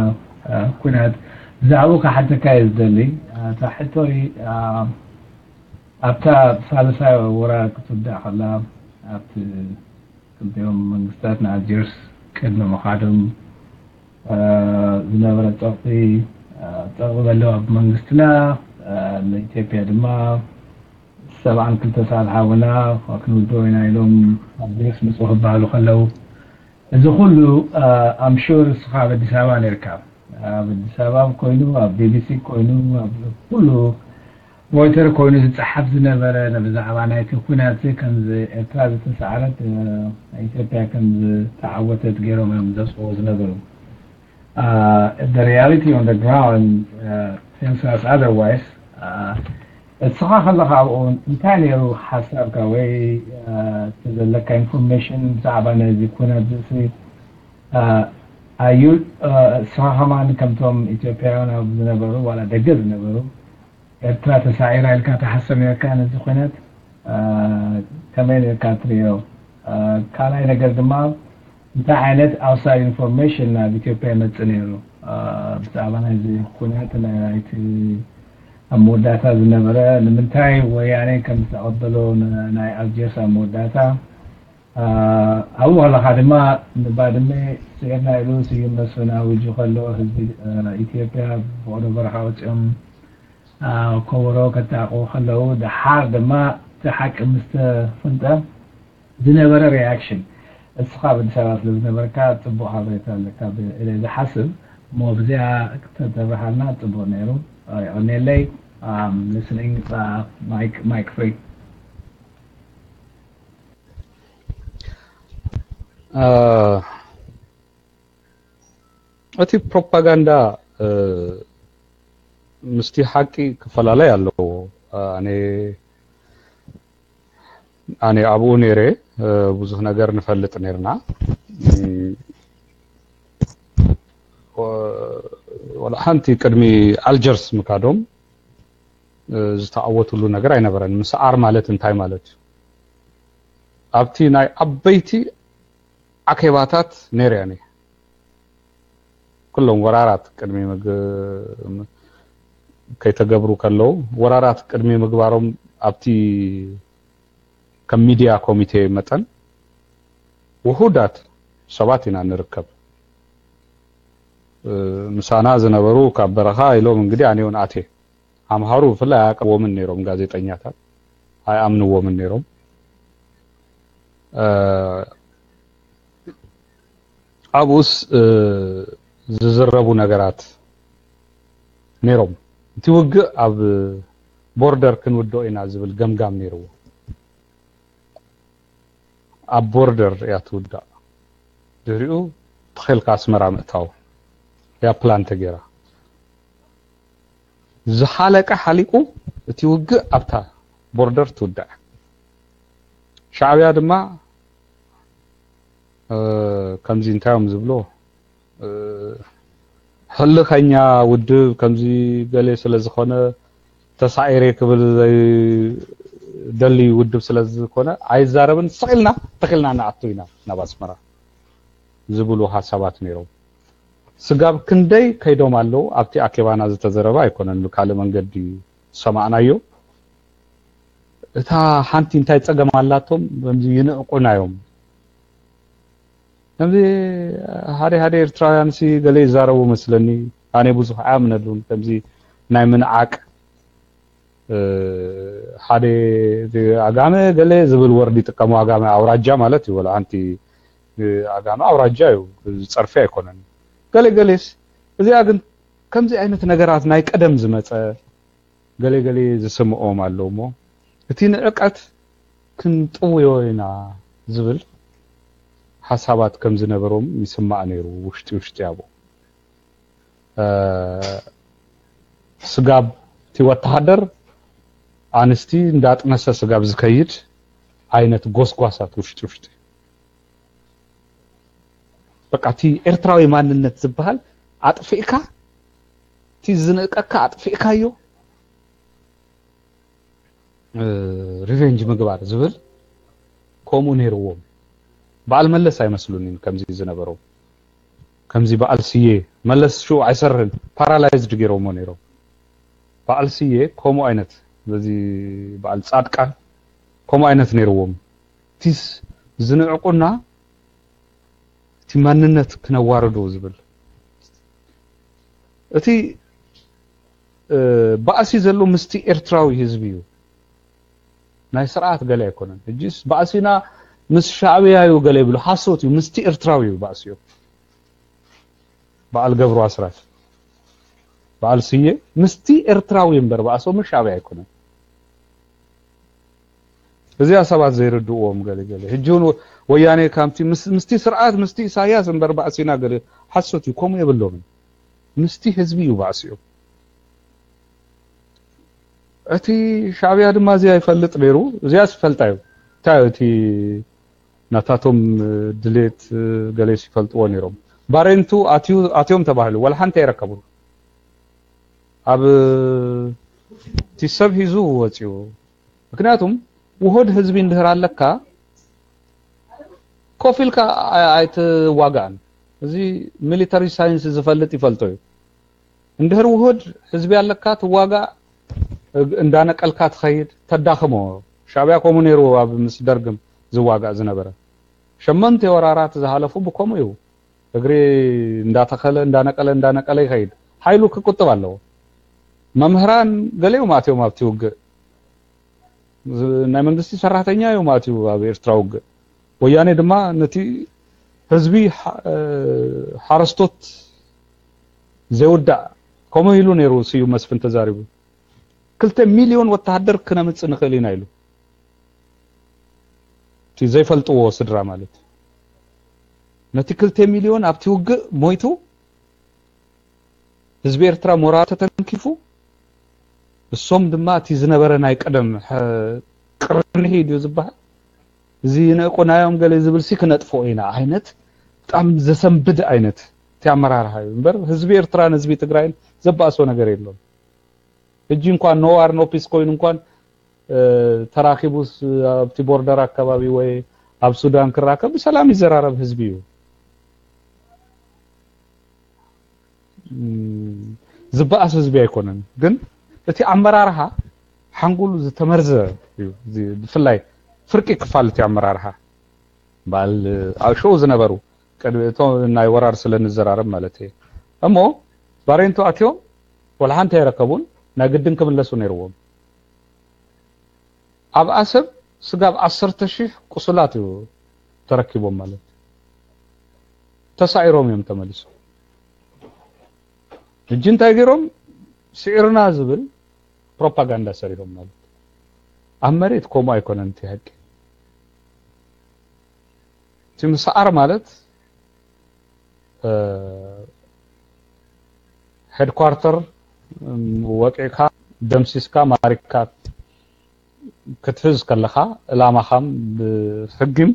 ኩናት ብዛዕባኡ ክሓተካ እየ ዝደሊ። እታ ሕቶይ ኣብታ ሳልሳይ ወራር ክትውዳእ ከላ ኣብቲ ክልቲኦም መንግስታት ንኣልጀርስ ቅድሚ ምኻዶም ዝነበረ ፀቕጢ፣ ፀቕጢ ዘሎ ኣብ መንግስትና፣ ንኢትዮጵያ ድማ ሰብዓን ክልተ ሰዓት ሓውና ክንውድኦ ኢና ኢሎም ኣብ ግሪስ ምፁ ክበሃሉ ከለዉ፣ እዚ ኩሉ ኣምሹር እስኻ ኣብ ኣዲስ ኣበባ ነርካ። ኣብ ኣዲስ ኣበባ ኮይኑ፣ ኣብ ቢቢሲ ኮይኑ፣ ኣብ ኩሉ ሮይተር ኮይኑ ዝፀሓፍ ዝነበረ ብዛዕባ ናይቲ ኩናት ከምዚ ኤርትራ ዝተሰዓረት፣ ኢትዮጵያ ከም ዝተዓወተት ገይሮም እዮም ዘፅዎ ዝነበሩ። The reality on the ground tells us otherwise. እስኻ ከለኻ ኣብኡ እንታይ ነይሩ ሓሳብካ ወይ እቲ ዘለካ ኢንፎርሜሽን ብዛዕባ ነዚ ኩነት ዝሲ ኣዩ? እስኻ ከማን ከምቶም ኢትዮጵያውያን ኣብ ዝነበሩ ዋላ ደገ ዝነበሩ ኤርትራ ተሳዒራ ኢልካ ትሓስብ ነርካ ነዚ ኩነት? ከመይ ነርካ ትሪኦ? ካልኣይ ነገር ድማ እንታይ ዓይነት ኣውትሳይድ ኢንፎርሜሽን ናብ ኢትዮጵያ ይመጽእ ነይሩ? ብዛዕባ ናይዚ ኩነት ናይቲ ኣብ መወዳእታ ዝነበረ ንምንታይ ወያነ ከም ዝተቐበሎ ናይ ኣልጀርስ ኣብ መወዳእታ ኣብኡ ከለኻ ድማ ንባድመ ስዒርና ኢሉ ስዩም መስፍን ኣዊጁ ከሎ ህዝቢ ኢትዮጵያ ብፍቕዶ በረኻ ወፂኦም ከበሮ ከጣቕዑ ከለዉ ደሓር ድማ እቲ ሓቂ ምስ ተፍልጠ ዝነበረ ሪያክሽን እስኻ ኣብ ኣዲስ ኣበባ ስለ ዝነበርካ ፅቡቕ ሓበሬታ ኣለካ ኢለ ዝሓስብ እሞ ብዚኣ ክተተብርሃልና ፅቡቕ ነይሩ። የቐንየለይ። Listening. Mike, Mike free. እቲ ፕሮፓጋንዳ ምስቲ ሓቂ ክፈላለይ ኣለዎ። ኣነ ኣነ ኣብኡ ነይረ፣ ብዙሕ ነገር ንፈልጥ ነርና። ወላ ሓንቲ ቅድሚ ኣልጀርስ ምካዶም ዝተዓወትሉ ነገር ኣይነበረን። ምስዓር ማለት እንታይ ማለት እዩ? ኣብቲ ናይ ዓበይቲ ዓኬባታት ነይረ ኣነ። ኩሎም ወራራት ቅድሚ ከይተገብሩ ከለዉ፣ ወራራት ቅድሚ ምግባሮም ኣብቲ ከም ሚድያ ኮሚቴ መጠን ውሁዳት ሰባት ኢና ንርከብ። ምሳና ዝነበሩ ካብ በረኻ ኢሎም እንግዲህ ኣነ እውን ኣትየ። ኣምሃሩ ብፍላይ ኣያቀርብዎምን ነይሮም፣ ጋዜጠኛታት ኣይኣምንዎምን ነይሮም። ኣብኡስ ዝዝረቡ ነገራት ነይሮም። እቲ ውግእ ኣብ ቦርደር ክንውድኦ ኢና ዝብል ገምጋም ነይርዎ። ኣብ ቦርደር እያ ትውዳእ። ድሕሪኡ ተኺልካ ኣስመራ ምእታው እያ ፕላን ተገይራ። ዝሓለቀ ሓሊቁ እቲ ውግእ ኣብታ ቦርደር ትውዳእ። ሻዕብያ ድማ ከምዚ እንታይ እዮም ዝብሎ፣ ህልኸኛ ውድብ ከምዚ ገለ ስለ ዝኾነ ተሳዒረ ክብል ዘይደሊ ውድብ ስለ ዝኾነ ኣይዛረብን፣ ስቕ ኢልና ተኺልና ንኣቱ ኢና ናብ ኣስመራ ዝብሉ ሓሳባት ነይሮም። ስጋብ ክንደይ ከይዶም ኣለዉ ኣብቲ ኣኬባና ዝተዘረበ ኣይኮነን፣ ብካልእ መንገዲ ዝሰማዕናዮ። እታ ሓንቲ እንታይ ጸገም ኣላቶም፣ ከምዚ ይንዕቁና እዮም። ከምዚ ሓደ ሓደ ኤርትራውያን ሲ ገለ ይዛረቡ መስለኒ፣ ኣነ ብዙሕ ኣይኣምነሉን። ከምዚ ናይ ምንዓቅ ሓደ ኣጋመ ገለ ዝብል ወርድ ይጥቀሙ። ኣጋመ ኣውራጃ ማለት እዩ። ወላ ሓንቲ ኣጋመ ኣውራጃ እዩ፣ ዝጸርፊ ኣይኮነን። ገለ ገሌስ እዚኣ ግን ከምዚ ዓይነት ነገራት ናይ ቀደም ዝመጸ ገለ ገለ ዝስምኦም ኣሎ እሞ እቲ ንዕቀት ክንጥውዮ ኢና ዝብል ሓሳባት ከም ዝነበሮም ይስማዕ ነይሩ ውሽጢ ውሽጢ ኣብኡ። ስጋብ እቲ ወተሃደር ኣንስቲ እንዳጥነሰ ስጋብ ዝከይድ ዓይነት ጎስጓሳት ውሽጢ ውሽጢ። በቃ እቲ ኤርትራዊ ማንነት ዝበሃል ኣጥፊእካ፣ እቲ ዝንእቀካ ኣጥፊእካዮ፣ ሪቨንጅ ምግባር ዝብል ከምኡ ነይርዎም። በዓል መለስ ኣይመስሉን ከምዚ ዝነበሮም። ከምዚ በዓል ስየ፣ መለስ ሽዑ ኣይሰርህን፣ ፓራላይዝድ ገይሮሞ ነይሮም። በዓል ስየ ከምኡ ዓይነት፣ በዚ በዓል ጻድቃን ከምኡ ዓይነት ነይርዎም። እቲስ ዝንዕቁና እቲ ማንነት ክነዋርዶ ዝብል፣ እቲ ባእሲ ዘሎ ምስቲ ኤርትራዊ ህዝቢ እዩ። ናይ ስርዓት ገለ ኣይኮነን። ሕጂስ ባእሲና ምስ ሻዕብያ እዩ ገለ ይብሉ። ሓሶት እዩ። ምስቲ ኤርትራዊ እዩ ባእሲዮ። በዓል ገብሩ ኣስራት፣ በዓል ስየ ምስቲ ኤርትራዊ እምበር ባእሶ ምስ ሻዕብያ ኣይኮነን። እዚኣ ሰባት ዘይርድእዎም ገለ ገለ። ሕጂ እውን ወያኔ ካብቲ ምስ- ምስቲ ስርዓት ምስቲ ኢሳያስ እምበር ባእሲና ገለ ሓሶት እዩ። ከምኡ የብሎምን። ምስቲ ህዝቢ እዩ ባእሲኡ። እቲ ሻዕብያ ድማ እዚኣ ይፈልጥ ነይሩ። እዚኣ ዝፈልጣ እዩ። እንታይ እዩ እቲ ናታቶም ድሌት ገሌስ ይፈልጥዎ ነይሮም። ባሬንቱ ኣትዩ ኣትዮም ተባሂሉ ወላ ሓንቲ ኣይረከቡን። ኣብ እቲ ሰብ ሒዙ ወፂኡ። ምክንያቱም ውሁድ ህዝቢ እንድህር ኣለካ ኮፍ ኢልካ ኣይትዋጋእን። እዚ ሚሊተሪ ሳይንስ ዝፈልጥ ይፈልጦ እዩ። እንድህር ውሁድ ህዝቢ ኣለካ ትዋጋእ፣ እንዳነቀልካ ትኸይድ ተዳኽሞ። ሻዕብያ ከምኡ ነይሩ ኣብ ምስ ደርግም ዝዋጋእ ዝነበረ። ሸመንተ ወራራት ዝሃለፉ ብከምኡ እዩ። እግሪ እንዳተኸለ እንዳነቀለ እንዳነቀለ ይኸይድ። ሓይሉ ክቁጥብ ኣለዎ። መምህራን ገሊኦም ኣትዮም ኣብቲ ውግእ። ናይ መንግስቲ ሰራሕተኛ እዮም ኣትዩ ኣብ ኤርትራ ውግእ። ወያኔ ድማ ነቲ ህዝቢ ሓረስቶት ዘይውዳእ ከምኡ ኢሉ ነይሩ። ስዩም መስፍን ተዛሪቡ ክልተ ሚልዮን ወተሃደር ክነምፅእ ንኽእል ኢና ኢሉ። እቲ ዘይፈልጥዎ ስድራ ማለት ነቲ ክልተ ሚልዮን ኣብቲ ውግእ ሞይቱ ህዝቢ ኤርትራ ሞራል ተተንኪፉ እሶም ድማ እቲ ዝነበረ ናይ ቀደም ቅርንሂ ድዩ ዝበሃል እዚ ነእቆናዮም ገለ ዝብል ሲ ክነጥፍኦ ኢና ዓይነት ብጣም ዘሰንብድ ዓይነት እቲ ኣመራርሓ እዩ እምበር ህዝቢ ኤርትራን ህዝቢ ትግራይን ዘባእሶ ነገር የሎም። ሕጂ እንኳን no war no peace ኮይኑ እንኳን ተራኪቡስ ኣብቲ ቦርደር ኣካባቢ ወይ ኣብ ሱዳን ክራከብ ብሰላም ይዘራረብ ህዝቢ እዩ። ዝበኣስ ህዝቢ ኣይኮነን፣ ግን እቲ ኣመራርሓ ሓንጎሉ ዝተመርዘ እዩ። ብፍላይ ፍርቂ ክፋል እቲ ኣመራርሓ በዓል ኣብ ሾው ዝነበሩ ቅድሚ እቶ ናይ ወራር ስለ ንዘራረብ ማለት እየ። እሞ ባሬንቱ ኣትዮም ወላ ሓንቲ ኣይረከቡን፣ ናይ ግድን ክምለሱ ነይርዎም። ኣብ ኣሰብ ስጋብ ዓሰርተ ሺሕ ቁሱላት እዩ ተረኪቦም ማለት ተሳዒሮም እዮም ተመሊሶም። ሕጂ እንታይ ገይሮም ስዒርና ዝብል ፕሮፓጋንዳ ሰሪሖም ማለት ኣብ መሬት ከምኡ ኣይኮነን እቲ ሓቂ። እቲ ምስዓር ማለት ሄድኳርተር ወቂዕካ ደምሲስካ ማሪካ ክትሕዝ ከለኻ እላማኻም ብሕጊም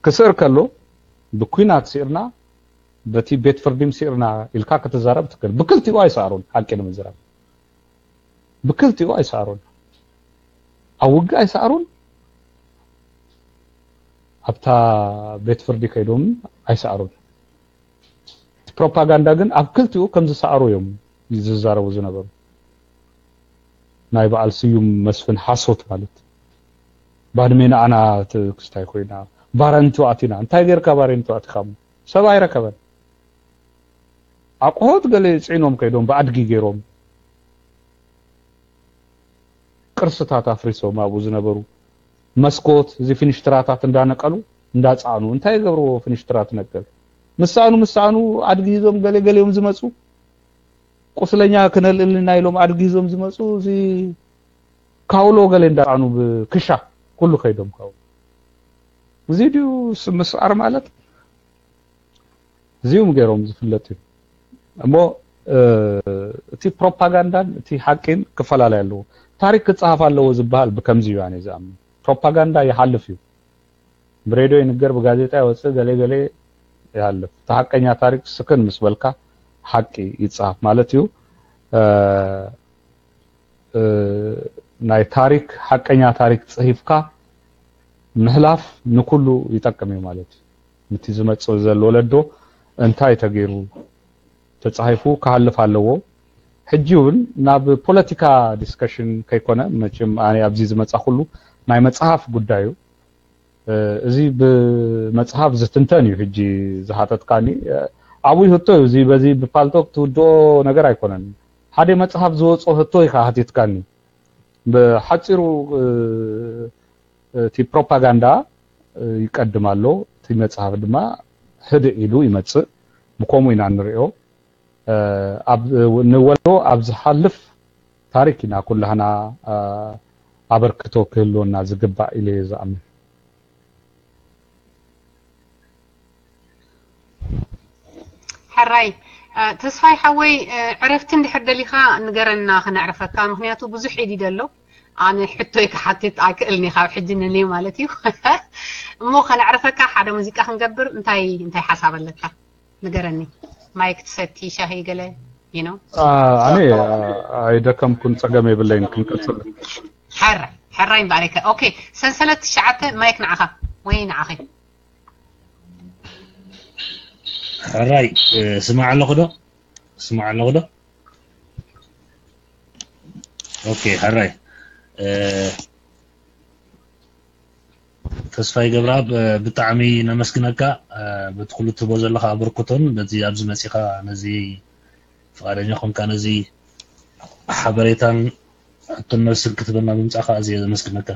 ክስዕር ከሎ ብኩናት ስዒርና በቲ ቤት ፍርዲም ስዒርና ኢልካ ክትዛረብ ትክእል። ብክልቲኡ ኣይሰኣሩን ሓቂ ንምዝራብ ብክልቲኡ ኣይሰኣሩን። ኣብ ውግእ ኣይሰኣሩን፣ ኣብታ ቤት ፍርዲ ከይዶም ኣይሰኣሩን። እቲ ፕሮፓጋንዳ ግን ኣብ ክልቲኡ ከም ዝሰኣሩ እዮም ዝዛረቡ ዝነበሩ። ናይ በዓል ስዩም መስፍን ሓሶት ማለት ባድሜ ንዓና ክስታይ ኮይና ባረንቱ ኣቲና እንታይ ጌርካ ባሬንቱ ኣቲኻሞ ሰብ ኣይረከበን። ኣቁሆት ገለ ፅዒኖም ከይዶም ብኣድጊ ገይሮም ቅርስታት ኣፍሪሶም ኣብኡ ዝነበሩ መስኮት እዚ ፊኒሽትራታት እንዳነቀሉ እንዳፃዕኑ እንታይ ይገብርዎ ፊኒሽትራ ትነቅል ምሳኑ ምሳኑ ኣድጊ ሂዞም ገለ ገሊኦም ዝመፁ ቁስለኛ ክነልእልና ኢሎም ኣድጊ ሂዞም ዝመፁ እዚ ካውሎ ገለ እንዳፃዕኑ ብክሻ ኩሉ ከይዶም ካውሎ እዚ ድዩ ምስዓር ማለት እዚኦም ገይሮም ዝፍለጥ እዩ እሞ እቲ ፕሮፓጋንዳን እቲ ሓቂን ክፈላለይ ኣለዎ። ታሪክ ክፀሃፍ ኣለዎ ዝበሃል ብከምዚ እዩ ኣነ ዝኣምን። ፕሮፓጋንዳ ይሓልፍ እዩ። ብሬድዮ ይንገር፣ ብጋዜጣ ይወፅእ፣ ገለ ገለ ይሃልፍ። እቲ ሓቀኛ ታሪክ ስክን ምስ በልካ ሓቂ ይፀሃፍ ማለት እዩ። ናይ ታሪክ ሓቀኛ ታሪክ ፅሂፍካ ምሕላፍ ንኩሉ ይጠቅም እዩ ማለት እዩ። ንቲ ዝመፅእ ዘሎ ወለዶ እንታይ ተገይሩ ተፃሂፉ ክሃልፍ ኣለዎ። ሕጂ እውን ናብ ፖለቲካ ዲስከሽን ከይኮነ መቸም ኣነ ኣብዚ ዝመፃ ኩሉ ናይ መፅሃፍ ጉዳይ እዩ። እዚ ብመፅሃፍ ዝትንተን እዩ። ሕጂ ዝሃተትካኒ ዓብይ ህቶ እዩ። እዚ በዚ ብፓልቶክ ትውድኦ ነገር ኣይኮነን። ሓደ መጽሓፍ ዝወጾ ህቶ ኢኻ ሃቲትካኒ። ብሓጺሩ እቲ ፕሮፓጋንዳ ይቀድም ኣሎ፣ እቲ መጽሓፍ ድማ ህድእ ኢሉ ይመጽእ። ብከምኡ ኢና ንሪኦ። ኣብ ንወለዶ ኣብ ዝሓልፍ ታሪክ ኢና ኩላህና ኣበርክቶ ክህልወና ዝግባእ ኢለ እየ ዝኣምን። ሕራይ ተስፋይ ሓወይ፣ ዕረፍቲ እንድሕር ደሊኻ ንገረና፣ ክነዕርፈካ። ምክንያቱ ብዙሕ ኢድ ኣሎ። ኣነ ሕቶይ ክሓትት ኣይክእልን እየ ካብ ሕጂ ንልዩ ማለት እዩ። እሞ ከነዕርፈካ ሓደ ሙዚቃ ክንገብር እንታይ እንታይ ሓሳብ ኣለካ? ንገረኒ። ማይክ ትሰቲ፣ ሻሂ፣ ገለ you know? ኣነ ኣይደከምኩን፣ ጸገም የብለይን፣ ክንቀጽል። ሕራይ ሕራይ እምበኣር። ኦኬ፣ ሰንሰለት ትሽዓተ፣ ማይክ ንዓኻ ወይ ንዓኺ? ሕራይ ስማዕ ኣለኹ ዶ? ስማዕ ኣለኹ ዶ? ኦኬ፣ ሕራይ ተስፋይ ገብረኣብ፣ ብጣዕሚ ነመስግነካ፣ በቲ ኩሉ ትህቦ ዘለኻ ኣበርክቶን በዚ ኣብዚ መጺኻ ነዚ ፍቓደኛ ኮንካ ነዚ ሓበሬታን ሕቶን መልስን ክትበና ብምጻኻ ኣዝየ ዘመስግነካ።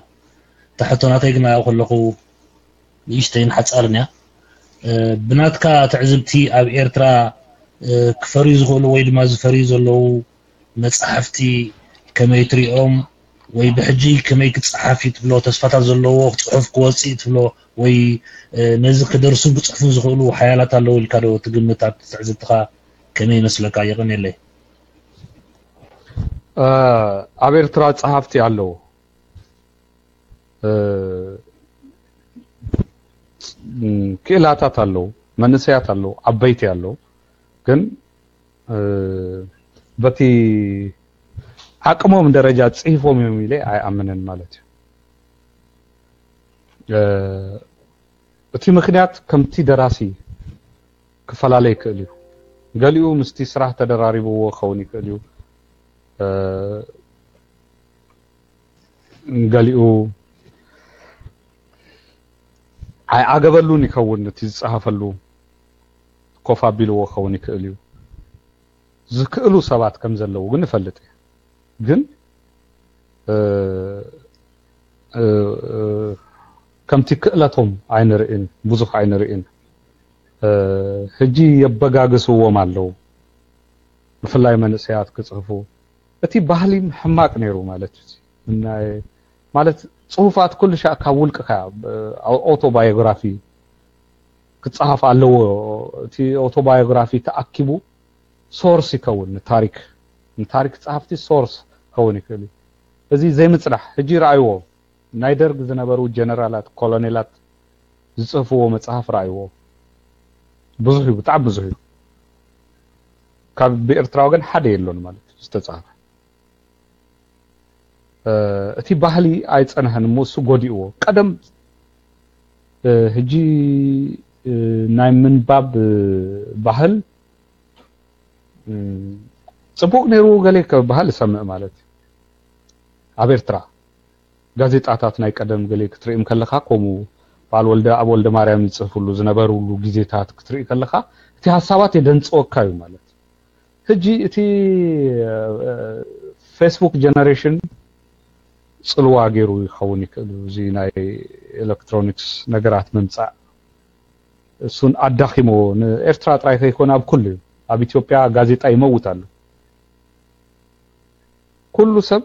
እታ ሕቶ ናተይ ግና ያው ከለኹ ንእሽተይን ሓጻርን እያ። ብናትካ ትዕዝብቲ ኣብ ኤርትራ ክፈርዩ ዝኽእሉ ወይ ድማ ዝፈርዩ ዘለዉ መጻሕፍቲ ከመይ ትሪኦም ወይ ብሕጂ ከመይ ክጸሓፍ እዩ ትብሎ? ተስፋታት ዘለዎ ጽሑፍ ክወጽእ እዩ ትብሎ ወይ ነዚ ክደርሱን ክጽሕፉን ዝኽእሉ ሓያላት ኣለዉ ኢልካ ዶ ትግምት? ኣብ ትዕዝብትኻ ከመይ ይመስለካ? የቐንየለይ። ኣብ ኤርትራ ጸሓፍቲ ኣለዉ፣ ክእላታት ኣለዉ፣ መንእሰያት ኣለዉ፣ ዓበይቲ ኣለዉ። ግን በቲ ዓቅሞም ደረጃ ጽሒፎም እዮም ኢለ ኣይኣምንን ማለት እዩ። እቲ ምክንያት ከምቲ ደራሲ ክፈላለ ይክእል እዩ። ገሊኡ ምስቲ ስራሕ ተደራሪብዎ ክኸውን ይክእል እዩ። ገሊኡ ኣይዓገበሉን ይኸውን፣ እቲ ዝጸሃፈሉ ኮፍ ኣቢልዎ ክኸውን ይክእል እዩ። ዝክእሉ ሰባት ከም ዘለዉ ግን እፈልጥ እየ። ግን ከምቲ ክእለቶም ኣይንርእን፣ ብዙሕ ኣይንርእን። ሕጂ የበጋግስዎም ኣለዉ፣ ብፍላይ መንእሰያት ክጽሕፉ። እቲ ባህሊ ሕማቅ ነይሩ ማለት እዩ። ናይ ማለት ጽሁፋት ኩሉ ሻዕ ካብ ውልቅኻ፣ ኣውቶባዮግራፊ ክጸሃፍ ኣለዎ። እቲ ኣውቶባዮግራፊ ተኣኪቡ ሶርስ ይከውን ንታሪክ፣ ንታሪክ ጸሃፍቲ ሶርስ ከውን ይክእል እዩ። እዚ ዘይምጽናሕ ሕጂ ረኣይዎ፣ ናይ ደርግ ዝነበሩ ጀነራላት፣ ኮሎኔላት ዝጽህፍዎ መጽሓፍ ረኣይዎ። ብዙሕ እዩ፣ ብጣዕሚ ብዙሕ እዩ። ካብ ብኤርትራ ወገን ሓደ የሎን ማለት እዩ ዝተጻህፈ። እቲ ባህሊ ኣይጸንሐን እሞ እሱ ጎዲእዎ። ቀደም ሕጂ ናይ ምንባብ ባህል ጽቡቅ ነይሩ ገለ ከበሃል እሰምዕ ማለት እዩ። ኣብ ኤርትራ ጋዜጣታት ናይ ቀደም ገለ ክትርእዮም ከለኻ ከምኡ በዓል ወልደ ኣብ ወልደ ማርያም ይጽሕፍሉ ዝነበሩሉ ግዜታት ክትርኢ ከለኻ እቲ ሀሳባት የደንጽወካ እዩ ማለት። ሕጂ እቲ ፌስቡክ ጀነሬሽን ጽልዋ ገይሩ ይኸውን ይክእል እዩ። እዚ ናይ ኤሌክትሮኒክስ ነገራት ምምጻእ እሱን ኣዳኺሞ ንኤርትራ ጥራይ ከይኮነ ኣብ ኩሉ እዩ። ኣብ ኢትዮጵያ ጋዜጣ ይመውት ኣሎ። ኩሉ ሰብ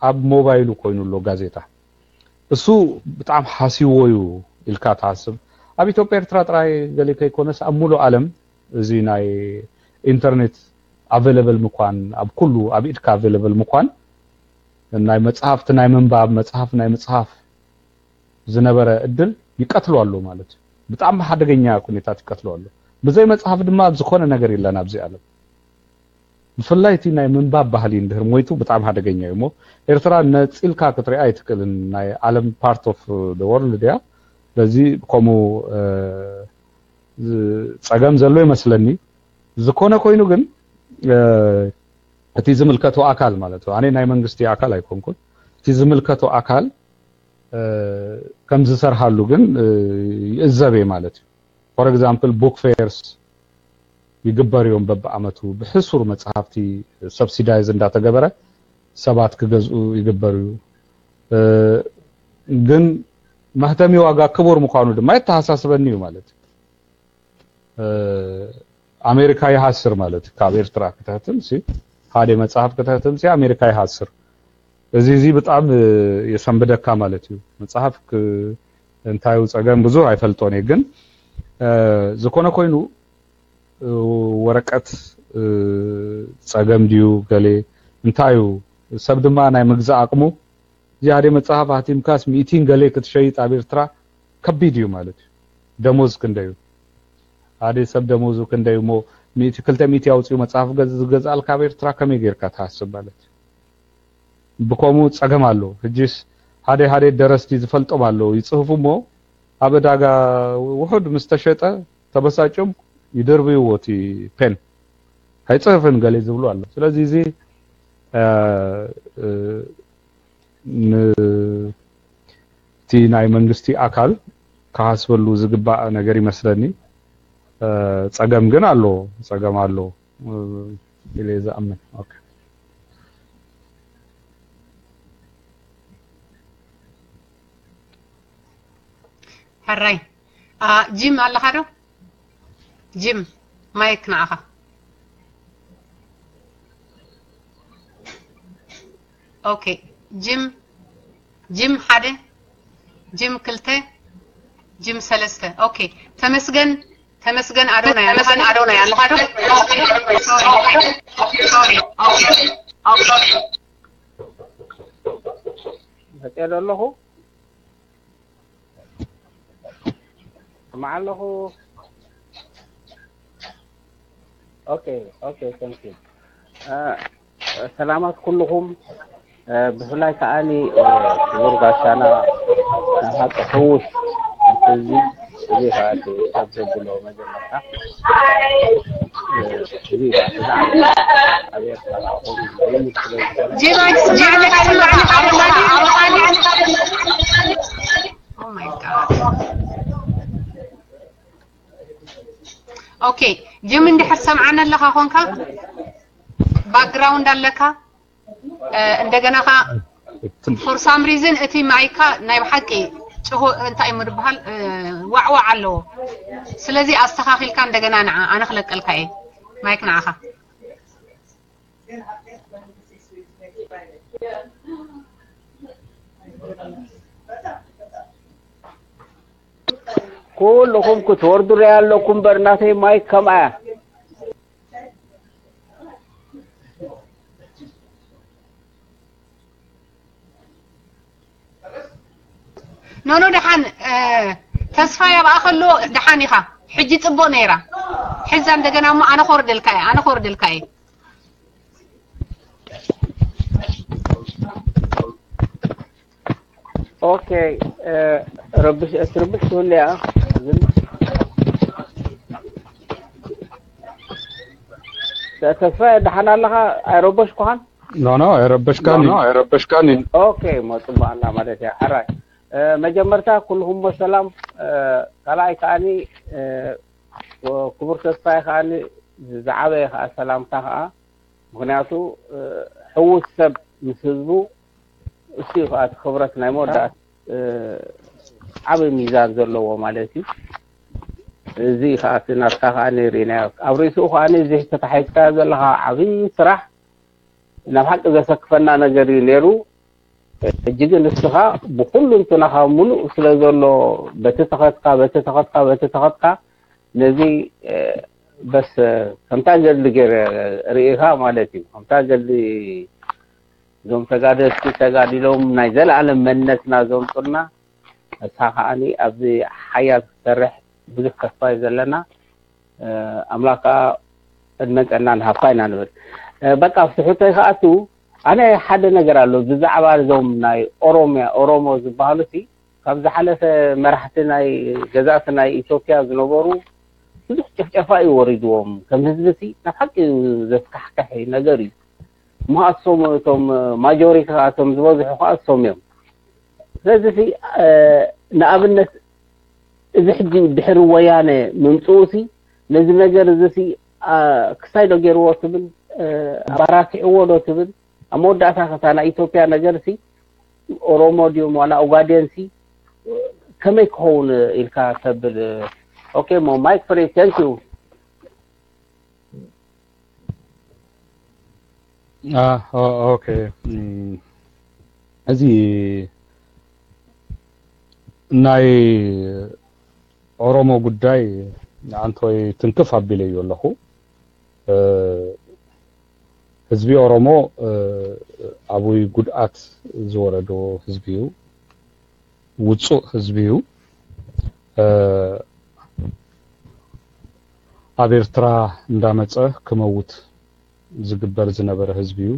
ኣብ ሞባይሉ ኮይኑ ኣሎ ጋዜጣ። እሱ ብጣዕሚ ሓስይዎ እዩ ኢልካ ትሓስብ። ኣብ ኢትዮጵያ ኤርትራ ጥራይ ገለ ከይኮነስ ኣብ ሙሉእ ዓለም እዚ ናይ ኢንተርኔት ኣቬለብል ምኳን፣ ኣብ ኩሉ ኣብ ኢድካ ኣቬለብል ምኳን ናይ መጽሓፍቲ ናይ ምንባብ መጽሓፍ ናይ ምጽሓፍ ዝነበረ እድል ይቀትሎ ኣሎ ማለት እዩ። ብጣዕሚ ሓደገኛ ኩነታት ይቀትሎ ኣሎ። ብዘይ መጽሓፍ ድማ ዝኾነ ነገር የለን ኣብዚ ዓለም። ብፍላይ እቲ ናይ ምንባብ ባህሊ እንድህር ሞይቱ ብጣዕሚ ሓደገኛ እዩ። እሞ ኤርትራ ነጺልካ ክትሪኣ ኣይትክእልን። ናይ ዓለም ፓርት ኦፍ ደ ወርልድ እያ። ስለዚ ከምኡ ጸገም ዘሎ ይመስለኒ። ዝኾነ ኮይኑ ግን እቲ ዝምልከቶ ኣካል ማለት እዩ። ኣነ ናይ መንግስቲ ኣካል ኣይኮንኩን። እቲ ዝምልከቶ ኣካል ከም ዝሰርሃሉ ግን ይእዘብ እየ ማለት እዩ። ፎር ኤግዛምፕል ቡክ ፌርስ ይግበር እዮም። በብዓመቱ ብሕሱር መጽሓፍቲ ሰብሲዳይዝ እንዳተገበረ ሰባት ክገዝኡ ይግበር እዩ። ግን መህተሚ ዋጋ ክቡር ምዃኑ ድማ የተሓሳስበኒ እዩ ማለት እዩ። ኣሜሪካ ይሃስር ማለት እዩ። ካብ ኤርትራ ክትህትም ሲ ሓደ መጽሓፍ ክትህትም ሲ ኣሜሪካ ይሃስር። እዚ እዚ ብጣዕሚ የሰንብደካ ማለት እዩ። መጽሓፍ ክ- እንታዩ ጸገም ብዙ ኣይፈልጦን እየ። ግን ዝኾነ ኮይኑ ወረቀት ጸገም ድዩ ገሌ እንታዩ ሰብ ድማ ናይ ምግዛእ ኣቕሙ እዚ ሓደ መጽሓፍ ኣህቲምካስ ሚእቲን ገሌ ክትሸይጥ ኣብ ኤርትራ ከቢድ እዩ ማለት እዩ። ደሞዝ ክንደዩ ሓደ ሰብ ደሞዙ ክንደዩ እሞ ሚእቲ ክልተ ሚእቲ ኣውፅኡ መጽሓፍ ዝገዝኣልካ ኣብ ኤርትራ ከመይ ጌርካ ትሓስብ ማለት እዩ። ብከምኡ ጸገም ኣሎ። ሕጂስ ሓደ ሓደ ደረስቲ ዝፈልጦም ኣለዉ ይጽህፉ እሞ ኣብ ዕዳጋ ውሑድ ምስ ተሸጠ ተበሳጭም ይደርብይዎ እቲ ፔን ኣይጽህፍን ገለ ዝብሉ ኣለዉ። ስለዚ እዚ እቲ ናይ መንግስቲ ኣካል ክሓስበሉ ዝግባእ ነገር ይመስለኒ። ጸገም ግን ኣሎ፣ ጸገም ኣሎ ኢለ ዝኣምን። ሕራይ ጂም ኣለኻ ዶ? ጂም ማይክ ንዓኻ። ኦኬ ጂም ጂም ሓደ ጂም ክልተ ጂም ሰለስተ። ኦኬ ተመስገን ተመስገን ኣዶናይ ኣለኻ ዶ? መፅአ ዶ ኣለኹ? ስማዕ ኣለኹ። ኦኬ ኦኬ። Thank you። ሰላማት ኩልኹም። ብፍላይ ከዓኒ ክቡር ጋሻና ናይ ሓቂ ሕውስ ህዝቢ እዚ ከዓ ሰብ ዘብሎ መጀመርታ ኦኬ ጅም እንድሕር ሰምዓና ኣለኻ ኮንካ ባክግራውንድ ኣለካ እንደገና ካ for some reason እቲ ማይካ ናይ ብሓቂ ጭሆ እንታይ ምድብሃል ዋዕዋዕ ኣለዎ ስለዚ ኣስተኻኺልካ እንደገና ንዓ ኣነ ክለቀልካ እየ ማይክ ንዓኻ ኩልኹም ክትወርዱ ሪኣ ኣለኩም እምበር ናተይ ማይክ ከምኣ ኖኖ ደሓን ተስፋ ያብኣ ከሎ ደሓን ኢኻ ሕጂ ጽቡቅ ነይራ ሕዛ እንደገና እሞ ኣነ ኮርደልካ እየ ኣነ ኮርደልካ እየ ኦኬ ረብሽ እትርብሽ ትህልያ ግን ተስፋ ደሓን ኣለኻ ኣይረበሽኩኻን ኖ ኖ ኣይረበሽካን ኖ ኣይረበሽካን ኦኬ መጽባና ማለት እያ ሕራይ መጀመርታ ኩልኹም ሰላም ካልኣይ ከዓኒ ክቡር ተስፋይ ከዓኒ ዝዓበየ ከዓ ሰላምታ ከዓ ምክንያቱ ሕውስ ሰብ ምስ ህዝቡ እሱ ከዓ ክብረት ናይ መወዳእት ዓብይ ሚዛን ዘለዎ ማለት እዩ እዚ ከዓ ናትካ ከዓ ነይርናዮ ኣብ ርእስኡ ከዓ እዚ ተታሒዝካዮ ዘለካ ዓብይ ስራሕ ናብ ሓቂ ዘሰክፈና ነገር እዩ ነይሩ ሕጂ ግን እስኻ ብኩሉ እንትናኻ ምሉእ ስለ ዘሎ በቲ ተኸትካ በቲ ተኸትካ በቲ ተኸትካ ነዚ በስ ከምታ ገድሊ ገይረ ርእኻ ማለት እዩ ከምታ ገድሊ እዞም ተጋደልቲ ተጋዲሎም ናይ ዘለኣለም መንነትና ዘምፁልና እሳ ከዓኒ ኣብዚ ሓያል ክትሰርሕ ብዙሕ ተስፋ እዩ ዘለና ኣምላክ ከዓ ዕድመን ጥዕናን ሃብካ ኢና ንብል በቃ ኣብቲ ሕቶይ ከኣቱ ኣነ ሓደ ነገር ኣሎ ብዛዕባ እዞም ናይ ኦሮሚያ ኦሮሞ ዝበሃሉ ሲ ካብ ዝሓለፈ መራሕቲ ናይ ገዛእቲ ናይ ኢትዮጵያ ዝነበሩ ብዙሕ ጭፍጨፋ እዩ ወሪድዎም ከም ህዝቢ ሲ ናብ ሓቂ ዘስካሕክሕ ነገር እዩ ምሃሶም እቶም ማጆሪቲ ከኣቶም ዝበዝሑ ከኣ እሶም እዮም ስለዚ ንኣብነት እዚ ሕጂ ድሕሪ ወያነ ምምፅኡ ሲ ነዚ ነገር እዚ ሲ ክሳይ ዶ ገይርዎ ትብል፣ ኣባራቲዕዎ ዶ ትብል? ኣብ መወዳእታ ከታ ናይ ኢትዮጵያ ነገር ሲ ኦሮሞ ድዮም ዋላ ኦጋዴን ሲ ከመይ ክኸውን ኢልካ ተብል? ኦኬ፣ ሞ ማይክ ፍሪ። Thank you። ኦኬ፣ እዚ ናይ ኦሮሞ ጉዳይ ኣንቶይ ትንክፍ ኣቢለዮ ኣለኹ። ህዝቢ ኦሮሞ ኣብይ ጉድኣት ዝወረዶ ህዝቢ እዩ። ውፁእ ህዝቢ እዩ። ኣብ ኤርትራ እንዳመፀ ክመውት ዝግበር ዝነበረ ህዝቢ እዩ።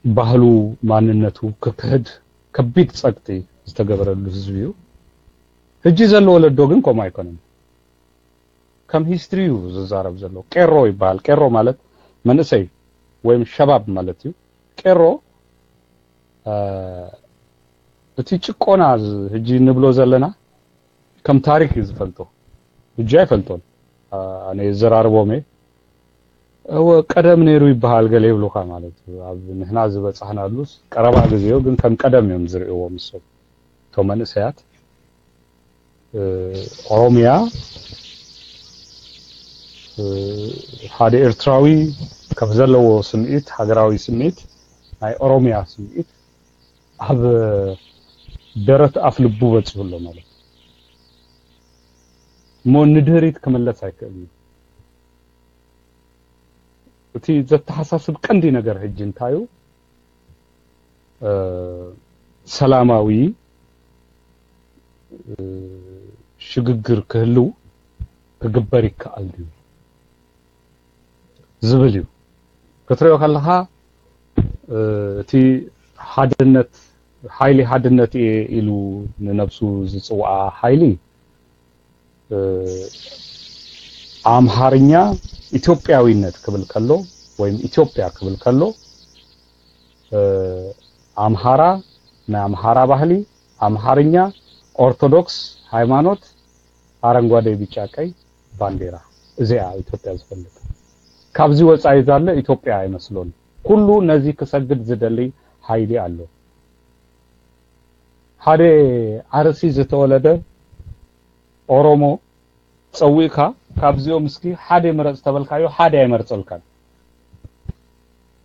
ብባህሉ ማንነቱ ክክሕድ ከቢድ ፀቅጢ ዝተገበረሉ ህዝቢ እዩ። ሕጂ ዘሎ ወለዶ ግን ከምኡ ኣይኮነን። ከም ሂስትሪ እዩ ዝዛረብ ዘሎ። ቄሮ ይበሃል። ቄሮ ማለት መንእሰይ ወይም ሸባብ ማለት እዩ። ቄሮ እቲ ጭቆና ሕጂ ንብሎ ዘለና ከም ታሪክ እዩ ዝፈልጦ። ሕጂ ኣይፈልጦን። ኣነ የዘራርቦም እየ። እወ ቀደም ነይሩ ይበሃል ገለ ይብሉካ ማለት እዩ። ኣብ ንሕና ዝበጻሕናሉስ ቀረባ ግዜዮ ግን ከም ቀደም እዮም ዝርእይዎ ምሶም እቶም መንእሰያት። ኦሮሚያ ሓደ ኤርትራዊ ከም ዘለዎ ስምዒት፣ ሃገራዊ ስምዒት፣ ናይ ኦሮሚያ ስምዒት ኣብ ደረት ኣፍ ልቡ በፂሑ ኣሎ ማለት እዩ። እሞ ንድህሪት ክምለስ ኣይክእልን እዩ። እቲ ዘተሓሳስብ ቀንዲ ነገር ሕጂ እንታይ እዩ? ሰላማዊ ሽግግር ክህልው ክግበር ይከኣል ድዩ ዝብል እዩ። ክትሪኦ ከለኻ እቲ ሓድነት ሓይሊ ሓድነት እየ ኢሉ ንነብሱ ዝፅውዓ ሓይሊ ኣምሓርኛ ኢትዮጵያዊነት ክብል ከሎ ወይም ኢትዮጵያ ክብል ከሎ ኣምሓራ ናይ ኣምሓራ ባህሊ ኣምሓርኛ ኦርቶዶክስ ሃይማኖት ኣረንጓዴ ቢጫ ቀይ ባንዴራ እዚኣ ኢትዮጵያ ዝፈልጥ ካብዚ ወፃኢ ዛለ ኢትዮጵያ ኣይመስሎን። ኩሉ ነዚ ክሰግድ ዝደሊ ሓይሊ ኣሎ። ሓደ ዓርሲ ዝተወለደ ኦሮሞ ፀዊእካ ካብዚኦም እስኪ ሓደ ምረፅ ተበልካዮ ሓደ ኣይመርፀልካን።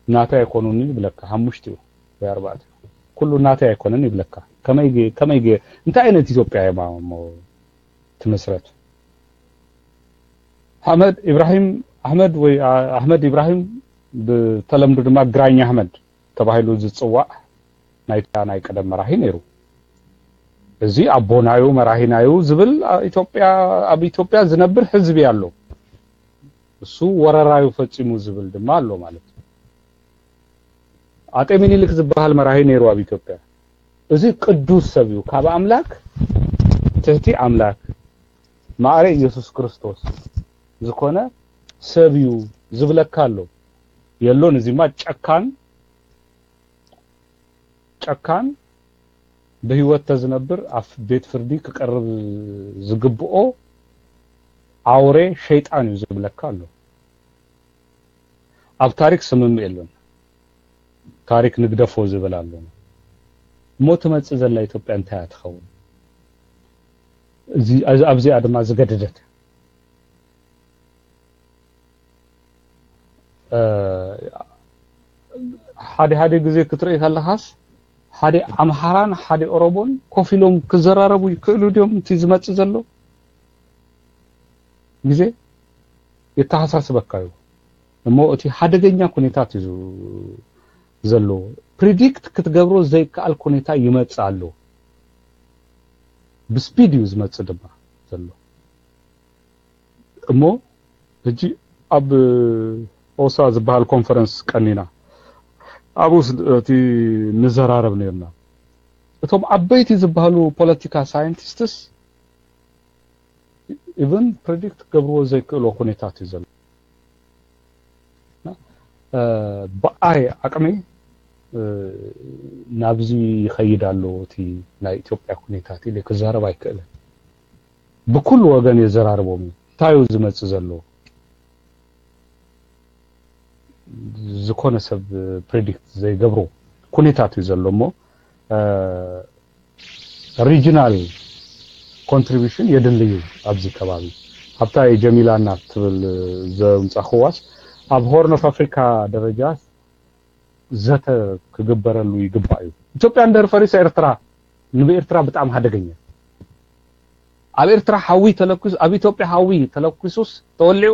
ናተይ ኣይኮኑን ይብለካ ሓሙሽቲኡ ወይ ኣርባዕቲኡ ኩሉ ናተይ ኣይኮነን ይብለካ። ከመይ ከመይ እንታይ ዓይነት ኢትዮጵያ እያ እሞ ትመስረት? ኣሕመድ ኢብራሂም ኣሕመድ ወይ ኣሕመድ ኢብራሂም ብተለምዶ ድማ ግራኝ ኣሕመድ ተባሂሉ ዝፅዋዕ ናይ ናይ ቀደም መራሒ ነይሩ። እዚ ኣቦናዩ መራሂናዩ ዝብል ኢትዮጵያ ኣብ ኢትዮጵያ ዝነብር ህዝቢ ኣሎ። እሱ ወረራዩ ፈፂሙ ዝብል ድማ ኣሎ ማለት እዩ። ኣጤ ሚኒሊክ ዝበሃል መራሂ ነይሩ ኣብ ኢትዮጵያ። እዚ ቅዱስ ሰብ እዩ። ካብ ኣምላክ ትህቲ ኣምላክ ማዕረ ኢየሱስ ክርስቶስ ዝኾነ ሰብ እዩ ዝብለካ ኣሎ። የሎን እዚማ ጨካን ጨካን ብህይወት ተዝነብር ኣብ ቤት ፍርዲ ክቀርብ ዝግብኦ ኣውሬ ሸይጣን እዩ ዝብለካ ኣሎ። ኣብ ታሪክ ስምምዕ የሎን። ታሪክ ንግደፎ ዝብል ኣሎ። እሞ ትመጽእ ዘላ ኢትዮጵያ እንታይ እያ ትኸውን? ኣብዚኣ ድማ ዝገደደት ሓደ ሓደ ግዜ ክትርኢ ከለኻስ ሓደ ኣምሓራን ሓደ ኦሮሞን ኮፍ ኢሎም ክዘራረቡ ይክእሉ ድዮም? እቲ ዝመጽእ ዘሎ ግዜ የተሓሳስበካ እዩ። እሞ እቲ ሓደገኛ ኩነታት እዩ ዘሎ። ፕሪዲክት ክትገብሮ ዘይከኣል ኩነታ ይመጽእ ኣሎ። ብስፒድ እዩ ዝመጽእ ድማ ዘሎ። እሞ ሕጂ ኣብ ኦሳ ዝበሃል ኮንፈረንስ ቀኒና ኣብኡ እቲ ንዘራረብ ነርና። እቶም ዓበይቲ ዝበሃሉ ፖለቲካ ሳይንቲስትስ ኢቨን ፕሬዲክት ክገብርዎ ዘይክእልዎ ኩነታት እዩ ዘሎ። ብኣይ ዓቅሚ ናብዚ ይኸይድ ኣሎ እቲ ናይ ኢትዮጵያ ኩነታት ኢለ ክዛረብ ኣይክእልን። ብኩሉ ወገን የዘራርቦም እዩ። እንታይ እዩ ዝመጽእ ዘሎ? ዝኾነ ሰብ ፕሬዲክት ዘይገብሮ ኩነታት እዩ ዘሎ እሞ ሪጂናል ኮንትሪቢሽን የድሊ እዩ ኣብዚ ከባቢ። ኣብታ ጀሚላና ትብል ዘምጻኽዋስ ኣብ ሆርን ኦፍ ኣፍሪካ ደረጃ ዘተ ክግበረሉ ይግባእ እዩ። ኢትዮጵያ እንድሕር ፈሪሳ ኤርትራ ንብኤርትራ ብጣዕሚ ሓደገኛ። ኣብ ኤርትራ ሓዊ ተለኩስ ኣብ ኢትዮጵያ ሓዊ ተለኩሱስ ተወሊዑ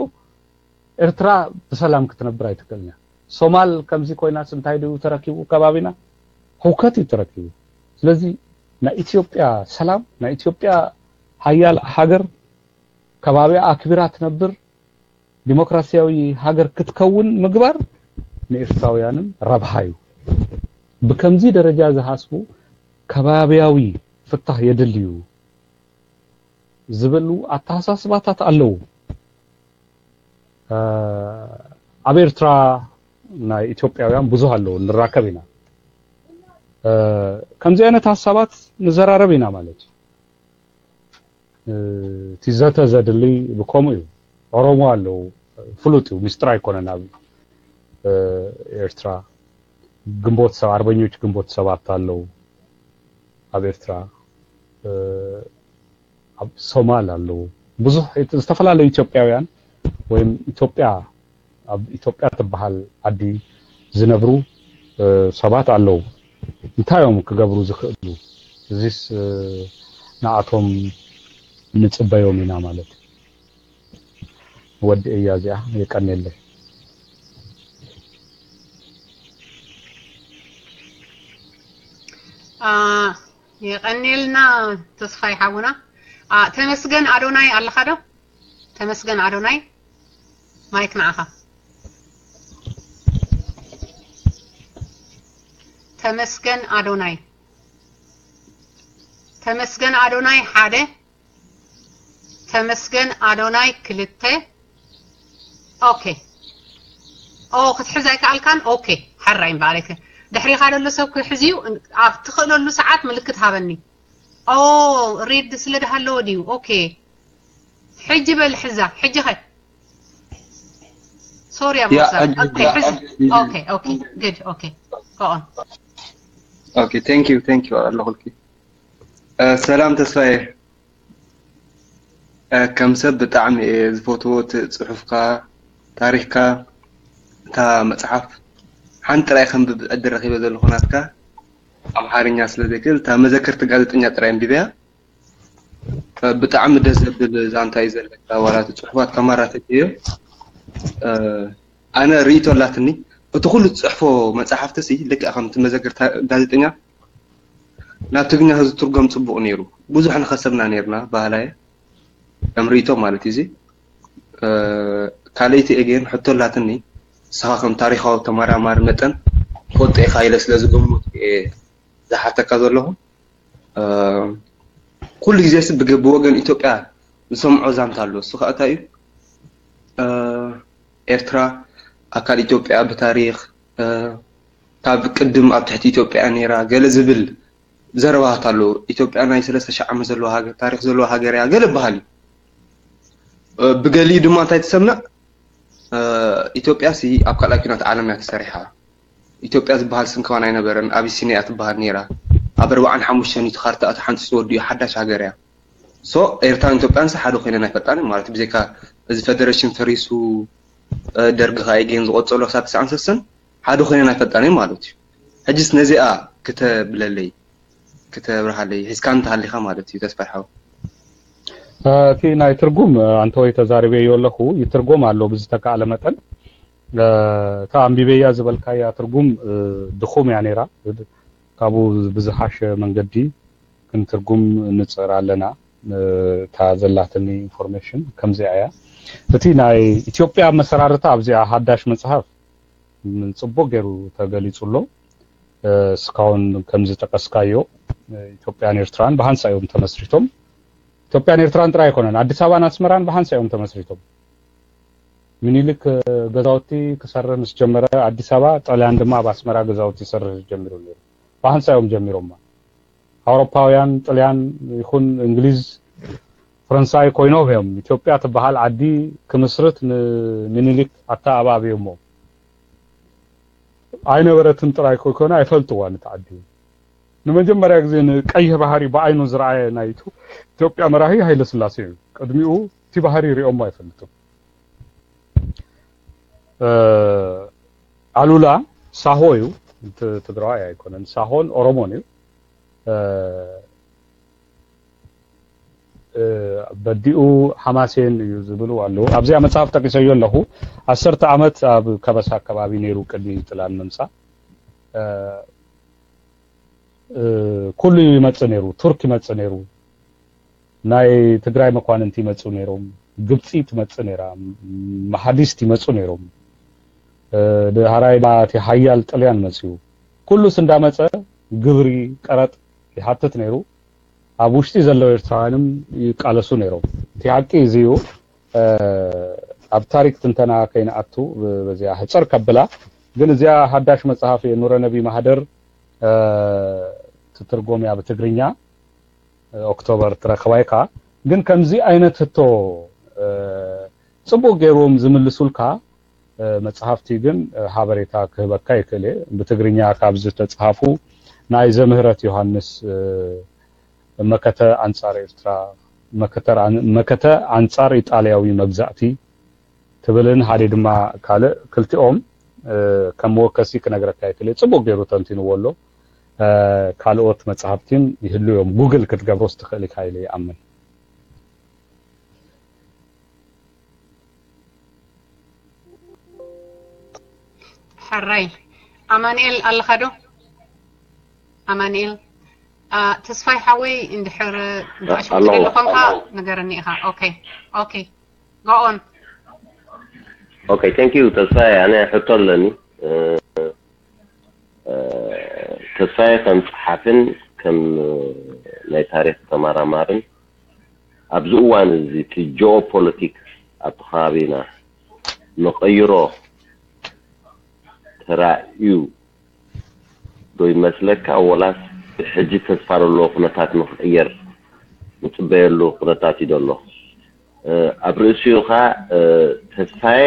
ኤርትራ ብሰላም ክትነብር ኣይትክእልን እያ። ሶማል ከምዚ ኮይናስ እንታይ ድዩ ተረኪቡ ከባቢና? ህውከት እዩ ተረኪቡ። ስለዚ ናይ ኢትዮጵያ ሰላም ናይ ኢትዮጵያ ሓያል ሃገር ከባቢኣ ኣክቢራ ትነብር ዲሞክራሲያዊ ሃገር ክትከውን ምግባር ንኤርትራውያንን ረብሃ እዩ። ብከምዚ ደረጃ ዝሃስቡ ከባቢያዊ ፍታህ የድልዩ ዝብሉ ኣተሓሳስባታት ኣለዉ። ኣብ ኤርትራ ናይ ኢትዮጵያውያን ብዙህ ኣለዉ፣ ንራከብ ኢና። ከምዚ ዓይነት ሀሳባት ንዘራረብ ኢና ማለት እዩ። እቲ ዘተ ዘድሊ ብከምኡ እዩ። ኦሮሞ ኣለዉ፣ ፍሉጥ እዩ፣ ሚስጥር ኣይኮነን። ኣብ ኤርትራ ግንቦት ሰብ ኣርበኞች ግንቦት ሰባት ኣለዉ ኣብ ኤርትራ፣ ኣብ ሶማል ኣለዉ። ብዙሕ ዝተፈላለዩ ኢትዮጵያውያን ወይም ኢትዮጵያ ኣብ ኢትዮጵያ ትበሃል ዓዲ ዝነብሩ ሰባት ኣለዉ። እንታይ እዮም ክገብሩ ዝኽእሉ? እዚስ ንኣቶም ንጽበዮም ኢና ማለት እዩ። ወዲ እያ እዚኣ የቀኔለይ። የቐኔልና ተስፋይ ሓውና። ተመስገን ኣዶናይ ኣለኻ ዶ? ተመስገን ኣዶናይ ማይክ ንዓኻ። ተመስገን ኣዶናይ ተመስገን ኣዶናይ ሓደ። ተመስገን ኣዶናይ ክልተ። ኦኬ። ኦ ክትሕዝ ኣይከኣልካን። ኦኬ። ሓራይ እምበኣር ኣይከ ድሕሪኻ ደሎ ሰብ ክሕዝ እዩ። ኣብ ትኽእለሉ ሰዓት ምልክት ሃበኒ። ኦ ሪድ ስለ ድሃለዎ ድዩ? ኦኬ። ሕጂ በል ሕዛ። ሕጂ ኸ ሶሪ ኣብ ያ ወሳብ ሕጂ ኦኬ። ሕዚ ኦኬ። ኦኬ። ጉድ። ኦኬ። ጎ ኦን። ኦኬ። Thank you, thank you ኣለኹልኪ። ሰላም ተስፋየ። ከም ሰብ ብጣዕሚ እየ ዝፈትዎ እቲ ፅሑፍካ፣ ታሪኽካ፣ እታ መፅሓፍ ሓንቲ ጥራይ ከንብብ ዕድል ረኺበ ዘለኹ ናትካ ኣምሓርኛ ስለ ዘይክእል እታ መዘከርቲ ጋዜጠኛ ጥራይ ኣንቢበያ። ብጣዕሚ ደስ ዘብል ዛንታ እዩ ዘለካ። ዋላ እቲ ፅሑፋት ከማራተት እዮ። ኣነ ርእይቶ ኣላትኒ እቲ ኩሉ ትፅሕፎ መፅሓፍቲ ሲ ልክዕ ከምቲ መዘከርቲ ጋዜጠኛ ናብ ትግርኛ ተዝትርጎም ፅቡቕ ነይሩ። ብዙሕ ንኸሰብና ነይርና ባህላየ ከም ርእይቶ ማለት እዩ። እዚ ካልኣይቲ ኤጌን ሕቶ ኣላትኒ። ንስኻ ከም ታሪኻዊ ተመራማሪ መጠን ትፈልጦ ኢኻ ኢለ ስለ ዝገምት እየ ዝሓተካ ዘለኹ። ኩሉ ግዜ ሲ ብወገን ኢትዮጵያ ዝሰምዖ ዛንታ ኣሎ። እሱ ከዓ እንታይ እዩ? ኤርትራ ኣካል ኢትዮጵያ ብታሪኽ ካብ ቅድም ኣብ ትሕቲ ኢትዮጵያ ነይራ ገለ ዝብል ዘረባታት ኣለዉ። ኢትዮጵያ ናይ ሰለስተ ሺሕ ዓመት ዘለዋ ሃገር፣ ታሪኽ ዘለዋ ሃገር እያ ገለ በሃል እዩ። ብገሊኡ ድማ እንታይ ትሰምዕ? ኢትዮጵያ ሲ ኣብ ካልኣይ ኲናት ዓለም እያ ተሰሪሓ። ኢትዮጵያ ዝበሃል ስም ከማን ኣይነበረን። ኣቢሲንያ እያ ትበሃል ነይራ። ኣብ ኣርብዓን ሓሙሽተን እዩ እቲ ካርታ እቲ ሓንፂ ተወዲኡ ሓዳሽ ሃገር እያ። ሶ ኤርትራን ኢትዮጵያን ሲ ሓደ ኮይነን ኣይፈልጣን ማለት ብዘይካ እዚ ፌደሬሽን ፈሪሱ ደርጊ ከኣ ኤጌን ዝቆጸሎ ክሳብ ትስዓን ሰሰን ሓደ ኮይነን ኣይፈልጣን ማለት እዩ። ሕጅስ ነዚኣ ክተብለለይ ክተብርሃለይ ሒዝካ እንተሃሊኻ ማለት እዩ ተስፋይ ሓው። እቲ ናይ ትርጉም ኣንተ ወይ ተዛሪበዮ ኣለኹ ይትርጎም ኣሎ ብዝተካእለ መጠን እታ ኣንቢበያ ዝበልካያ ትርጉም ድኹም እያ ነይራ። ካብኡ ብዝሓሸ መንገዲ ክንትርጉም ንፅዕር ኣለና። እታ ዘላትኒ ኢንፎርሜሽን ከምዚኣ እያ። እቲ ናይ ኢትዮጵያ ኣመሰራርታ ኣብዚኣ ሓዳሽ መፅሓፍ ጽቡቕ ገይሩ ተገሊጹ ኣሎ። እስካውን ከም ዝጠቀስካዮ ኢትዮጵያን ኤርትራን ብሃንሳ እዮም ተመስሪቶም። ኢትዮጵያን ኤርትራን ጥራይ ኣይኮነን፣ ኣዲስ ኣበባን ኣስመራን ብሃንሳ እዮም ተመስሪቶም። ሚኒሊክ ገዛውቲ ክሰርህ ምስ ጀመረ ኣዲስ ኣበባ፣ ጣልያን ድማ ኣብ ኣስመራ ገዛውቲ ይሰርህ ጀሚሩ ነይሩ። ብሃንሳ እዮም ጀሚሮማ። ኣውሮፓውያን፣ ጥልያን ይኹን እንግሊዝ ፈረንሳይ ኮይኖም እዮም ኢትዮጵያ ትበሃል ዓዲ ክምስርት ንምኒልክ ኣተኣባብዮሞ። ኣይነበረትን ጥራይ ኮይኮነ ኣይፈልጥዋን እቲ ዓዲ። ንመጀመርያ ግዜ ንቀይሕ ባህሪ ብዓይኑ ዝረኣየ ናይ ኢትዮ- ኢትዮጵያ መራሂ ሃይለ ስላሴ እዩ። ቅድሚኡ እቲ ባህሪ ሪኦሞ ኣይፈልጥም። ኣሉላ ሳሆ እዩ። ትግራዋይ ኣይኮነን፣ ሳሆን ኦሮሞን እዩ። በዲኡ ሓማሴን እዩ ዝብሉ ኣለዉ። ኣብዚኣ መፅሓፍ ጠቂሰዮ ኣለኹ። ዓሰርተ ዓመት ኣብ ከበሳ ኣከባቢ ነይሩ ቅድሚ ጥላን ምምፃእ። ኩሉ ይመፅእ ነይሩ። ቱርክ ይመፅእ ነይሩ። ናይ ትግራይ መኳንንቲ ይመፁ ነይሮም። ግብፂ ትመፅእ ነይራ። መሓዲስት ይመፁ ነይሮም። ድሃራይ እቲ ሓያል ጥልያን መፅዩ። ኩሉስ እንዳመፀ ግብሪ፣ ቀረጥ ይሓትት ነይሩ። ኣብ ውሽጢ ዘለዉ ኤርትራውያንም ይቃለሱ ነይሮም። እቲ ሓቂ እዚ እዩ። ኣብ ታሪክ ትንተና ከይንኣቱ በዚኣ ሕፅር ከብላ። ግን እዚኣ ሓዳሽ መፅሓፍ እየ፣ ኑረ ነቢ ማህደር ትትርጎም እያ ብትግርኛ። ኦክቶበር ትረክባይካ። ግን ከምዚ ዓይነት ህቶ ፅቡቅ ገይሮም ዝምልሱልካ መፅሓፍቲ ግን ሓበሬታ ክህበካ ይክእል እየ። ብትግርኛ ካብ ዝተፅሓፉ ናይ ዘምህረት ዮሃንስ መከተ ኣንፃር ኤርትራ፣ መከተ ኣንፃር ኢጣልያዊ መግዛእቲ ትብልን ሓደ ድማ ካልእ፣ ክልቲኦም ከም መወከሲ ክነግረካ ይክእል እየ። ፅቡቅ ገይሩ ተንቲንዎ ኣሎ። ካልኦት መፅሓፍቲን ይህሉ እዮም። ጉግል ክትገብሮስ ትክእል ኢካ ኢለ ይኣምን። ሕራይ ኣማንኤል ኣለኻ ዶ? ኣማንኤል ተስፋይ ሓወይ እንድሕር ብኣሽክትለለ ኮንካ ንገረኒ ኢኻ። ኦኬ ኦኬ go on። ኦኬ thank you ተስፋይ፣ ኣነ ሕቶ ኣለኒ። ተስፋይ ከም ጸሓፍን ከም ናይ ታሪኽ ተመራማርን ኣብዚ እዋን እዚ እቲ ጂኦ ፖለቲክስ ኣብቲ ከባቢና ንቐይሮ ተራእዩ ዶ ይመስለካ? ወላስ ብሕጂ ተስፋ ዘለዎ ኩነታት ንኽቕየር ንጽበየሉ ኩነታት እዩ ዘሎ? ኣብ ርእሲኡ ኸኣ ተስፋዬ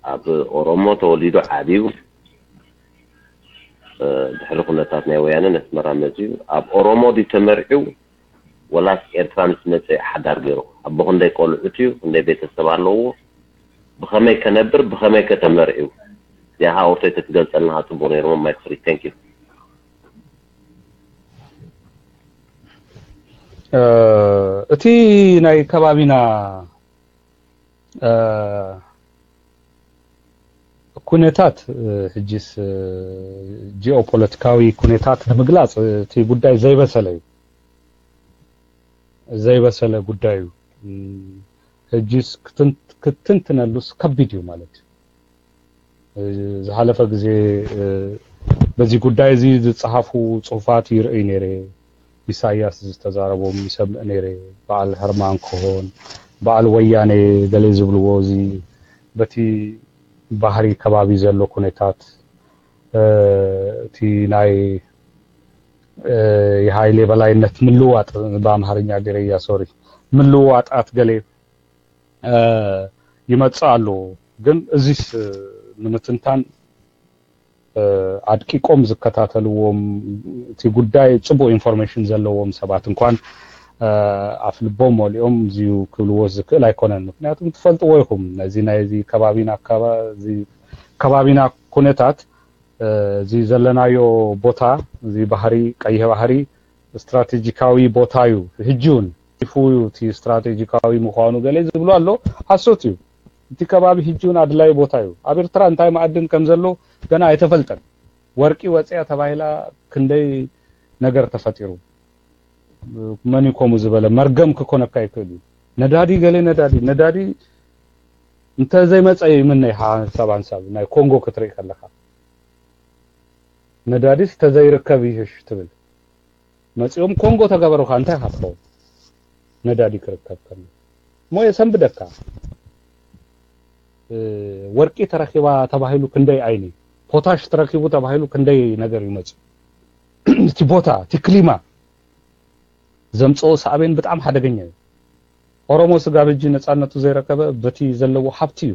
ኣብ ኦሮሞ ተወሊዱ ዓብዩ፣ ድሕሪ ኩነታት ናይ ወያነ ነስመራ መፅዩ። ኣብ ኦሮሞ ድዩ ተመርዒው ወላስ ኤርትራ ምስ መፀ ሓዳር ገይሩ? ኣቦ ክንደይ ቆልዑት እዩ? ክንደይ ቤተሰብ ኣለዎ? ብኸመይ ከነብር? ብኸመይ ከተመርዒው? ያሃ ኦርቶይ ተትገልፀልና ጽቡቅ ነይሩ። ማይክ ፍሪ። Thank you። እቲ ናይ ከባቢና ኩነታት ሕጂስ ጂኦፖለቲካዊ ኩነታት ንምግላፅ እቲ ጉዳይ ዘይበሰለ እዩ። ዘይበሰለ ጉዳይ እዩ። ሕጂስ ክትንትነሉስ ከቢድ እዩ ማለት እዩ። ዝሓለፈ ግዜ በዚ ጉዳይ እዚ ዝፀሓፉ ፅሑፋት ይርእይ ነይረ። ኢሳያስ ዝተዛረቦም ይሰምዕ ነይረ። በዓል ሀርማን ክኾን በዓል ወያነ ገለ ዝብልዎ እዚ በቲ ባህሪ ከባቢ ዘሎ ኩነታት እቲ ናይ የሃይሌ በላይነት ምልዋጥ ብኣምሃርኛ ገይረያ ሶሪ ምልዋጣት ገለ ይመጽእ ኣሎ። ግን እዚስ ንምትንታን ኣድቂቆም ዝከታተልዎም እቲ ጉዳይ ጽቡቅ ኢንፎርሜሽን ዘለዎም ሰባት እንኳን ኣፍ ልቦም መሊኦም እዚዩ ክብልዎ ዝክእል ኣይኮነን። ምክንያቱም ትፈልጥዎ ኢኹም ነዚ ናይዚ ከባቢና ከባቢና ኩነታት እዚ ዘለናዮ ቦታ እዚ ባህሪ ቀይሕ ባህሪ ስትራቴጂካዊ ቦታ እዩ። ሕጂ እውን ይፉ እዩ እቲ ስትራቴጂካዊ ምዃኑ ገለ ዝብሉ ኣሎ። ሓሶት እዩ። እቲ ከባቢ ሕጂ እውን ኣድላይ ቦታ እዩ። ኣብ ኤርትራ እንታይ መኣድን ከም ዘሎ ገና ኣይተፈልጠን። ወርቂ ወፅያ ተባሂላ ክንደይ ነገር ተፈጢሩ። መን እዩ ከምኡ ዝበለ? መርገም ክኮነካ ይክእል እዩ። ነዳዲ ገለ ነዳዲ ነዳዲ እንተዘይመፀ ይምነ ሓንሳብ ሓንሳብ ናይ ኮንጎ ክትርኢ ከለካ ነዳዲስ ተዘይርከብ ይህሽ ትብል። መፂኦም ኮንጎ ተገበሩካ እንታይ ኢካ ትኸውን? ነዳዲ ክርከብ ከሎ እሞ የሰንብደካ። ወርቂ ተረኪባ ተባሂሉ ክንደይ ዓይኒ፣ ፖታሽ ተረኪቡ ተባሂሉ ክንደይ ነገር ይመፁ። እቲ ቦታ እቲ ክሊማ ዘምፅኦ ሳዕቤን ብጣዕሚ ሓደገኛ እዩ። ኦሮሞ ስጋብ ሕጂ ነፃነቱ ዘይረከበ በቲ ዘለዎ ሃብቲ እዩ።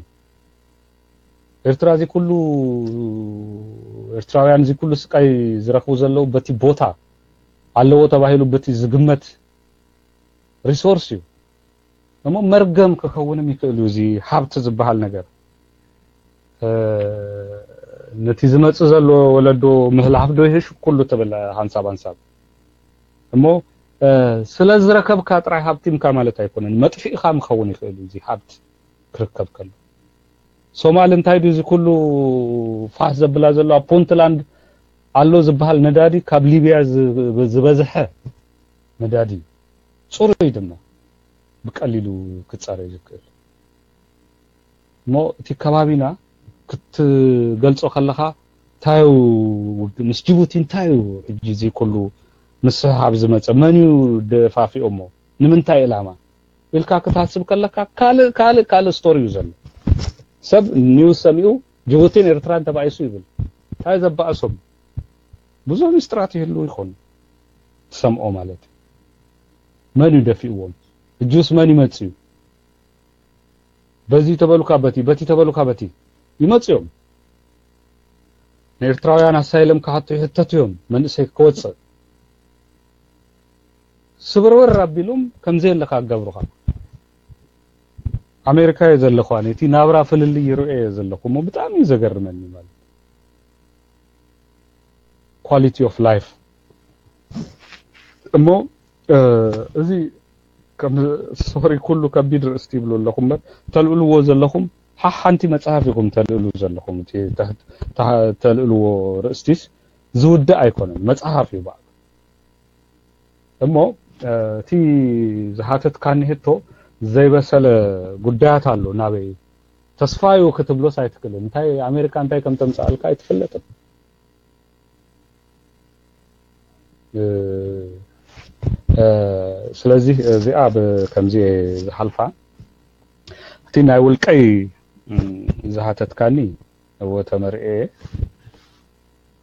ኤርትራ እዚ ኩሉ ኤርትራውያን እዚ ኩሉ ስቃይ ዝረኽቡ ዘለዉ በቲ ቦታ ኣለዎ ተባሂሉ በቲ ዝግመት ሪሶርስ እዩ። እሞ መርገም ክኸውንም ይኽእል እዩ እዚ ሃብቲ ዝበሃል ነገር። ነቲ ዝመጽእ ዘሎ ወለዶ ምህላፍ ዶ ይህሽ ኩሉ ትብል ሓንሳብ ሓንሳብ። እሞ ስለ ዝረከብካ ጥራይ ሃብቲምካ ማለት ኣይኮነን፣ መጥፊእኻ ምኸውን ይኽእል እዩ እዚ ሃብቲ ክርከብ ከሎ። ሶማል እንታይ ድዩ እዚ ኩሉ ፋስ ዘብላ ዘሎ? ኣብ ፑንትላንድ ኣሎ ዝበሃል ነዳዲ ካብ ሊብያ ዝበዝሐ ነዳዲ እዩ። ጽሩይ ድማ ብቀሊሉ ክጻረይ ዝክእል። እሞ እቲ ከባቢና ክትገልጾ ከለኻ እንታይ እዩ፣ ምስ ጅቡቲ እንታይ እዩ ሕጂ እዚ ኩሉ ምስሕሓብ ዝመጸ? መን እዩ ደፋፊኦሞ? ንምንታይ ዕላማ ኢልካ ክትሓስብ ከለካ ካልእ ካልእ ካልእ ስቶሪ እዩ ዘሎ። ሰብ ኒውስ ሰሚኡ ጅቡቲን ኤርትራን ተባኢሱ ይብል። እንታይ ዘባእሶም? ብዙሕ ሚስጥራት ይህልው ይኾኑ ትሰምዖ ማለት እዩ። መን እዩ ደፊእዎም? እጁስ መን ይመጽእ እዩ? በዚ ተበሉካ በቲ፣ በቲ ተበሉካ በቲ ይመጽኡ እዮም። ንኤርትራውያን ኣሳይለም ክሓቱ ይሕተቱ እዮም። መንእሰይ ክወጽእ ስብርብር ኣቢሉም ከምዘየለካ ኣጋብሩኻ። ኣሜሪካ እየ ዘለኹ ኣነ፣ እቲ ናብራ ፍልልይ ይርእዮ እየ ዘለኹ እሞ ብጣዕሚ እዩ ዘገርመኒ ማለት ኳሊቲ ኦፍ ላይፍ። እሞ እዚ ከም ሶሪ ኩሉ ከቢድ ርእስቲ ይብሉ ኣለኹ እምበር ተልእልዎ ዘለኹም ሓሓንቲ መጽሓፍ ኢኹም ተልእሉ ዘለኹም። እቲ ተልእልዎ ርእስቲስ ዝውዳእ ኣይኮነን፣ መጽሓፍ እዩ ባዕሉ። እሞ እቲ ዝሓተትካኒ ሕቶ ዘይበሰለ ጉዳያት ኣሎ ናበይ ተስፋዩ ክትብሎስ ኣይትክእልን። እንታይ ኣሜሪካ እንታይ ከም ተምጽኣልካ ኣይትፍለጥን። ስለዚህ እዚኣ ብከምዚ ዝሓልፋ እቲ ናይ ውልቀይ ዝሓተትካኒ እወ ተመርኤ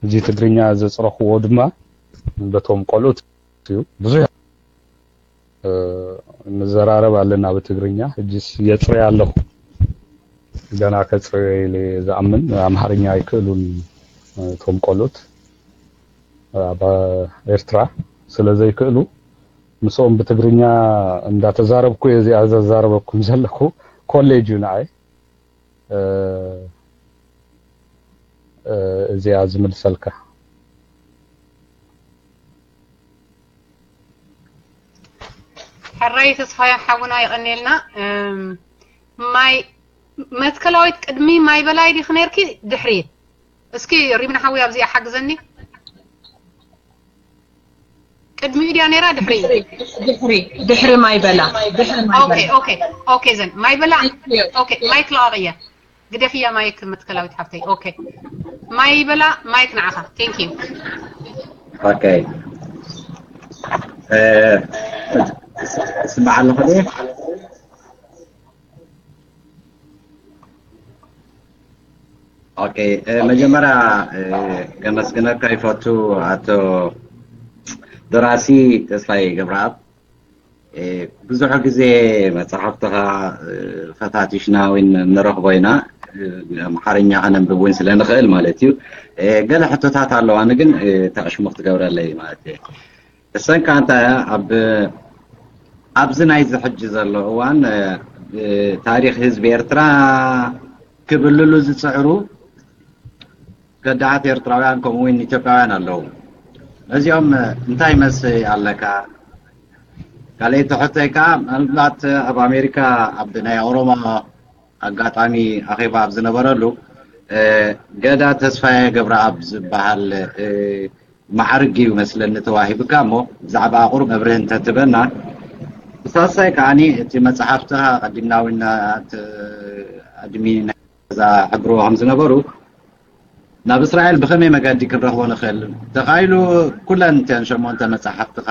እዚ ትግርኛ ዘጽረኽዎ ድማ በቶም ቆልኡት እዩ። ብዙሕ ንዘራረብ ኣለና ብትግርኛ። ሕጂስ የጽርያ ኣለኹ። ገና ከጽርዮ ኢለ ዝኣምን ኣምሓርኛ ኣይክእሉን እቶም ቆልኡት ኣብ ኤርትራ ስለ ዘይክእሉ ምስኦም ብትግርኛ እንዳተዛረብኩ እየ እዚኣ ዘዛረበኩም ዘለኹ። ኮሌጅ እዩ ንዓይ። እዚኣ ዝምልሰልካ። ሕራይ ተስፋያ ሓውና የቐኔልና። ማይ መትከላዊት ቅድሚ ማይ በላይ ዲኺ ነርኪ ድሕሪ? እስኪ ሪምና ሓዊ ኣብዚኣ ሓግዘኒ። ቅድሚኡ ድያ ነይራ ድሕሪ? ድሕሪ ድሕሪ ማይ በላ ድሕሪ ማይ ኦኬ በላ ኦኬ ኦኬ ዘን ማይ በላ ኦኬ ማይክ ለዋቕየ ግደፍያ ማይክ መትከላዊት ሓፍተይ ኦኬ ማይ በላ ማይክ ንዓኻ thank you ኦኬ ስማዕ ኣለኹ ድየ ኦኬ መጀመርያ ከመስግነካ ይፈቱ ኣቶ ደራሲ ተስፋይ ገብረኣብ ብዙሕ ግዜ መፅሓፍትኻ ፈታቲሽና ወይ ንረኽቦ ኢና ኣምሓርኛ ከነንብብ እውን ስለ ንኽእል ማለት እዩ ገለ ሕቶታት ኣለዋኒ ግን ተዕሽሙ ክትገብረለይ ማለት እዩ እሰን ከኣ እንታይ እያ ኣብ ኣብዚ ናይዚ ሕጂ ዘሎ እዋን ታሪኽ ህዝቢ ኤርትራ ክብልሉ ዝጽዕሩ ከዳዓት ኤርትራውያን ከምኡ እውን ኢትዮጵያውያን ኣለዉ። ነዚኦም እንታይ መልሲ ኣለካ? ካልኣይቲ ሕቶይ ከኣ ምናልባት ኣብ ኣሜሪካ ኣብ ናይ ኦሮሞ ኣጋጣሚ ኣኼባ ኣብ ዝነበረሉ ገዳ ተስፋየ ገብረኣብ ዝበሃል ማዕርግ እዩ መስለኒ ተዋሂብካ እሞ ብዛዕባ ኣቑር መብርህ እንተትበና ብሳልሳይ ከዓኒ እቲ መፅሓፍትኻ ቀዲምና እውን ኣድሚን ናይዛ ሕብርዎ ከም ዝነበሩ ናብ እስራኤል ብኸመይ መገዲ ክንረኽቦ ንኽእል ተኻኢሉ ኩለን እተን ሸሞንተ መፅሓፍትኻ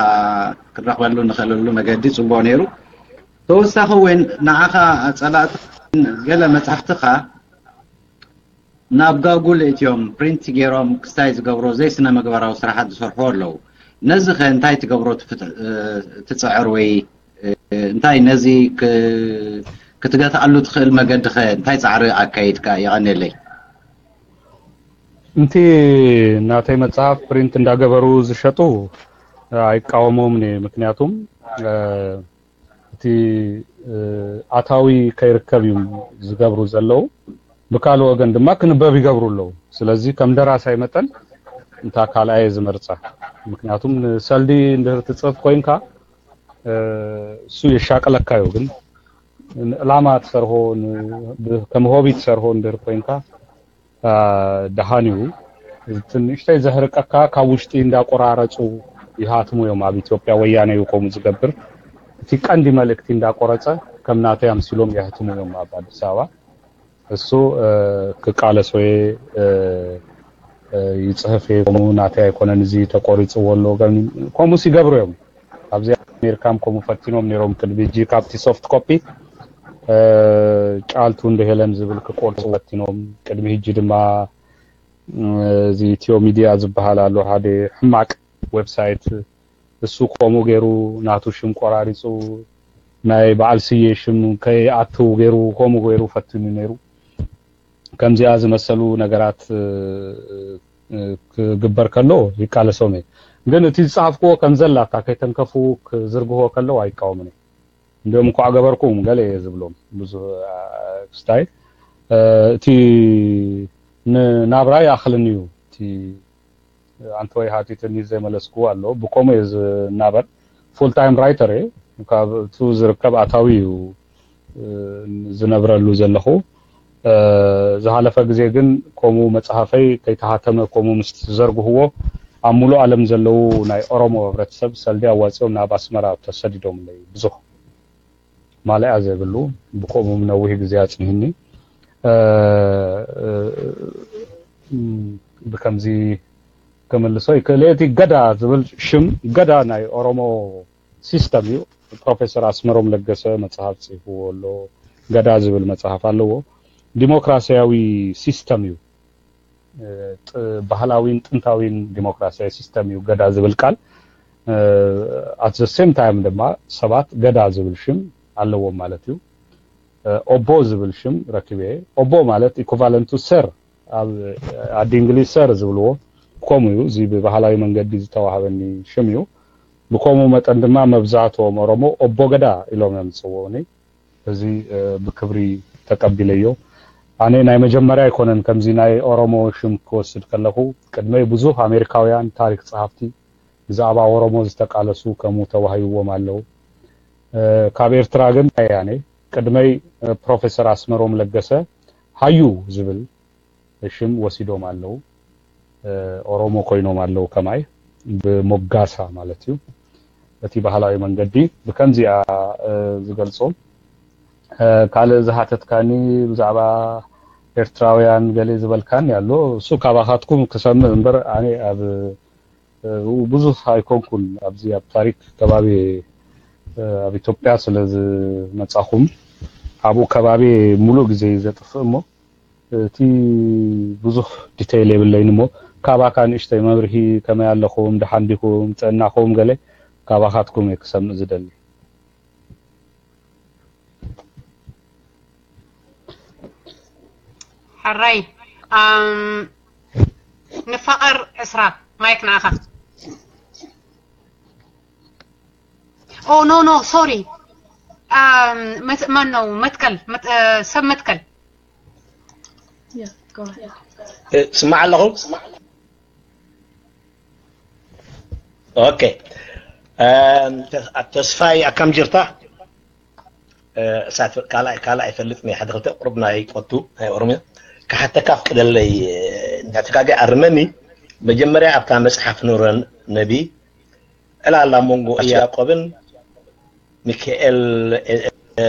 ክንረኽበሉ ንኽእለሉ መገዲ ፅቡቕ ነይሩ ተወሳኺ እውን ንዓኻ ፀላእቲ ገለ መፅሓፍትኻ ናብ ጋጉል እትዮም ፕሪንት ገይሮም ክስታይ ዝገብሮ ዘይስነ ምግባራዊ ስራሓት ዝሰርሑ ኣለዉ። ነዚ ከ እንታይ ትገብሮ ትፍት- እ፣ ትጽዕር ወይ እ፣ እንታይ ነዚ ክ- ክትገትኣሉ ትኽእል መገዲ ከ እንታይ ጻዕሪ ኣካይድካ? የቐንየለይ። እንቲ ናተይ መጽሓፍ ፕሪንት እንዳገበሩ ዝሸጡ ኣይቃወሞምን እየ። ምክንያቱም እ፣ እቲ እ፣ ኣታዊ ከይርከብ እዮም ዝገብሩ ዘለዉ። ብካልእ ወገን ድማ ክንበብ ይገብሩ ኣለዉ። ስለዚ ከም ደራሳይ መጠን እንታ ካልኣየ ዝመርጻ። ምክንያቱም ንሰልዲ እንድህር ትጽሕፍ ኮይንካ እ፣ እሱ የሻቅለካ እዩ። ግን ንዕላማ ትሰርሆ ን- ብ- ከም ሆቢ ትሰርሆ እንድህር ኮይንካ እ፣ ደሃን እዩ። እቲ ንእሽተይ ዘህርቀካ ካብ ውሽጢ እንዳቆራረጹ ይሃትሙ እዮም። ኣብ ኢትዮጵያ ወያነ እዩ ከምኡ ዝገብር። እቲ ቀንዲ መልእክቲ እንዳቆረጸ ከም ናተይ ኣምሲሎም የህትሙ እዮም ኣብ ኣዲስ ኣበባ። እሱ እ፣ ክቃለሶ እየ እ፣ እ፣ ይጽሕፍ እየ። ከምኡ ናተይ ኣይኮነን፣ እዚ ተቆሪጽዎ ኣሎ። ከም- ከምኡስ ይገብሩ እዮም። ኣብዚ ኣሜሪካም ከምኡ ፈቲኖም ነይሮም። ቅድሚ ሕጂ ካብቲ ሶፍት ኮፒ እ፣ ጫልቱ እንደ ሄለን ዝብል ክቆርጹ ፈቲኖም። ቅድሚ ሕጂ ድማ እ፣ እዚ ኢትዮ ሚድያ ዝበሃል ኣሎ፣ ሓደ ሕማቅ ዌብሳይት፣ እሱ ከምኡ ገይሩ ናቱ ሽም ቆራሪጹ ናይ በዓል ስየ ሽም ከይኣትው ገይሩ ከምኡ ገይሩ ፈቲኑ ነይሩ። ከምዚኣ ዝመሰሉ ነገራት እ፣ እ፣ ክግበር ከሎ ይቃለሶም እየ። ግን እቲ ዝጸሓፍክዎ ከም ዘላታ ከይተንከፉ ክዝርግዎ ከለዉ ኣይቃወምን እየ። እንዲኦም እንኳዕ ገበርኩም ገለ እየ ዝብሎም ብዙ ክስታይ እ፣ እቲ ንናብራ ይኣኽልኒ እዩ። እቲ ኣንተ ወይ ሃቲትኒ ዘይመለስኩዎ ኣሎ። ብከምኡ እየ ዝናበር። ፉል ታይም ራይተር እየ። ካብ እቱ ዝርከብ ኣታዊ እዩ እ፣ ዝነብረሉ ዘለኹ። እ፣ ዝሃለፈ ግዜ ግን ከምኡ መጽሓፈይ ከይተሃተመ ከምኡ ምስ ዘርግህዎ ኣብ ሙሉእ ዓለም ዘለዉ ናይ ኦሮሞ ህብረተሰብ ሰልዲ ኣዋጺኦም ናብ ኣስመራ ተሰዲዶምለይ። ብዙሕ ማለያ ዘይብሉ ብከምኡ ነዊሕ ግዜ ኣጽኒህኒ። እ፣ እ፣ እም፣ ብከምዚ ክምልሶ ይክእል እየ። እቲ ገዳ ዝብል ሽም ገዳ ናይ ኦሮሞ ሲስተም እዩ። ፕሮፌሰር ኣስመሮም ለገሰ መጽሓፍ ጽሕፍዎ ኣሎ። ገዳ ዝብል መጽሓፍ ኣለዎ። ዲሞክራሲያዊ ሲስተም እዩ። ጥ- ባህላዊን ጥንታዊን ዲሞክራሲያዊ ሲስተም እዩ ገዳ ዝብል ቃል። ኣት ዘ ሴም ታይም ድማ ሰባት ገዳ ዝብል ሽም ኣለዎም ማለት እዩ። ኦቦ ዝብል ሽም ረኪበ። ኦቦ ማለት ኢኩቫለንቱ ሰር፣ ኣብ ዓዲ እንግሊዝ ሰር ዝብልዎ ከምኡ እዩ። እዚ ብባህላዊ መንገዲ ዝተዋህበኒ ሽም እዩ። ብከምኡ መጠን ድማ መብዛህትኦም ኦሮሞ ኦቦ ገዳ ኢሎም እዮም ዝፅውዑኒ። እዚ እ፣ ብክብሪ ተቀቢለዮ። ኣነ ናይ መጀመርያ ኣይኮነን ከምዚ ናይ ኦሮሞ ሽም ክወስድ ከለኹ። ቅድመይ ብዙሕ ኣሜሪካውያን ታሪክ ጸሓፍቲ ብዛዕባ ኦሮሞ ዝተቃለሱ ከምኡ ተዋሂብዎም ኣለዉ። እ፣ ካብ ኤርትራ ግን ኣያነ ቅድመይ እ፣ ፕሮፌሰር ኣስመሮም ለገሰ ሃዩ ዝብል ሽም ወሲዶም ኣለዉ። እ፣ ኦሮሞ ኮይኖም ኣለዉ ከማይ ብሞጋሳ ማለት እዩ። እቲ ባህላዊ መንገዲ ብከምዚኣ እ፣ ዝገልጾ። እ፣ ካልእ ዝሃተትካኒ ብዛዕባ ኤርትራውያን ገለ ዝበልካኒ ኣሎ። እሱ ካባኻትኩም ክሰምዕ እምበር ኣነ ኣብ እ፣ ብዙሕ ኣይኮንኩን ኣብዚ ኣብ ታሪክ ከባቢ እ፣ ኣብ ኢትዮጵያ ስለ ዝመጻኹም ኣብኡ ከባቢ ሙሉእ ግዜ እዩ ዘጥፍእ እሞ እቲ ብዙሕ ዲቴይል የብለይን እሞ ካባካ ንእሽተይ መብርሂ ከመይ ኣለኹም፣ ደሓን ዲኹም፣ ጥዕናኹም ገለ ካባኻትኩም እየ ክሰምእ ዝደሊ። ሕራይ ኣም፣ ንፋቐር ዕስራ ማይክ ንኣኻ። ኦ ኖ ኖ ሶሪ። ኣም፣ መት- ማን ነው መትከል መት- እ፣ ሰብ መትከል። Yeah, go ahead. ስማዕ ኣለኹ። ኦኬ። ተስፋይ ኣካም ጅርታ? እሳት ካልኣይ ካልኣይ ይፈልጥ ናይ ሓደ ክልተ ቁርብ ናይ ቆቱ ናይ ኦሮምያ ክሓተካ ፍቅደለይ። እንዳተጋገ ኣርመኒ። መጀመርያ ኣብታ መጽሓፍ ኑረን ነቢ ዕላላ መንጎ ያዕቆብን ሚካኤል፣ እ፣ እ፣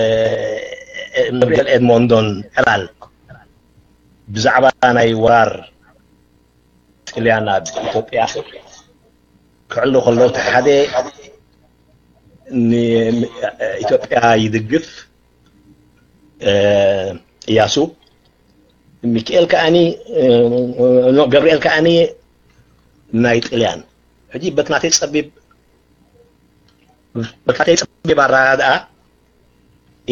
ገብርኤል ኤድሞንዶን ዕላል ብዛዕባ ናይ ወራር ጥልያን ኣብ ኢትዮጵያ ክዕሉ ከለዉ፣ እቲ ሓደ ንኢትዮጵያ ይድግፍ፣ እ፣ እያሱ፣ ሚካኤል ከኣኒ፣ እ፣ ኖ፣ ገብርኤል ከኣኒ ናይ ጥልያን። ሕጂ በትናተይ ጸቢብ በትናተይ ጸቢብ ኣረዳድኣ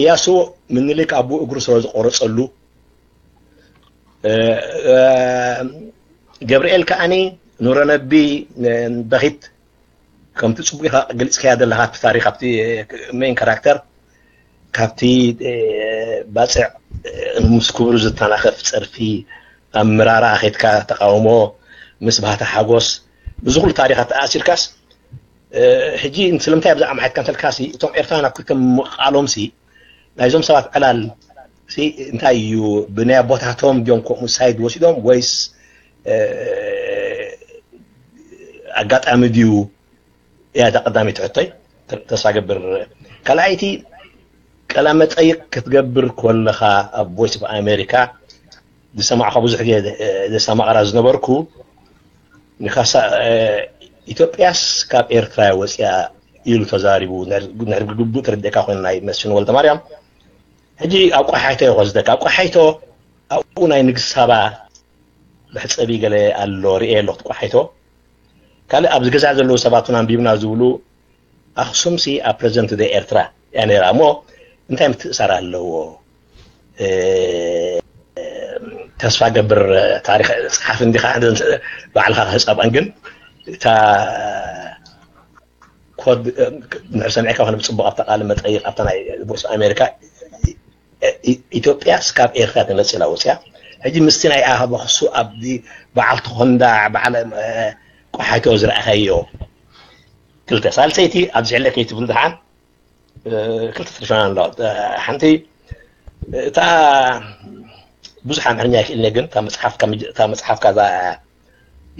እያሱ ምኒልክ ኣቡ እግሩ ስለ ዝቆረጸሉ ገብርኤል ከዓኒ ኑረነቢ በኺት ከምቲ ጽቡቅ ኢኻ ግልጽ ከያ ዘለኻ ኣብቲ ታሪኽ ኣብቲ ሜን ካራክተር ካብቲ ባፅዕ ምስ ክብሩ ዝተናኸፍ ፀርፊ ኣብ ምራራ ኸድካ ተቃውሞ ምስ ባህታ ሓጎስ እዚ ኩሉ ታሪኻት ተኣሲርካስ ሕጂ ስለምንታይ ኣብዛ ኣምሓትካ እንተልካሲ እቶም ኤርትራውያን ኣብ ክልተ ምቃሎም ሲ ናይዞም ሰባት ዕላል እንታይ እዩ ብናይ ኣቦታቶም ድዮም ከምኡ ሳይድ ወሲዶም ወይስ ኣጋጣሚ ድዩ እያ እታ ቀዳመይቲ ሕቶይ ተስፋ ገብር ካልኣይቲ ቀላ መጠይቅ ክትገብር ኮለኻ ኣብ voice of America ዝሰማዕካ ብዙሕ ግዜ ዘሰማቕራ ዝነበርኩ ንካሳ ኢትዮጵያስ ካብ ኤርትራ ወፅያ ኢሉ ተዛሪቡ ንሕርቢ ግቡእ ተረዲእካ ኮይኑ ናይ መስፍን ወልደ ማርያም ሕጂ ኣብ ቆሓይቶ ይኮዝደካ ኣብ ቆሓይቶ ኣብኡ ናይ ንግስት ሳባ መሕፀቢ ገለ ኣሎ ርኤ ኣሎ ክትቆሓይቶ ካልእ ኣብዚ ገዛ ዘለዉ ሰባት እውን ኣንቢብና ዝብሉ ኣክሱም ሲ ኣብ ፕረዘንት ደ ኤርትራ እያ ነራ እሞ እንታይ ምትእሳር ኣለዎ ተስፋ ገብር ታሪክ ፀሓፍ እንዲካ ባዕልካ ክህፀባን ግን እታ ኮድ ንሕር ሰሚዕካ ኮነ ብፅቡቅ ኣብታ ቃለ መጠይቅ ኣብታ ናይ voice of America ኢትዮጵያ ስካብ ኤርትራ ተመፅላ ወፅያ ሕጂ ምስቲ ናይ ኣበክሱ ኣብዚ በዓል ተኾንዳ በዓል ቆሓይቶ ዝረኣኸዮ ክልተ ሳልሰይቲ ኣብዚ ሕለ ከይትብል ድሓን ክልተ ትርሻና ኣሎ ሓንቲ እታ ብዙሕ ኣምሕርኛ ይክእልኒ ግን እታ መፅሓፍካ እዛ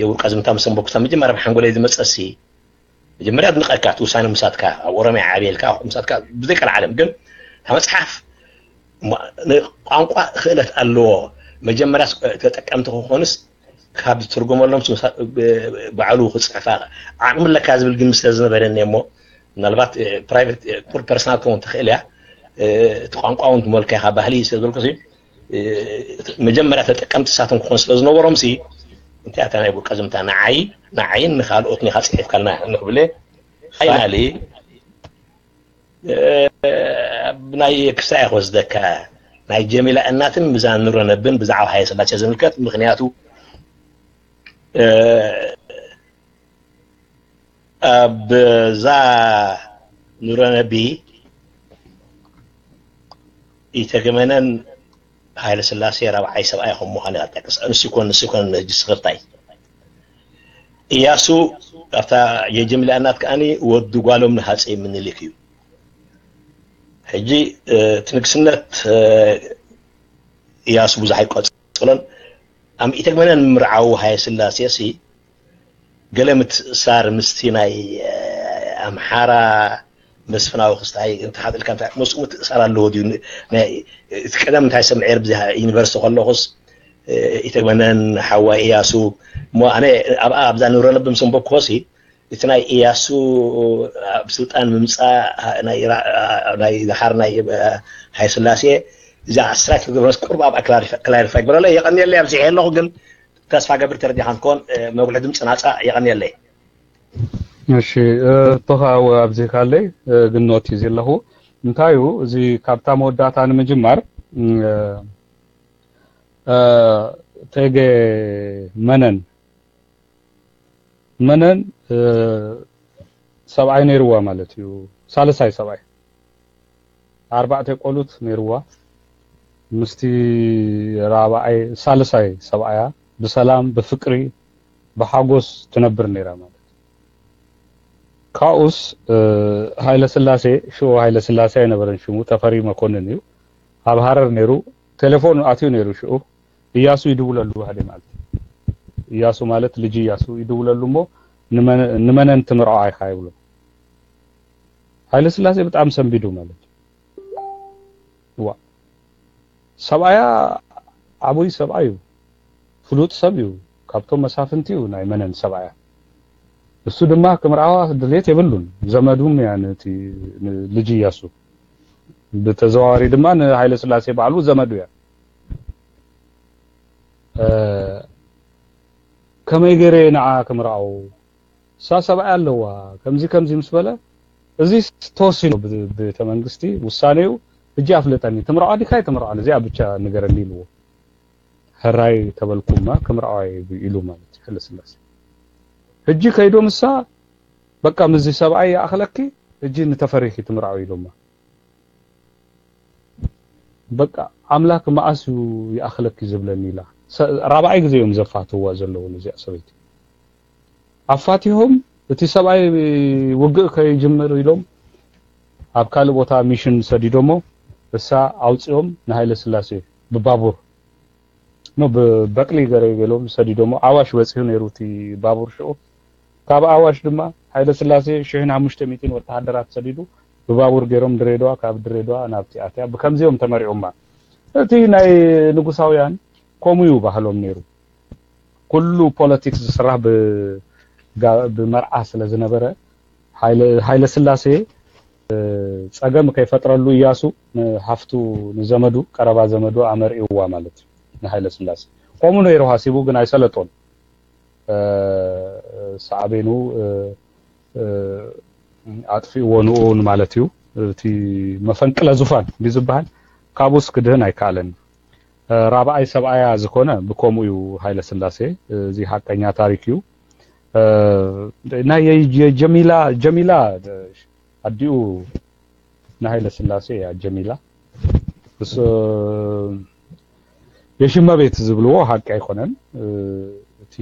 የውልቀ ዝምታ ምስ ኣንበብኩ መጀመርያ ብሓንጎለይ ዝመፀሲ መጀመርያ ኣድንቐካ እቲ ውሳነ ምሳትካ ኣብ ኦሮሚያ ዓብየልካ ምሳትካ ብዘይቀልዓለም ግን እታ መፅሓፍ ቋንቋ ክእለት ኣለዎ መጀመርያ ተጠቀምቲ ክኾንስ ካብ ዝትርጎመሎም ባዕሉ ክፅሕፋ ዓቕሚ ኣለካ ዝብል ግን ስለ ዝነበረኒ እሞ ምናልባት ፕራይቬት ቁር ፐርሰናል ከውን ትኽእል እያ እቲ ቋንቋ እውን ትመልካ ኢኻ ባህሊ ስለ ዝበልኩ መጀመርያ ተጠቀምቲ ሳቶም ክኾን ስለ ዝነበሮም ሲ እንታይ ኣታ ናይ ውልቀ ዝምታ ንዓይ ንዓይን ንካልኦትን ኢኻ ፅሒፍካልና ንክብለ ፋይናሊ ናይ ክሳይ ክወስደካ ናይ ጀሚላ እናትን ብዛ ኑረነብን ብዛዕባ ሃይለ ስላሴ ዝምልከት ምክንያቱ ኣብዛ ኑረነቢ ኢተገመነን ሃይለ ስላሴ ራብዓይ ሰብኣይ ከም ምዃን እያ ጠቅስ ንሱ ኮን ንሱ ኮን ነጅ ስክርታይ እያሱ ኣብታ የጀምላ እናት ከኣኒ ወዲ ጓሎም ንሃፀይ ምኒልክ እዩ ሕጂ እቲ ንግስነት እያሱ ብዙሕ ኣይቆፅሎን ኣብ ኢተግመነን ምርዓው ሃይለ ስላሴ ሲ ገለ ምትእሳር ምስቲ ናይ ኣምሓራ መስፍናዊ ክስታይ እንተሓጥልካ እንታይ ምስኡ ምትእሳር ኣለዎ ድዩ እቲ ቀደም እንታይ ሰምዐ ብዚ ዩኒቨርሲቲ ከለኹስ ኢተግመነን ሓዋ እያሱ እሞ ኣነ ኣብኣ ኣብዛ ንብረ ልቢ ምስ ኣንበብክዎሲ እቲ ናይ እያሱ ኣብ ስልጣን ምምፃእ ናይ ድሓር ናይ ሃይስላሴ እዛ ስትራይክ ትገብረስ ቁርብ ኣብኣ ክላሪፋይ ግበረለ የቀንየለይ ኣብዚሐ ኣለኹ ግን ተስፋ ገብር ተረዲኻ እንትኮን መጉልሒ ድምፂ ናፃ የቐንየለይ። እሺ ቶኻ ኣብዚ ካለይ ግን ኖት እዩ ዘለኹ እንታይ እዩ እዚ ካብታ መወዳእታ ንምጅማር ተገ መነን መነን ሰብኣይ ነይርዋ ማለት እዩ ሳልሳይ ሰብኣይ ኣርባዕተ ቆሉት ነይርዋ ምስቲ ራብዓይ ሳልሳይ ሰብኣያ ብሰላም ብፍቅሪ ብሓጎስ ትነብር ነይራ ማለት ካብኡስ ሃይለ ስላሴ ሽኡ ሃይለ ስላሴ ኣይነበረን ሽሙ ተፈሪ መኮንን እዩ ኣብ ሃረር ነይሩ ቴሌፎን ኣትዩ ነይሩ ሽኡ እያሱ ይድውለሉ ባህደ ማለት እያሱ ማለት ልጅ እያሱ ይድውለሉ እሞ ንመነን ትምርዖ ኣይካ ይብሎ ሃይለ ስላሴ ብጣዕሚ ሰንቢዱ ማለት ዋ ሰብኣያ ዓብይ ሰብኣይ እዩ ፍሉጥ ሰብ እዩ ካብቶም መሳፍንቲ እዩ ናይ መነን ሰብኣያ እሱ ድማ ክምርዓዋ ድሌት የብሉን ዘመዱም እያ ነቲ ልጅ እያሱ ብተዘዋዋሪ ድማ ንሃይለ ስላሴ ባዕሉ ዘመዱ እያ ከመይ ገይረ ንዓ ክምርዓው እሳ ሰብኣይ ኣለዋ፣ ከምዚ ከምዚ ምስ በለ፣ እዚ ተወሲኑ ብ-፣ ቤተ መንግስቲ ውሳኔኡ፣ ሕጂ ኣፍልጠኒ፣ ትምርዖ ዲኻ ኣይትምርዖን፣ እዚኣ ብቻ ንገረኒ ኢልዎ። ሕራይ ተበልኩማ፣ ክምርዖ እየ ኢሉ ማለት እዩ፣ ሃይለስላሴ። ሕጂ ከይዱ ምሳ፣ በቃ፣ ምስዚ ሰብኣይ ይኣኽለኪ፣ ሕጂ ንተፈሪኺ ትምርዖ ኢሉማ። በቃ፣ ኣምላክ መኣስ እዩ ይኣኽለኪ ዝብለኒ ኢላ። ሰ-፣ ራብዓይ ግዜ እዮም ዘፋትውዋ ዘለዉ ነዚኣ ሰበይቲ። ኣፋቲሆም፣ እቲ ሰብኣይ ውግእ ከይጅምር ኢሎም ኣብ ካልእ ቦታ ሚሽን ሰዲዶሞ፣ እሳ ኣውፂኦም ንሃይለ ስላሴ ብባቡር፣ ኖ፣ ብበቅሊ ገረ ገሎም ሰዲዶሞ። ኣዋሽ በፂሑ ነይሩ እቲ ባቡር ሽዑ። ካብ ኣዋሽ ድማ ሃይለ ስላሴ ሽሕን ሓሙሽተ ሚእትን ወተሃደራት ሰዲዱ ብባቡር ገይሮም ድሬዳዋ፣ ካብ ድሬዳዋ ናብቲ ኣትያ። ብከምዚኦም ተመሪዖማ። እቲ ናይ ንጉሳውያን ከምኡ እዩ ባህሎም ነይሩ። ኩሉ ፖለቲክስ ዝስራሕ ብ-፣ ጋ-፣ ብመርዓ ስለ ዝነበረ፣ ሃይለ፣ ሃይለ ስላሴ፣ እ፣ ጸገም ከይፈጥረሉ እያሱ ንሓፍቱ፣ ንዘመዱ፣ ቀረባ ዘመዱ ኣመርኢዋ ማለት እዩ፣ ንሃይለ ስላሴ። ከምኡ ነይሩ ሃሲቡ፣ ግን ኣይሰለጦን። እ፣ ሳዕቤኑ፣ እ፣ እ፣ ኣጥፊእዎ ንኡን ማለት እዩ። እቲ መፈንቅለ ዙፋን እንዲ ዝበሃል፣ ካብኡስ ክድህን ኣይከኣለን። እ፣ ራብኣይ ሰብኣያ ዝኾነ ብከምኡ እዩ ሃይለ ስላሴ። እዚ ሓቀኛ ታሪክ እዩ። እ፣ ናይ የ-፣ የ-፣ ጀሚላ፣ ጀሚላ፣ እ፣ ኣዲኡ ንሃይለ ስላሴ እያ ጀሚላ። እሱ የሽመ ቤት ዝብልዎ ሓቂ ኣይኮነን። እ፣ እቲ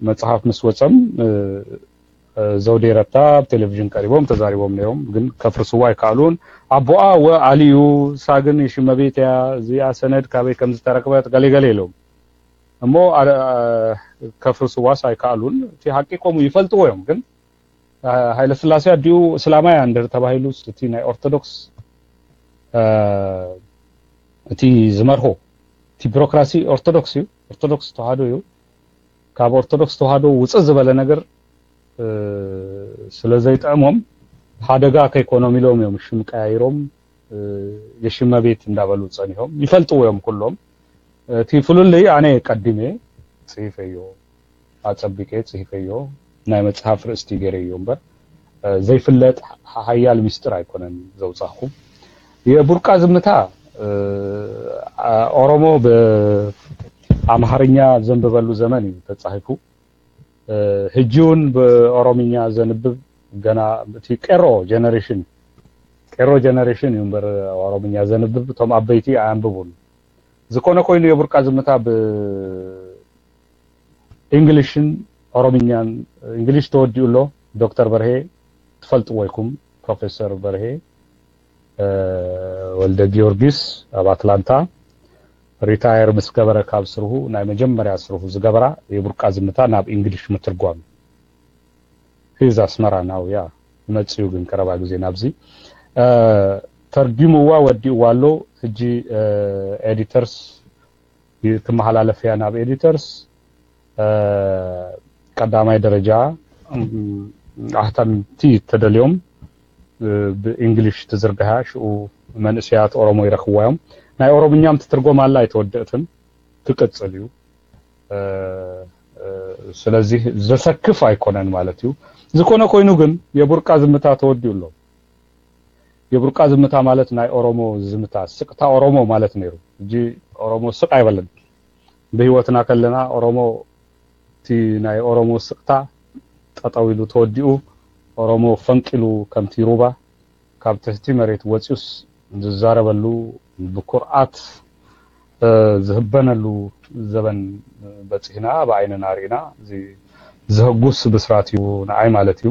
መጽሓፍ ምስ ወጸም፣ እ፣ እ፣ ዘውዴ ረታ ኣብ ቴሌቪዥን ቀሪቦም ተዛሪቦም ነይሮም፣ ግን ከፍርስዋ ኣይከኣሉን። ኣቦኣ ወ ኣልዩ፣ እሳ ግን የሽመ ቤት እያ፣ እዚኣ ሰነድ ካበይ ከም ዝተረክበት ገለ ገለ ኢሎም። እሞ ኣረ-፣ እ፣ ከፍርስዋስ ኣይከኣሉን። እቲ ሓቂ ከምኡ ይፈልጥዎ እዮም፣ ግን፣ እ፣ ሃይለ ስላሴ ኣዲኡ እስላማይ እያ እንድሕር ተባሂሉስ፣ እቲ ናይ ኦርቶዶክስ፣ እ፣ እቲ ዝመርሆ፣ እቲ ቢሮክራሲ ኦርቶዶክስ እዩ፣ ኦርቶዶክስ ተዋህዶ እዩ። ካብ ኦርቶዶክስ ተዋህዶ ውፅእ ዝበለ ነገር፣ እ፣ ስለ ዘይጥዕሞም፣ ሓደጋ ከይኮኖም ኢሎም እዮም ሽም ቀያይሮም፣ እ፣ የሽመ ቤት እንዳበሉ ጸኒሖም። ይፈልጥዎ እዮም ኩሎም። እቲ ፍልልይ ኣነ ቀዲመ ጽሒፈዮ፣ ኣጸቢቀ ጽሒፈዮ፣ ናይ መጽሓፍ ርእስቲ ገይረዮ እምበር፣ እ፣ ዘይፍለጥ ሓ-፣ ሓያል ሚስጥር ኣይኮነን ዘውጻኹ። የቡርቃ ዝምታ፣ እ፣ ኣ-፣ ኦሮሞ ብኣምሃርኛ ዘንብበሉ ዘመን እዩ ተጻሒፉ። እ፣ ሕጂ እውን ብኦሮምኛ ዘንብብ ገና እቲ ቄሮ ጀነሬሽን፣ ቄሮ ጀነሬሽን እዩ እምበር ኦሮምኛ ዘንብብ፣ እቶም ኣበይቲ ኣያንብቡን። ዝኾነ ኮይኑ የቡርቃ ዝምታ ብእንግሊሽን ኦሮምኛን፣ እንግሊሽ ተወዲኡ ኣሎ። ዶክተር በርሄ ትፈልጥዎ ኢኹም፣ ፕሮፌሰር በርሄ፣ እ፣ ወልደ ጊዮርጊስ ኣብ ኣትላንታ ሪታየር ምስ ገበረ ካብ ስርሁ ናይ መጀመርያ ስርሁ ዝገበራ የቡርቃ ዝምታ ናብ እንግሊሽ ምትርጓም። ሂዝ ኣስመራ ናው ያ ይመጽኡ ግን ቀረባ ግዜ ናብዚ፣ እ፣ ተርጊምዋ ወዲእዋ ኣሎ። ሕጂ፣ እ፣ ኤዲተርስ ይ-፣ ትመሓላለፍ እያ ናብ ኤዲተርስ። እ፣ ቀዳማይ ደረጃ፣ እም፣ ኣሕተምቲ ተደልዮም፣ እ፣ ብእንግሊሽ ትዝርግሓ፣ ሽኡ መንእሰያት ኦሮሞ ይረኽብዋ እዮም። ናይ ኦሮምኛም ትትርጎም ኣላ ኣይተወደእትን፣ ትቅጽል እዩ። እ፣ እ፣ ስለዚህ ዘሰክፍ ኣይኮነን ማለት እዩ። ዝኾነ ኮይኑ ግን የቡርቃ ዝምታ ተወዲኡ ኣሎ። የቡርቃ ዝምታ ማለት ናይ ኦሮሞ ዝምታ፣ ስቅታ ኦሮሞ ማለት ነይሩ። ሕጂ ኦሮሞ ስቅ ኣይበለን። ብህይወትና ከለና ኦሮሞ፣ እቲ ናይ ኦሮሞ ስቅታ ጠጠው ኢሉ ተወዲኡ፣ ኦሮሞ ፈንቂሉ ከምቲ ሩባ ካብ ትሕቲ መሬት ወፂኡስ ዝዛረበሉ፣ ብኩርዓት፣ እ፣ ዝህበነሉ ዘበን በፂሕና፣ ብዓይንና ርኢና። እዚ ዘህጉስ ብስራት እዩ ንዓይ ማለት እዩ።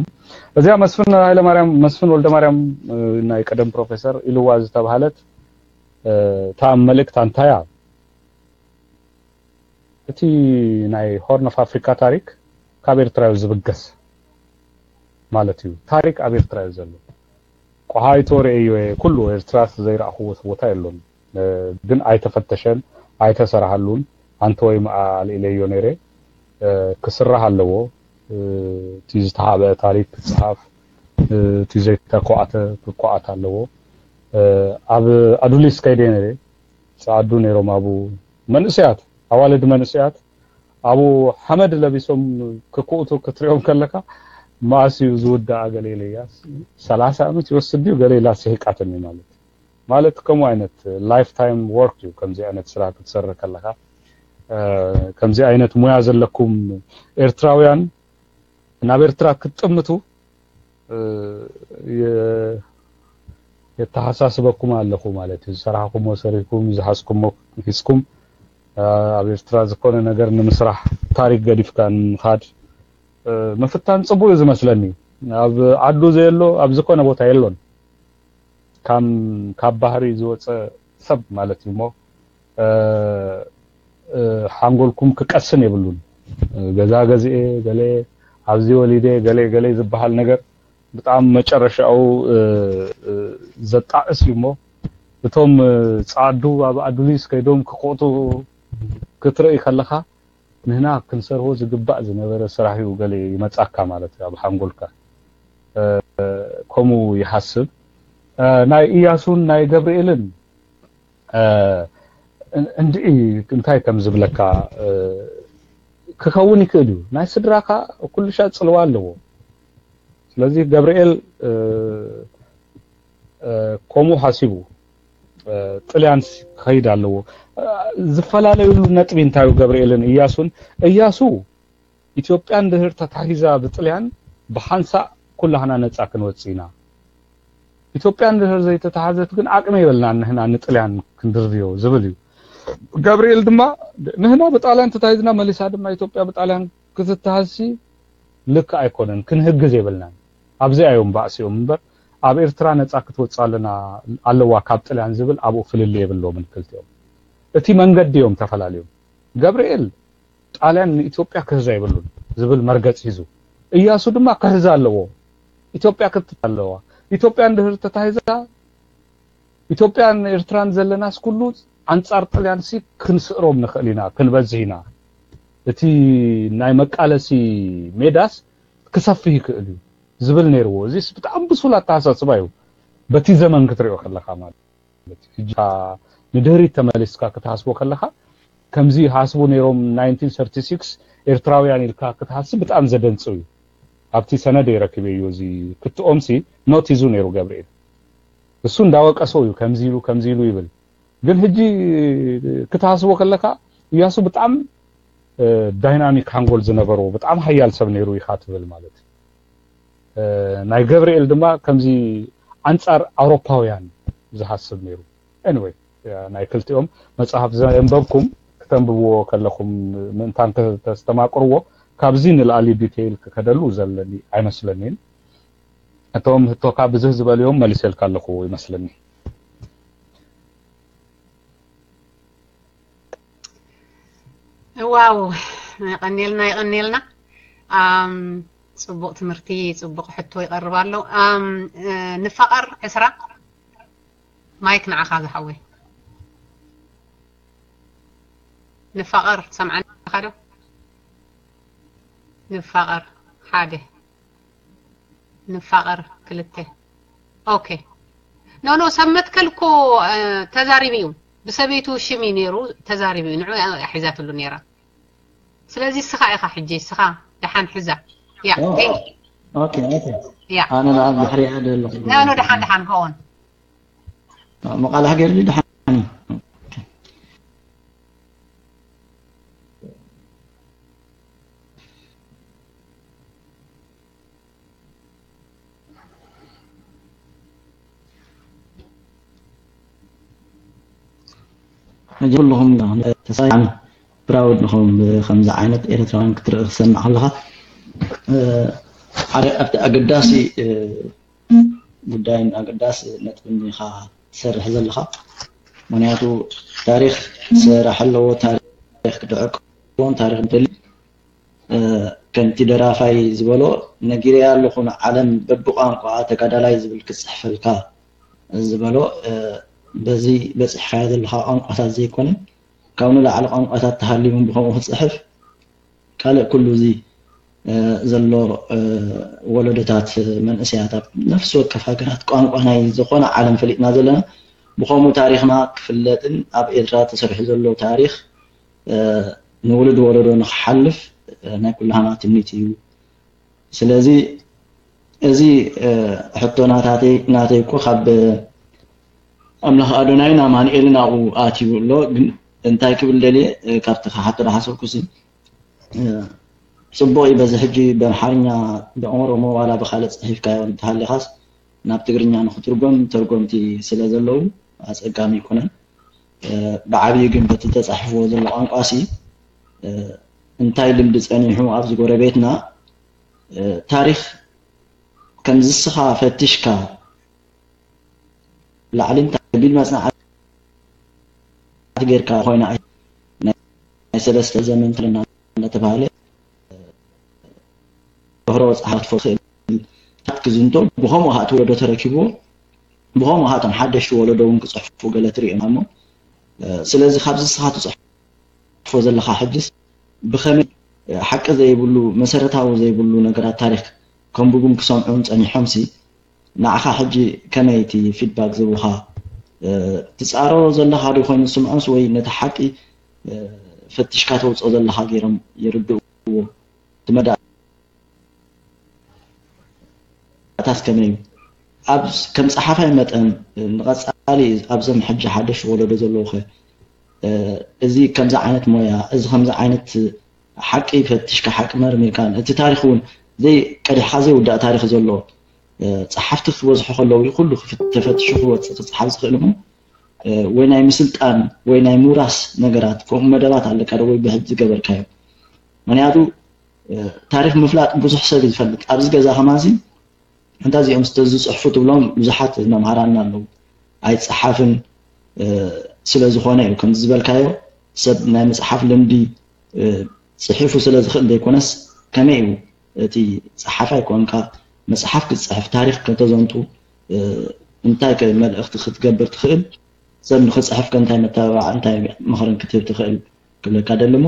እዚኣ መስፍን ሃይለማርያም፣ መስፍን ወልደማርያም፣ እ፣ ናይ ቀደም ፕሮፌሰር ኢልዋ ዝተባህለት፣ እ፣ እታ መልእክታ እንታይ እያ? እቲ ናይ ሆርን ኦፍ ኣፍሪካ ታሪክ ካብ ኤርትራ እዩ ዝብገስ ማለት እዩ። ታሪክ ኣብ ኤርትራ እዩ ዘሎ። ቆሃይቶ ርእዮ እየ፣ ኩሉ ኤርትራ ዘይረኣኽዎ ቦታ የሎን። እ፣ ግን ኣይተፈተሸን፣ ኣይተሰራሃሉን። ኣንተ ወይ መኣ ኣልኢለዮ ነይረ። እ፣ ክስራሕ ኣለዎ። እ፣ እቲ ዝተሓብአ ታሪክ ክጽሓፍ፣ እ፣ እቲ ዘይተኳዕተ ክኳዓት ኣለዎ። እ፣ ኣብ ኣዱሊስ ከይደ ነይረ። ጸዓዱ ነይሮም ኣብኡ። መንእሰያት፣ ኣዋልድ መንእሰያት ኣብኡ ሓመድ ለቢሶም ክኩእቱ ክትሪኦም ከለካ፣ መኣስ እዩ ዝውዳኣ ገለ ኢለያ። ሰላሳ ዓመት ይወስድ ድዩ ገለ ኢላ ስሒቃትኒ። ማለት ማለት ከምኡ ዓይነት ላይፍ ታይም ወርክ እዩ። ከምዚ ዓይነት ስራሕ ክትሰርሕ ከለካ፣ ከምዚ ዓይነት ሙያ ዘለኩም ኤርትራውያን ናብ ኤርትራ ክትጥምቱ የተሓሳስበኩም ኣለኹ ማለት እዩ። ዝሰራሕኩሞ ሰሪኩም፣ ዝሓዝኩሞ ሒዝኩም፣ ኣብ ኤርትራ ዝኾነ ነገር ንምስራሕ፣ ታሪክ ገዲፍካ ንምኻድ ምፍታን ጽቡቅ እዩ ዝመስለኒ። ኣብ ዓዱ ዘየሎ ኣብ ዝኾነ ቦታ የሎን። ካብ ባህሪ ዝወፀ ሰብ ማለት እዩ እሞ ሓንጎልኩም ክቀስን የብሉን። ገዛ ገዚኤ፣ ገለ ኣብዚ ወሊደ፣ ገለ ገለ ዝበሃል ነገር ብጣዕሚ መጨረሻኡ ዘጣዕስ እዩ እሞ፣ እቶም ፃዓዱ ኣብ ኣዱሊስ ከይዶም ክቆጡ ክትርኢ ከለካ፣ ንህና ክንሰርሆ ዝግባእ ዝነበረ ስራሕ እዩ ገለ ይመጻካ ማለት እዩ ኣብ ሓንጎልካ። ከምኡ ይሓስብ። ናይ እያሱን ናይ ገብርኤልን እንድዒ እንታይ ከም ዝብለካ ክኸውን ይክእል እዩ። ናይ ስድራካ ኩሉሻ ጽልዋ ኣለዎ። ስለዚ ገብርኤል ከምኡ ሓሲቡ ጥልያን ክኸይድ ኣለዎ። ዝፈላለዩሉ ነጥቢ እንታይ እዩ? ገብርኤልን እያሱን፣ እያሱ ኢትዮጵያ እንድህር ተታሒዛ ብጥልያን ብሓንሳእ ኩላህና ነፃ ክንወፅእ ኢና። ኢትዮጵያ እንድህር ዘይተታሓዘት ግን ዓቅሚ የብልናን ንህና ንጥልያን ክንድርብዮ ዝብል እዩ። ገብርኤል ድማ ንህና ብጣልያን ተታሂዝና መሊሳ ድማ ኢትዮጵያ ብጣልያን ክትተሃዝሲ ልክዕ ኣይኮነን፣ ክንህግዝ የብልናን። ኣብዚኣ እዮም ባእሲኦም እምበር ኣብ ኤርትራ ነፃ ክትወፅእ ኣለና ኣለዋ ካብ ጥልያን ዝብል ኣብኡ ፍልልይ የብሎምን ክልቲኦም። እቲ መንገዲ እዮም ተፈላልዮም። ገብርኤል ጣልያን ንኢትዮጵያ ክህዛ የብሉን ዝብል መርገፂ ሒዙ፣ እያሱ ድማ ክህዛ ኣለዎ። ኢትዮጵያ ክትት ኣለዋ። ኢትዮጵያ እንድህር ተታሂዛ ኢትዮጵያን ኤርትራን ዘለናስ ኩሉ ኣንጻር ጥልያንሲ ክንስእሮም ንኽእል ኢና፣ ክንበዝህ ኢና። እቲ ናይ መቃለሲ ሜዳስ ክሰፍህ ይክእል እዩ ዝብል ነይርዎ። እዚስ ብጣዕሚ ብሱል ኣተሓሳስባ እዩ። በቲ ዘመን ክትሪኦ ከለካ ማለት እዩ። ሕጂ ንድህሪት ተመሊስካ ክትሓስቦ ከለካ ከምዚ ይሓስቡ ነይሮም ናይንቲን ሰርቲ ሲክስ ኤርትራውያን ኢልካ ክትሓስብ ብጣዕሚ ዘደንጽው እዩ። ኣብቲ ሰነድ ረኪበዮ እዚ ክትኦም ሲ ኖት ሒዙ ነይሩ ገብርኤል። እሱ እንዳወቀሶ እዩ ከምዚ ኢሉ ከምዚ ኢሉ ይብል። ግን ሕጂ ክትሓስቦ ከለካ እያሱ ብጣዕሚ ዳይናሚክ ሓንጎል ዝነበሮ ብጣዕሚ ሓያል ሰብ ነይሩ ኢኻ ትብል ማለት እዩ። ናይ ገብርኤል ድማ ከምዚ ኣንጻር ኣውሮፓውያን ዝሓስብ ነይሩ። Anyway ናይ ክልቲኦም መጽሓፍ ዘንበብኩም ክተንብብዎ ከለኹም ምእንታን ከተስተማቅርዎ ካብዚ ንላዕሊ ዲቴይል ክከደሉ ዘለኒ ኣይመስለኒን። እቶም ህቶካ ብዝህ ዝበልዮም መሊሰልካ ኣለኹ ይመስለኒ። ዋው፣ የቐኔልና የቐኔልና። ኣም፣ ጽቡቕ ትምህርቲ፣ ጽቡቕ ሕቶ ይቐርብ ኣሎ። ኣም፣ እ፣ ንፋቐር ዕስራ፣ ማይክ ንዓኻ ዝሓወይ። ንፋቐር፣ ትሰምዓኒ ኢኻ ዶ? ንፋቐር ሓደ፣ ንፋቐር ክልተ። ኦኬ። ኖ፣ ኖ፣ ሰብ መትከል እኮ፣ እ፣ ተዛሪቡ እዩ። ብሰበይቱ ሽም እዩ ነይሩ፣ ተዛሪቡ እዩ። ንዑ እያ ሒዛትሉ ነይራ። ስለዚ እስኻ ኢኻ ሕጂ፣ እስኻ ደሓን ሕዛ። ያ፣ ኦ፣ ቴንክ ዩ። ኦኬ፣ ኦኬ። ያ። ኣነ ንዓብ ድሕሪ እየ ደለኹ። ኖ፣ ኖ፣ ደሓን፣ ደሓን፣ ጎ ኦን። መቓልሕ ገይርሊ ደሓን እዩ። ኦኬ። መጀመርያ ኩልኹም ተሳኢኑ ፕራውድ ንኹም። ከምዚ ዓይነት ኤርትራውያን ክትርኢ ክሰምዕ ከለኻ፣ እ፣ ሓደ ኣብቲ ኣገዳሲ፣ እ፣ ጉዳይን ኣገዳሲ ነጥብን ኢኻ ትሰርሕ ዘለኻ። ምኽንያቱ ታሪኽ ክሰራሕ ኣለዎ፣ ታሪኽ ክድዕቅ ክኸውን፣ ታሪኽ እንተልዩ፣ እ፣ ከምቲ ደራፋይ ዝበሎ፣ ነጊረያ ኣለኹ ንዓለም በብቋንቋኣ ተጋዳላይ ዝብል ክጽሕፈልካ ዝበሎ፣ እ፣ በዚ በጺሕካዮ ዘለኻ ቋንቋታት ዘይኮነ፣ ካብ ንላዕሊ ቋንቋታት ተሃልዩ እውን ብኸምኡ ክጽሕፍ፣ ካልእ ኩሉ እዚ፣ እ፣ ዘሎ፣ እ፣ ወለዶታት፣ መንእሰያት ኣብ ነፍሲ ወከፍ ሃገራት ቋንቋ ናይ ዝኾነ ዓለም ፈሊጥና ዘለና፣ ብኸምኡ ታሪኽና ክፍለጥን ኣብ ኤርትራ ተሰሪሑ ዘሎ ታሪኽ፣ እ፣ ንውሉድ ወለዶ ንክሓልፍ ናይ ኩላህና ትምኒት እዩ። ስለዚ እዚ ሕቶ ናታተይ ናተይ እኮ ካብ ኣምላኽ ኣዶናይን ኣማኑኤልን ኣብኡ ኣትዩ ኣሎ። ግን እንታይ ክብል ደልየ፣ ካብቲ ክሓቶ ዝሓሰብኩሲ፣ ጽቡቕ እዩ። በዚ ሕጂ ብኣምሓርኛ ብኦሮሞ ዋላ ብኻልእ ጽሒፍካዮ እንተሃሊኻስ ናብ ትግርኛ ንክትርጎም ተርጎምቲ ስለ ዘለዉ ኣጸጋሚ ኣይኮነን። ብዓብዩ ግን በቲ ተጻሒፍዎ ዘሎ ቋንቋሲ እንታይ ልምዲ ጸኒሑ ኣብዚ ጎረቤትና ታሪኽ ከምዚ እስኻ ፈቲሽካ ላዕልን ታሕትን ቢል መጽናዕቲ ጌርካ ኮይና ናይ ሰለስተ ዘመን ትልና እናተባህለ ዶህሮ ጸሓፍት ክእል ክዝንቶ ብኸምኡ ኸዓ እቲ ወለዶ ተረኪብዎ ብኸምኡ ኸዓ እቶም ሓደሽቲ ወለዶ እውን ክፅሕፉ ገለ ትሪኦ እሞ ስለዚ ካብዚ እስኻ ትፅሕፎ ዘለኻ ሕጅስ ብኸመይ ሓቂ ዘይብሉ መሰረታዊ ዘይብሉ ነገራት ታሪክ ከንብቡን ክሰምዑን ፀኒሖምሲ ንዓኻ ሕጂ ከመይ እቲ ፊድባክ ዝህቡኻ ትፃረሮ ዘለኻ ዶ ኮይኑ ዝስምዖምስ ወይ ነቲ ሓቂ ፈቲሽካ ተውፅኦ ዘለኻ ገይሮም ይርድእዎ እቲ መዳ ኣታስ ከመይ እዩ ኣብ ከም ፀሓፋይ መጠን ንቐፃሊ ኣብዞም ሕጂ ሓደሽ ወለዶ ዘለዉ ኸ እዚ ከምዚ ዓይነት ሞያ እዚ ከምዚ ዓይነት ሓቂ ፈትሽካ ሓቂ መርሚርካ እቲ ታሪክ እውን ዘይ ቀዲሕካ ዘይውዳእ ታሪክ ዘሎ ፀሓፍቲ ክበዝሑ ከለዉ እዩ ኩሉ ተፈትሹ ክወፅእ ክፀሓፍ ዝኽእል እሞ ወይ ናይ ምስልጣን ወይ ናይ ምውራስ ነገራት ከምኡ መደባት ኣለካ ዶ ወይ ብሕጂ ዝገበርካዮ ምክንያቱ ታሪክ ምፍላጥ ብዙሕ ሰብ ይፈልጥ ኣብዚ ገዛ ከማዚ እንታ እዚኦም ዝተዝፅሕፉ ትብሎም ብዙሓት መምሃራና ኣለዉ ኣይፀሓፍን ስለ ዝኾነ እዩ ከምዚ ዝበልካዮ ሰብ ናይ መፅሓፍ ልምዲ ፅሒፉ ስለ ዝኽእል ዘይኮነስ ከመይ እዩ እቲ ፀሓፋይ ኮንካ መፅሓፍ ክትፅሕፍ ታሪክ ከተዘንጡ እንታይ ከ መልእኽቲ ክትገብር ትኽእል ሰብ ንክፅሕፍ ከ እንታይ መተባባዕ እንታይ ምኽርን ክትህብ ትኽእል ክብለካ ደሊ እሞ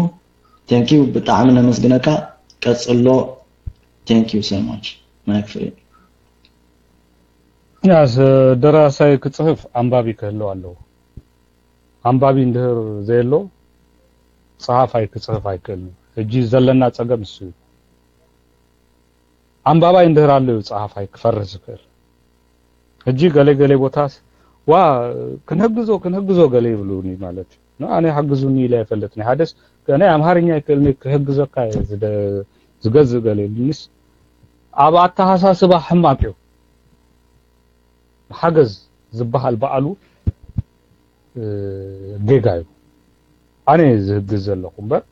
thank you ብጣዕሚ ነመስግነካ ቀፅሎ thank you so much mic free ያስ ደራሳይ ክፅህፍ ኣንባቢ ክህልው ኣለዎ ኣንባቢ እንድህር ዘየሎ ፀሃፋይ ክፅህፍ ኣይክእልን ሕጂ ዘለና ፀገም እሱ እዩ ኣንባባይ እንድህር ኣሎ እዩ ፀሃፋይ ክፈርህ ዝክእል ሕጂ ገለ ገለ ቦታስ ዋ ክንህግዞ ክንህግዞ ገለ ይብሉኒ ማለት እዩ ኣነ ሓግዙኒ ኢለ ኣይፈልጥኒ ሓደስ ናይ ኣምሃርኛ ይክእልኒ ክህግዘካ ዝገዝእ ገለ ይብሉኒስ ኣብ ኣተሓሳስባ ሕማቅ እዩ ሓገዝ ዝበሃል በዓሉ ጌጋ እዩ ኣነ ዝህግዝ ዘለኹ እምበር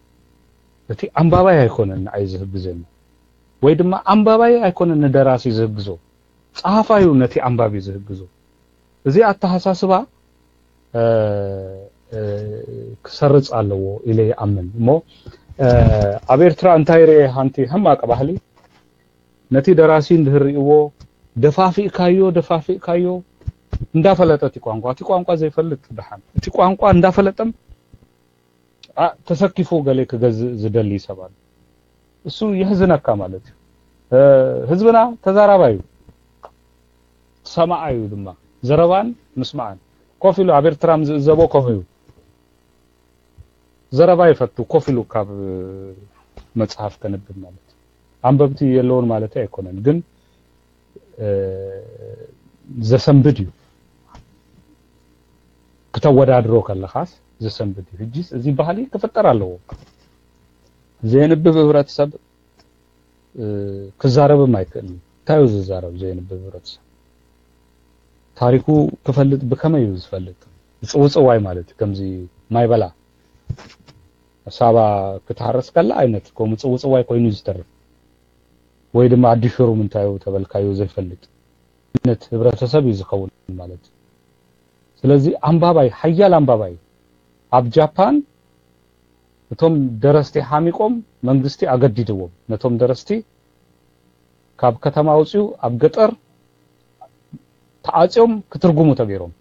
እቲ ኣንባባይ ኣይኮነን ንዓይ ዝህግዘኒ ወይ ድማ ኣንባባይ ኣይኮነን ንደራሲ ዝህግዞ ጸሃፋዩ ነቲ ኣንባቢ ዝህግዞ እዚ ኣተሓሳስባ ክሰርጽ ኣለዎ ኢለ ይኣምን እሞ ኣብ ኤርትራ እንታይ ርኤ ሓንቲ ሕማቅ ባህሊ ነቲ ደራሲ እንድህር ርእዎ ደፋፊእካዮ ደፋፊእካዮ እንዳፈለጠ እቲ ቋንቋ እቲ ቋንቋ ዘይፈልጥ ደሓን እቲ ቋንቋ እንዳፈለጠም ተሰኪፉ ገለ ክገዝእ ዝደሊ ሰብ ኣሎ እሱ የሕዝነካ ማለት እዩ ህዝብና ተዛራባዩ ሰማዓዩ ድማ ዘረባን ምስማዕን ኮፍ ኢሉ ኣብ ኤርትራ ዝእዘቦ ከምኡ እዩ ዘረባ ይፈቱ ኮፍ ኢሉ ካብ መጽሓፍ ከንብብ ማለት ኣንበብቲ የለውን ማለት ኣይኮነን ግን ዘሰንብድ እዩ ክተወዳድሮ ከለኻስ ዘሰንብድ እዩ ሕጂስ እዚ ባህሊ ክፍጠር ኣለዎ ዘየንብብ ህብረተሰብ ክዛረብም ኣይክእልን እንታይ እዩ ዝዛረብ ዘየንብብ ህብረተሰብ ታሪኩ ክፈልጥ ብከመይ እዩ ዝፈልጥ ምፅውፅዋይ ማለት እዩ ከምዚ ማይ በላ ሳባ ክትሃርስ ከላ ዓይነት ከምኡ ምፅውፅዋይ ኮይኑ እዩ ዝተርፍ ወይ ድማ ኣዲ ሽሩም እንታይ እዩ ተበልካዮ ዘይፈልጥ ዓይነት ህብረተሰብ እዩ ዝኸውን ማለት እዩ ስለዚ ኣንባባይ ሓያል ኣንባባይ ኣብ ጃፓን እቶም ደረስቲ ሓሚቆም መንግስቲ ኣገዲድዎም ነቶም ደረስቲ ካብ ከተማ ኣውፅኡ ኣብ ገጠር ተዓፅዮም ክትርጉሙ ተገይሮም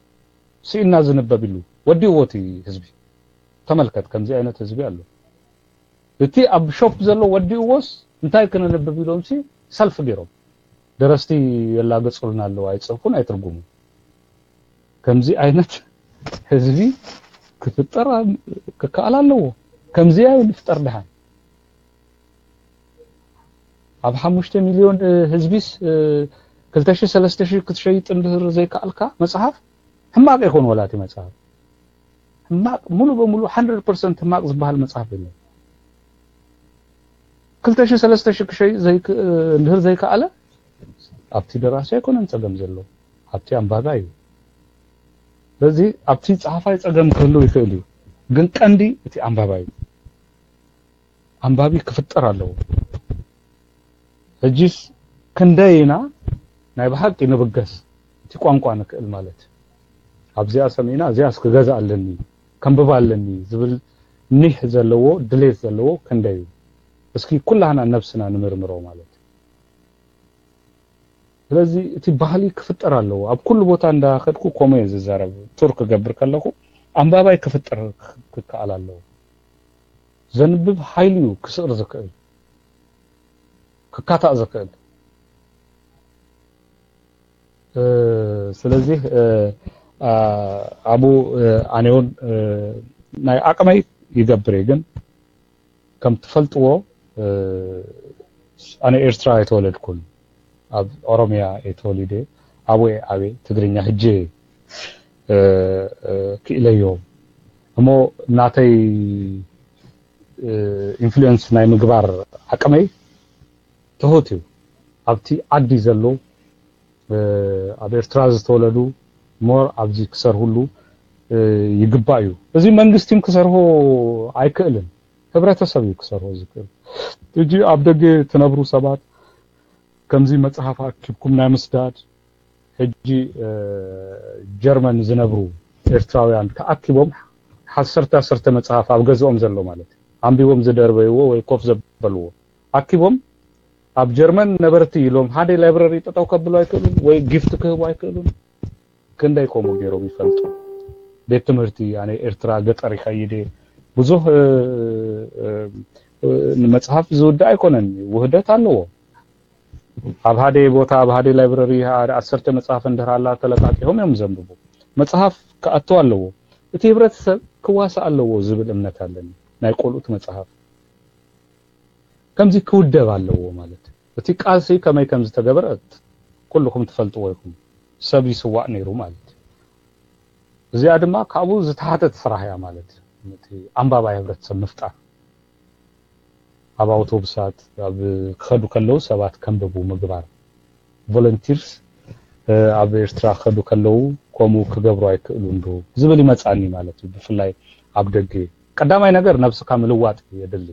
ስኢና ዝንበብ ኢሉ ወዲእዎ እቲ ህዝቢ ተመልከት ከምዚ ዓይነት ህዝቢ ኣሎ እቲ ኣብ ሾፕ ዘሎ ወዲእዎስ እንታይ ክነንብብ ኢሎም ሲ ሰልፍ ገይሮም ደረስቲ የላገፁልና ኣለዉ ኣይፅህፉን ኣይትርጉሙ ከምዚ ዓይነት ህዝቢ ክፍጠር ክከኣል ኣለዎ ከምዚያ ንፍጠር ድሓን ኣብ ሓሙሽተ ሚልዮን ህዝቢስ ክልተ ሺህ ሰለስተ ሺህ ክትሸይጥ እንድህር ዘይከኣልካ መጽሓፍ ሕማቕ ይኾን ወላ እቲ መጽሓፍ ሕማቕ ሙሉ በሙሉ ሓንድረድ ፐርሰንት ሕማቕ ዝበሃል መጽሓፍ የለን። ክልተ ሺህ ሰለስተ ሺህ ክሸይጥ እንድህር ዘይከኣለ ኣብቲ ደራሲ ኣይኮነን ጸገም ዘሎ ኣብቲ ኣንባባይ እዩ። ስለዚ ኣብቲ ጸሓፋይ ጸገም ክህሉ ይኽእል እዩ፣ ግን ቀንዲ እቲ ኣንባባይ እዩ። ኣንባቢ ክፍጠር ኣለዎ። ሕጂስ ክንደይ ኢና ናይ ብሓቂ ንብገስ እቲ ቋንቋ ንክእል ማለት ኣብዚኣ ሰሚዕና እዚኣስ ክገዛ ኣለኒ ከንብባ ኣለኒ ዝብል ኒሕ ዘለዎ ድሌት ዘለዎ ክንደይ እዩ? እስኪ ኩላህና ነብስና ንምርምሮ ማለት ስለዚ እቲ ባህሊ ክፍጠር ኣለዎ። ኣብ ኩሉ ቦታ እንዳኸድኩ ኮሞ እየ ዝዛረብ። ቱር ክገብር ከለኹ ኣንባባይ ክፍጠር ክከኣል ኣለዎ። ዘንብብ ሓይሊ እዩ ክስዕር ዝክእል ክካታእ ዝክእል። ስለዚህ ኣቡ ኣነ እውን ናይ ዓቅመይ ይገብር እየ ግን ከም ትፈልጥዎ ኣነ ኤርትራ ኣይተወለድኩን ኣብ ኦሮሚያ እየ ተወሊደ ኣብኡ እየ ዓብየ ትግርኛ ሕጂ ክኢለዮ እሞ ናተይ ኢንፍሉዌንስ ናይ ምግባር ዓቅመይ ትሑት እዩ ኣብቲ ዓዲ ዘሎ ኣብ ኤርትራ ዝተወለዱ ሞር ኣብዚ ክሰርህሉ ይግባእ እዩ። እዚ መንግስቲም ክሰርሆ ኣይክእልን፣ ህብረተሰብ እዩ ክሰርሆ ዝክእል። ሕጂ ኣብ ደገ ትነብሩ ሰባት ከምዚ መጽሓፍ ኣኪብኩም ናይ ምስዳድ ሕጂ ጀርመን ዝነብሩ ኤርትራውያን ተኣኪቦም ዓሰርተ ዓሰርተ መጽሓፍ ኣብ ገዝኦም ዘሎ ማለት እዩ ኣንቢቦም ዝደርበይዎ ወይ ኮፍ ዘበልዎ ኣኪቦም ኣብ ጀርመን ነበርቲ ኢሎም ሓደ ላይብረሪ ጠጠው ከብሉ ኣይክእሉን ወይ ጊፍት ክህቡ ኣይክእሉን። ክንደይ ከምኡ ገይሮም ይፈልጡ? ቤት ትምህርቲ ኣነ ኤርትራ ገጠር ይኸይድ እየ ብዙህ ንመፅሃፍ ዝውዳእ ኣይኮነን፣ ውህደት ኣለዎ። ኣብ ሓደ ቦታ ኣብ ሓደ ላይብረሪ ዓሰርተ መፅሃፍ እንድህር ኣላ ተለቃቂሆም እዮም ዘንብቡ። መፅሃፍ ክኣቱ ኣለዎ። እቲ ህብረተሰብ ክዋሳእ ኣለዎ ዝብል እምነት ኣለኒ። ናይ ቆልኡት መፅሃፍ ከምዚ ክውደብ ኣለዎ ማለት እቲ ቃልሲ ከመይ ከም ዝተገበረ ኩልኹም ትፈልጥዎ ኢኹም። ሰብ ይስዋእ ነይሩ ማለት እዚኣ ድማ ካብኡ ዝተሓተት ስራሕ እያ ማለት እቲ ኣንባባይ ህብረተሰብ ምፍጣር ኣብ ኣውቶቡሳት ኣብ ክኸዱ ከለዉ ሰባት ከንብቡ ምግባር ቮለንቲርስ ኣብ ኤርትራ ክኸዱ ከለዉ ከምኡ ክገብሩ ኣይክእሉን ዶ ዝብል ይመፅኣኒ ማለት እዩ። ብፍላይ ኣብ ደገ ቀዳማይ ነገር ነብስካ ምልዋጥ የድሊ።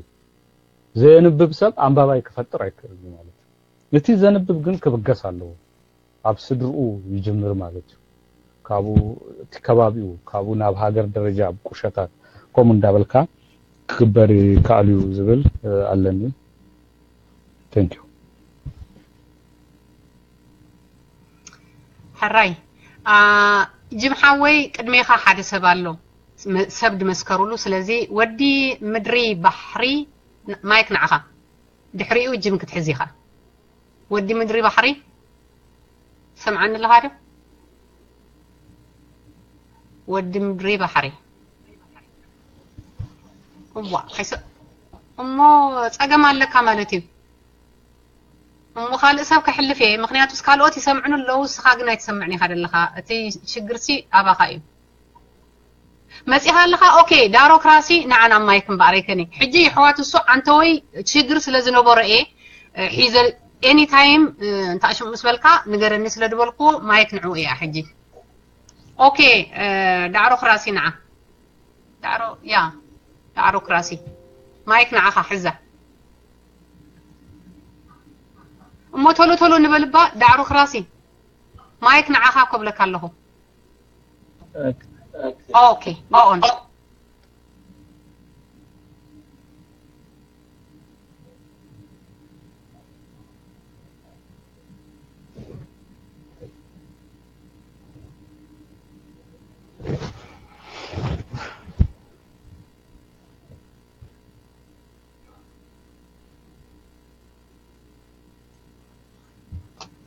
ዘየንብብ ሰብ ኣንባባይ ክፈጥር ኣይክእልን ማለት እዩ። እቲ ዘንብብ ግን ክብገስ ኣለዎ። ኣብ ስድርኡ ይጅምር ማለት እዩ። ካብኡ እቲ ከባቢኡ ካብኡ ናብ ሃገር ደረጃ ኣብ ቁሸታት ከምኡ እንዳበልካ ክግበር ይከኣል እዩ ዝብል ኣለኒ። Thank you። ሕራይ ጅም ሓወይ ቅድሜኻ ሓደ ሰብ ኣሎ ሰብ ድመስከሩሉ። ስለዚ ወዲ ምድሪ ባሕሪ ማይክ ንዓኻ። ድሕሪኡ ጅም ክትሕዝ ኢኻ። ወዲ ምድሪ ባሕሪ ሰምዓኒ ኣለኻ ዶ? ወዲ ምድሪ ባሕሪ እዋ እሞ ጸገም ኣለካ ማለት እዩ። እሞ ካልእ ሰብ ከሕልፍ እየ፣ ምኽንያቱስ ካልኦት ይሰምዕኑ ኣለዉ፣ ንስኻ ግን ኣይትሰምዕን ኢኻ ዘለኻ። እቲ ሽግርሲ ኣባኻ እዩ። መጺኻ ኣለኻ? ኦኬ፣ ዳሮክራሲ ንዓ ናብ ማይክ እምበኣር ኣይከኒ። ሕጂ የሕዋት እሱ ዓንተወይ ሽግር ስለ ዝነበሮ እየ ሒዘ ኤኒ ታይም እንተ ኣሽም ምስ በልካ ንገረኒ ስለ ዝበልኩዎ ማይክ ንዕኡ እያ ሕጂ። ኦኬ፣ ዳዕሮ ክራሲ ንዓ። ዳዕሮ ያ ዳዕሮ ክራሲ ማይክ ንዓኻ ሕዛ። እሞ ቶሎ ቶሎ ንበልባ ዳዕሮ ክራሲ ማይክ ንዓኻ ኮብለካ ኣለኹ። ኦኬ ኦን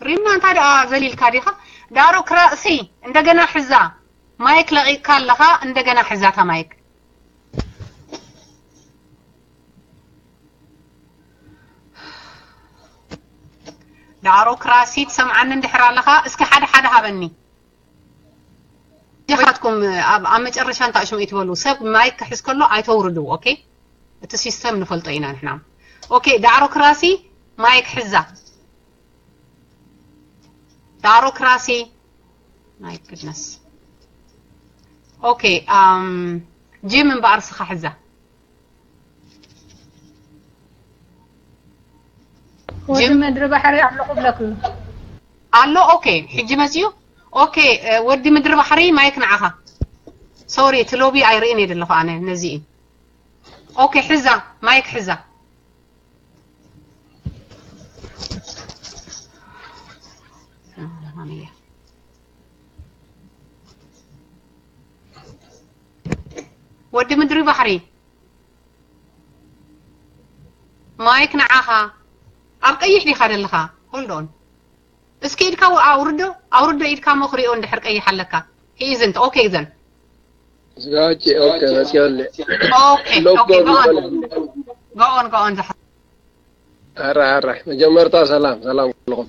ሪምና እንታይ ደኣ ዘሊልካ ዲኻ? ዳሮ ክራእሲ እንደገና ሕዛ ማይክ ለቒቕካ ኣለኻ እንደገና ሕዛታ ማይክ። ዳዕሮክራሲ ትሰምዓኒ እንድሕር ኣለኻ፣ እስኪ ሓደ ሓደ ሃበኒ። ዲኻትኩም ኣብ ኣብ መጨረሻ እንታይ ሽሙ ይትበሉ፣ ሰብ ማይክ ክሕዝ ከሎ ኣይተውርዱ። ኦኬ፣ እቲ ሲስተም ንፈልጦ ኢና ንሕና። ኦኬ፣ ዳዕሮክራሲ ማይክ ሕዛ። ዳዕሮክራሲ፣ my goodness። ኦኬ፣ ኣም ጂም እምበኣር ስኻ ሕዛ። ወዲ ምድሪ ባሕሪ ኣለኹ ብለክ። ኣሎ። ኦኬ፣ ሕጂ መጽዩ። ኦኬ፣ ወዲ ምድሪ ባሕሪ ማይክ ንዓኻ። ሶሪ፣ እቲ ሎቢ ኣይርእን እየ ዘለኹ ኣነ ነዚ። ኦኬ፣ ሕዛ ማይክ ሕዛ። ወዲ ምድሪ ባሕሪ ማይክ ንዓኻ። ኣብ ቀይሕ ዲኻ ደለኻ? Hold on። እስኪ ኢድካ ኣውርዶ፣ ኣውርዶ ኢድካ እሞ ክሪኦ እንድሕር ቀይሕ ኣለካ። He isn't። ኦኬ፣ ዘን ዝጋጭ ኦኬ መጽዮለ ኦኬ፣ ኦኬ፣ go on፣ go on፣ go on። ዝሓ ኣራ ኣራ መጀመርታ ሰላም ሰላም ኩልኹም።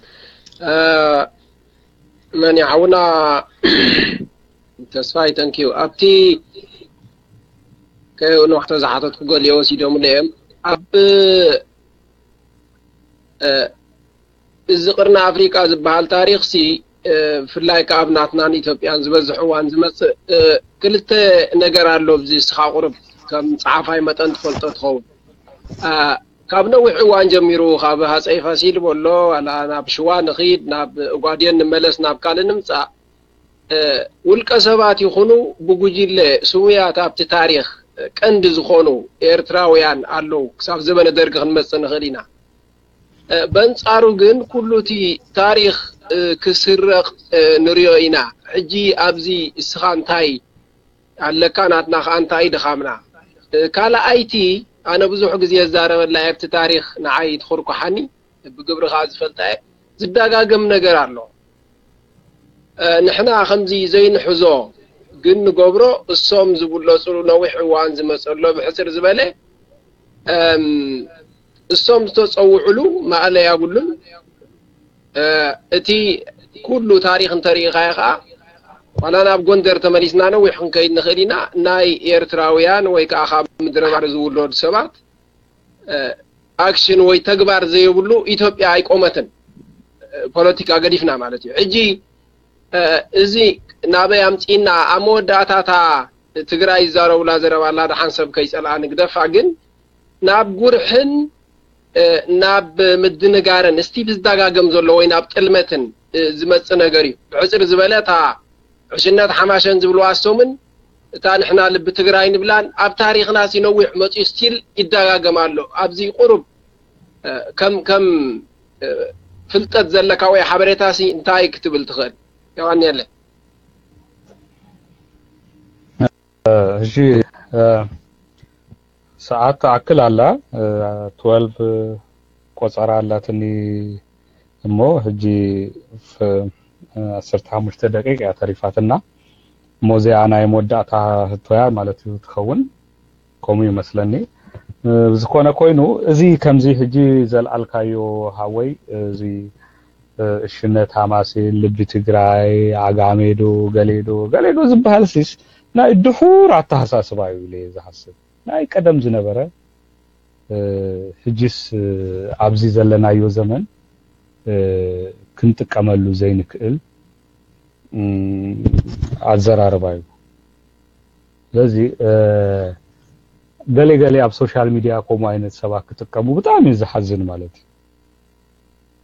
መን ይሓውና ተስፋይ፣ thank you። ኣብቲ ከየውንዋሕቶ ዝሓተትኩ ገሊኦ ወሲዶምለ እዮም። ኣብ እዚ ቅርኒ ኣፍሪቃ ዝበሃል ታሪኽሲ ብፍላይ ከኣ ኣብ ናትናን ኢትዮጵያን ዝበዝሕ እዋን ዝመጽእ ክልተ ነገር ኣሎ። ኣብዚ እስኻ ቁሩብ ከም ጸሓፋይ መጠን ትፈልጦ ትኸውን። ካብ ነዊሕ እዋን ጀሚሩ ካብ ሃጸይ ፋሲል በሎ ዋላ ናብ ሽዋ ንኺድ ናብ ኦጋዴን ንመለስ ናብ ካልእ ንምጻእ ውልቀ ሰባት ይኹኑ ብጉጅለ ስሙያት ኣብቲ ታሪኽ ቀንዲ ዝኾኑ ኤርትራውያን ኣለዉ። ክሳብ ዘበነ ደርጊ ክንመጽእ ንኽእል ኢና። በንጻሩ ግን ኩሉ እቲ ታሪኽ ክስረቕ ንሪኦ ኢና። ሕጂ ኣብዚ እስኻ እንታይ ኣለካ ናትና ከኣ እንታይ ድኻምና። ካልኣይቲ ኣነ ብዙሕ ግዜ ዝዛረበላ ኣብቲ ታሪኽ ንዓይ ትኹርኩሓኒ ብግብሪ ከኣ ዝፈልጣ እየ። ዝደጋገም ነገር ኣሎ። ንሕና ከምዚ ዘይንሕዞ ግን ንገብሮ እሶም ዝብለጹሉ ነዊሕ እዋን ዝመጸሎ ብሕጽር ዝበለ እሶም ዝተጸውዕሉ ማእለያ የብሉን። እቲ ኩሉ ታሪኽ እንተሪኢኻዮ ከኣ ዋላ ናብ ጎንደር ተመሊስና ነዊሕ ክንከይድ ንኽእል ኢና። ናይ ኤርትራውያን ወይ ከኣ ካብ ምድረ ባሕሪ ዝውለዱ ሰባት ኣክሽን ወይ ተግባር ዘየብሉ ኢትዮጵያ ኣይቆመትን። ፖለቲካ ገዲፍና ማለት እዩ። ሕጂ እዚ ናበይ ኣምጺእና ኣብ መወዳእታታ ትግራይ ይዛረቡላ ዘረባ ኣላ ደሓን ሰብ ከይጸልኣ ንግደፋ ግን ናብ ጉርሕን ናብ ምድንጋርን እስቲ ብዝደጋገም ዘሎ ወይ ናብ ጥልመትን ዝመጽእ ነገር እዩ። ብሕጽር ዝበለ እታ ዕሽነት ሓማሸን ዝብልዋ እሶምን እታ ንሕና ልቢ ትግራይ ንብላን ኣብ ታሪኽና ሲ ነዊሕ መጽዩ ስቲል ይደጋገም ኣሎ። ኣብዚ ቁሩብ ከም ከም ፍልጠት ዘለካ ወይ ሓበሬታ ሲ እንታይ ክትብል ትኽእል? የቐንየለይ። እሺ፣ ሰዓት ትኣክል ኣላ፣ ትወልቭ ቆጸራ ኣላትኒ እሞ ሕጂ ዓሰርተ ሓሙሽተ ደቂቅ እያ ተሪፋትና። እሞ እዚኣ ናይ መወዳእታ ህቶያ ማለት እዩ ትኸውን፣ ከምኡ ይመስለኒ። ብዝኾነ ኮይኑ እዚ ከምዚ ሕጂ ዘልዓልካዮ ሃወይ እዚ እሽነት ሃማሴን ልቢ ትግራይ ዓጋሜዶ ገሌዶ ገሌዶ ዝበሃል ሲስ ናይ ድሑር ኣተሃሳስባ እዩ ኢለ እየ ዝሓስብ። ናይ ቀደም ዝነበረ ሕጅስ ኣብዚ ዘለናዮ ዘመን ክንጥቀመሉ ዘይንክእል ኣዘራርባ እዩ። ስለዚ ገሌ ገሌ ኣብ ሶሻል ሚድያ ከምኡ ዓይነት ሰባት ክጥቀሙ ብጣዕሚ እዩ ዝሓዝን ማለት እዩ።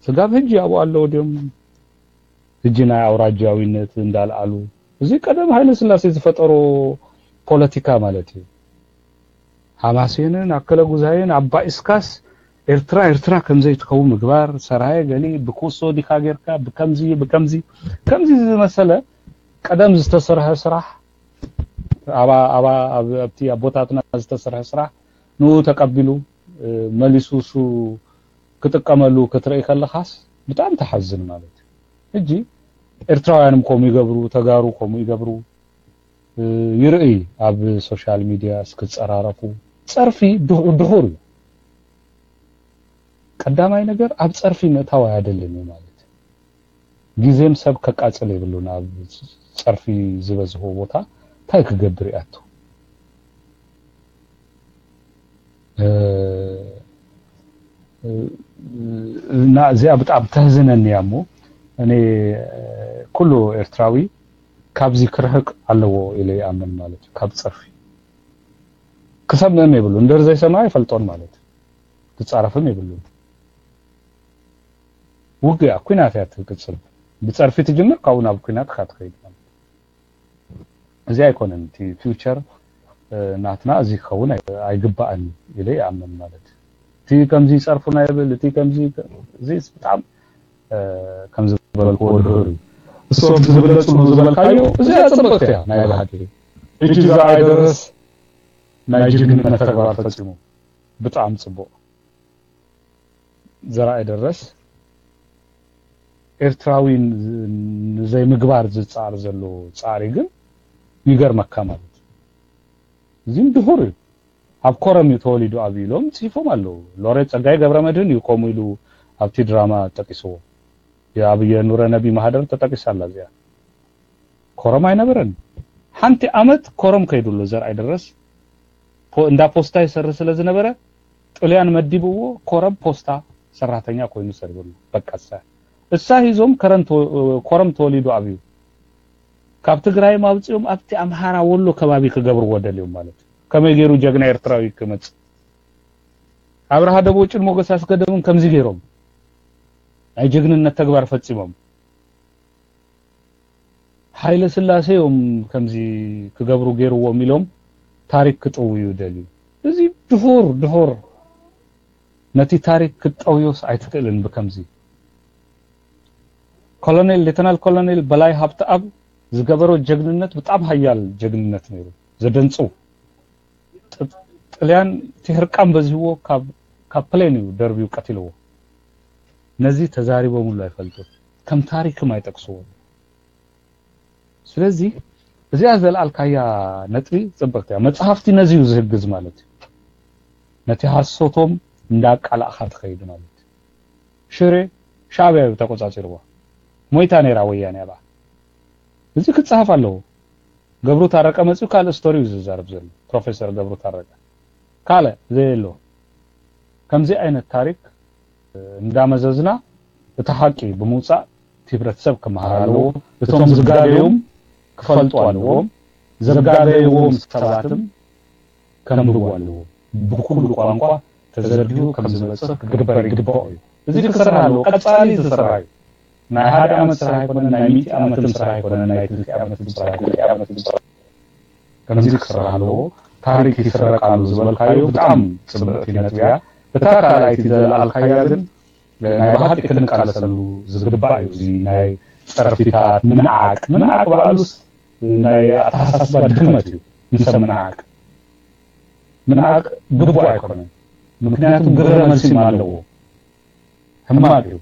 ስጋብ ሕጂ ኣብኡ ኣለዉ ድዮም? ሕጂ ናይ ኣውራጃዊነት እንዳልዓሉ እዚ ቀደም ሃይለ ስላሴ ዝፈጠሮ ፖለቲካ ማለት እዩ። ሓማሴንን ኣከለ ጉዛይን ኣባኢስካስ ኤርትራ ኤርትራ ከምዘይትኸውን ምግባር ሰራየ ገሊ ብኩሶ ዲካ ጌርካ ብከምዚ ብከምዚ ከምዚ ዝመሰለ ቀደም ዝተሰርሐ ስራሕ ኣባ ኣባ ኣብቲ ኣቦታትና ዝተሰርሐ ስራሕ ንኡ ተቀቢሉ መሊሱ እሱ ክጥቀመሉ ክትርኢ ከለኻስ ብጣዕሚ ተሓዝን ማለት እዩ። ሕጂ ኤርትራውያንም ከምኡ ይገብሩ፣ ተጋሩ ከምኡ ይገብሩ ይርእይ ኣብ ሶሻል ሚድያ እስክጸራረፉ ጸርፊ ድኹር እዩ። ቀዳማይ ነገር ኣብ ጸርፊ ምእታው ኣያደልን እዩ ማለት እዩ። ግዜም ሰብ ከቃጽል የብሉን። ኣብ ጸርፊ ዝበዝሆ ቦታ እንታይ ክገብር ይኣቱ? እና እዚኣ ብጣዕሚ ተህዝነኒ እያ። እሞ እኔ ኩሉ ኤርትራዊ ካብዚ ክርሕቅ ኣለዎ ኢለ ይኣምን ማለት እዩ። ካብ ጸርፊ ክሰምዕም የብሉ እንደር ዘይሰምዐ ይፈልጦን ማለት እዩ። ክጻረፍም የብሉ። ውግያ ኩናት እያ ትቅጽል። ብጸርፊ ትጅምር ካብኡ ናብ ኩናት እካ ትኸይድ ማለት እዩ። እዚ ኣይኮነን እቲ ፊውቸር ናትና እዚ ክኸውን ኣይግባእን ኢለ ይኣምን ማለት እዩ። እቲ ከምዚ ይጸርፉና ይብል እቲ ከምዚ እዚ ብጣዕሚ ከም ዝበልክዎ ድሁር እዩ። እሶም ዝብለጽሉ ዝበልካዮ እዚኣ ጽብቕቲ እያ ናይ ብሓቂ። እቲ ዝረኣይ ደረስ ናይ ጅግንነት ተግባር ፈጺሙ ብጣዕሚ ጽቡቕ። ዘርኣይ ደረስ ኤርትራዊ ንዘይምግባር ዝጻር ዘሎ ጻዕሪ ግን ይገርመካ ማለት እዩ። እዚም ድሁር እዩ። ኣብ ኮረም እዩ ተወሊዱ ኣብ ኢሎም ጽሒፎም ኣለዉ። ሎሬት ጸጋይ ገብረ መድህን እዩ ከምኡ ኢሉ ኣብቲ ድራማ ጠቂስዎ። ኣብ የኑረ ነቢ ማህደር ተጠቂሳ ኣላ እዚኣ። ኮረም ኣይነበረን። ሓንቲ ዓመት ኮረም ከይዱ ኣሎ ዘርኣይ ደረስ እንዳ ፖስታ ይሰርሕ ስለ ዝነበረ ጥልያን መዲብዎ ኮረም ፖስታ ሰራሕተኛ ኮይኑ ሰሪሑ ኣሎ። በቃ እሳ እሳ ሂዞም ኮረም ተወሊዱ ኣብዩ ካብ ትግራይ ማውፅኦም ኣብቲ ኣምሃራ ወሎ ከባቢ ክገብርዎ ደልዮም ማለት እዩ። ከመይ ገይሩ ጀግና ኤርትራዊ ክመፅእ ኣብርሃ ደቦጭን ሞገስ ኣስገደምን ከምዚ ገይሮም ናይ ጀግንነት ተግባር ፈፂሞም። ሃይለ ስላሴ እዮም ከምዚ ክገብሩ ገይርዎም ኢሎም ታሪክ ክጥውዩ ደልዩ። እዚ ድሁር ድሁር ነቲ ታሪክ ክትጠውዮስ ኣይትክእልን ብከምዚ። ኮሎኔል ሌተናል ኮሎኔል በላይ ሃብተኣብ ዝገበሮ ጀግንነት ብጣም ሃያል ጀግንነት ነይሩ። ዘደንጽው ጥልያን እቲ ህርቃን በዚህዎ ካብ ፕሌን እዩ ደርብዩ ቀቲልዎ። ነዚ ተዛሪቦምሉ ኣይፈልጡን፣ ከም ታሪክም ኣይጠቅስዎ። ስለዚ እዚኣ ዘልኣልካያ ነጥቢ ጽብቅቲ እያ። መጽሓፍቲ ነዚ እዩ ዝህግዝ ማለት እዩ። ነቲ ሃሶቶም እንዳቃላእካ ትኸይድ ማለት እዩ። ሽሬ ሻዕብያ እዩ ተቆጻጺርዋ። ሞይታ ነይራ ወያኔ ኣብኣ። እዚ ክጽሓፍ ኣለዎ። ገብሩ ታረቀ መጺኡ ካልእ ስቶሪ እዩ ዝዛረብ ዘሎ፣ ፕሮፌሰር ገብሩ ታረቀ። ካልእ ዘየሎ። ከምዚ ዓይነት ታሪክ እንዳመዘዝና እቲ ሓቂ ብምውጻእ እቲ ህብረተሰብ ክመሃር ኣለዎ። እቶም ዝጋገዮም ክፈልጡ ኣለዎም። ዘጋገይዎም ሰባትም ከንብቡ ኣለዎም። ብኩሉ ቋንቋ ተዘርጊሑ ከም ዝበጽሕ ክግበር ይግባኦ እዩ። እዚ ክስራሕ ኣለዎ። ቀጻሊ ዝስራሕ እዩ። ናይ ሓደ ዓመት ስራሕ ኣይኮነን፣ ናይ ሚእቲ ዓመትም ስራሕ ኣይኮነን፣ ናይ ክልተ ዓመትም ስራሕ ኣይኮነን። ከምዚ ክስራሕ ኣለዎ። ታሪክ ይስረቅ ኣሎ ዝበልካዮ ብጣዕሚ ጽብቕቲ ነጥቢ እያ። እታ ካልኣይቲ ዘልኣልካያ ግን ናይ ብሓቂ ክንቃለሰሉ ዝግባእ እዩ። እዚ ናይ ጸርፊታት ምንዓቅ፣ ምንዓቅ ባዕሉስ ናይ ኣተሓሳስባ ድክመት እዩ። ንሰብ ምንዓቅ ምንዓቅ ግቡእ ኣይኮነን። ምክንያቱም ግብረ መልሲም ኣለዎ። ሕማቅ እዩ።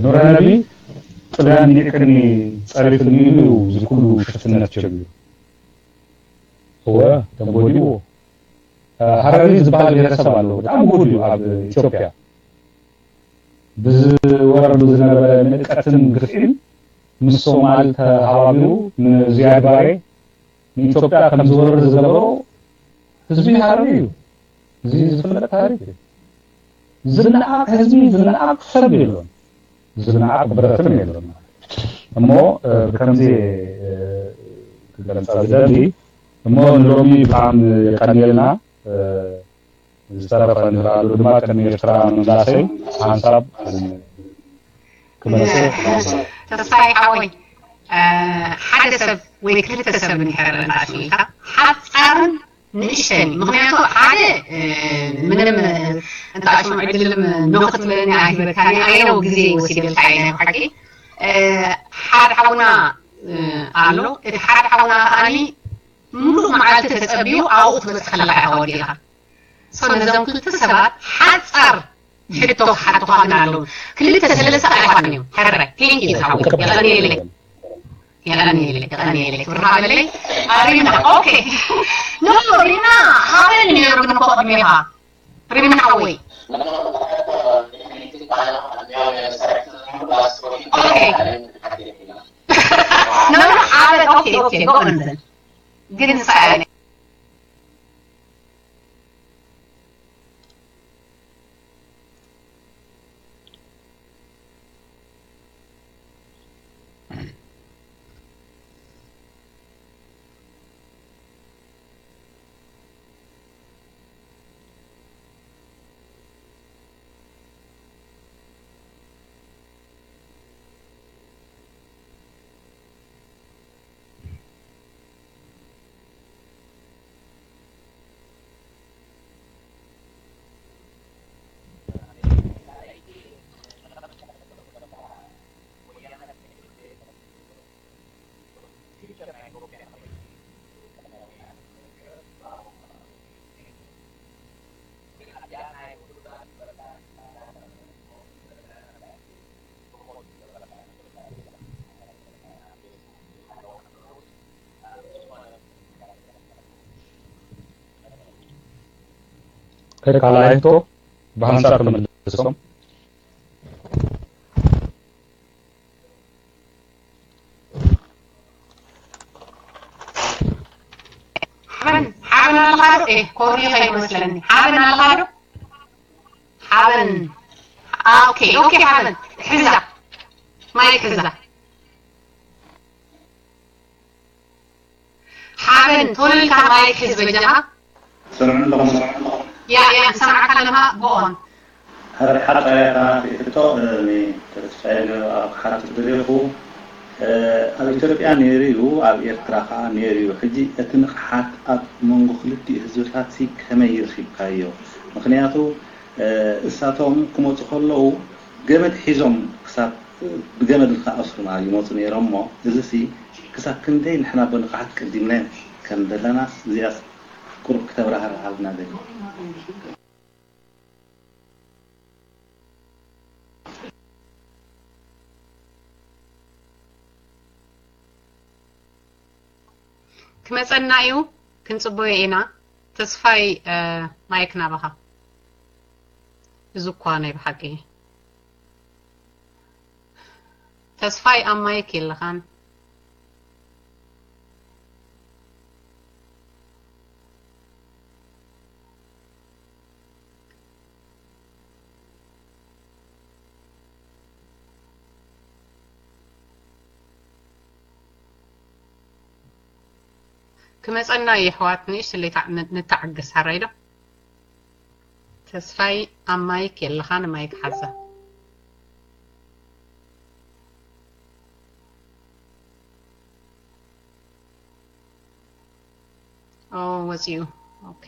ኑረ ነቢ ጥልያን ኒዕቅኒ ጸሪፍኒ ኢሉ እዩ እዚ ኩሉ ሽፍትነት ጀሚሩ። እወ ተንጎዲዎ። ሃረሪ ዝበሃል ብሄረሰብ ኣሎ። ብጣዕሚ ውሁድ እዩ ኣብ ኢትዮጵያ። ብዝወረዱ ዝነበረ ንዕቀትን ግፍዒን ምስ ሶማል ተሃባቢሩ ንዚያድ ባሬ ንኢትዮጵያ ከም ዝወርር ዝገበሮ ህዝቢ ሃረሪ እዩ። እዚ ዝፍለጥ ታሪክ እዩ። ዝነዓቅ ህዝቢ ዝነዓቅ ሰብ የሎን። ዝነዓቅ ብረትም የሎን። እሞ ብከምዚ ክገልጻ ዝደሊ እሞ ንሎሚ ብጣዕሚ የቀንየልና። ዝተረፈ ንኽኣሉ ድማ ቅድሚ ኤርትራ ምምላሰይ ሓንሳብ ክመልሰ። ተስፋይ ሓወይ ሓደ ሰብ ወይ ክልተ ሰብ እንድሕር እንተኣሽሚልካ ሓፃርን ንእሽተን እዩ። ምክንያቱ ሓደ ምንም እንተኣሽሙ ዕድልም ኖክ ትብለኒ ኣይበካኒ ኣይነው ግዜ ወሲደልካ እየ ናይ ብሓቂ ሓደ ሓውና ኣሎ። እቲ ሓደ ሓውና ከዓኒ ሙሉእ መዓልቲ ተፀብዩ ኣብኡ ክትበፅሕ ከለካ ኢካ ወዲእካ። So ነዞም ክልተ ሰባት ሓፃር ሕቶ ክሓቱካ ግን ኣለዉ። ክልተ ሰለስተ ኣይኮኑን እዮም። ሕራይ thank you ዝሓወይ የቐንየለይ። የቐንየለይ የቐንየለይ ክብርካ በለይ። ሪምና okay no ሪምና ሃበኒ ነይሩ ግን እኮ ቅድሜኻ ሪምና ሓወይ No, no, ሓበን፣ okay, okay, go on then. ግን ንሳ እያ ካልኣይ ሕቶ ብሃንሳብ ተመልሶም። ሓበን ሓበን ኣለኻ ዶ? ኤ ኮሪ ኸይመስለኒ። ሓበን ኣለኻ ዶ? ሓበን። ኦኬ ኦኬ። ሓበን ሕዛ ማይክ ሕዛ። ሓበን ቶሎ ኢልካ ማይክ ሕዝ በጃኻ። ሰምዑ ኣለኹም። ያ ያ ሰምዓካ ኣለኻ። ጎ ኦን። ሓደ ሓጻር እያ ናተይ ሕቶ። ተስፋይ ኣብ ክሓትት ደሊኹ። ኣብ ኢትዮጵያ ነይሩ እዩ፣ ኣብ ኤርትራ ከዓ ነይሩ እዩ። ሕጂ እቲ ንቕሓት ኣብ መንጎ ክልቲኡ ህዝብታት ሲ ከመይ ይርኺብካዮ? ምኽንያቱ እሳቶም ክመፁ ከለዉ ገመድ ሒዞም ክሳብ ብገመድ ንክኣስሩና ይመፁ ነይሮም እሞ እዚሲ ክሳብ ክንደይ ንሕና ብንቕሓት ቀዲምናዮም ከም ዘለናስ እዚኣስ ቁሩብ ክተብራህርሃልና ደሊ። ክመጸና እዩ፣ ክንጽበዮ ኢና። ተስፋይ ማይክ ናባኻ። እዚ እኳ ናይ ብሓቂ ተስፋይ ኣብ ማይክ የለኻን። ክመጸና እዩ ኣሕዋት፣ ንእሽትለይ ንተዓገስ፣ ሓራይ ዶ? ተስፋይ ኣብ ማይክ የለኻን፣ ማይክ ሓዛ። ኦ፣ ወጺኡ። ኦኬ።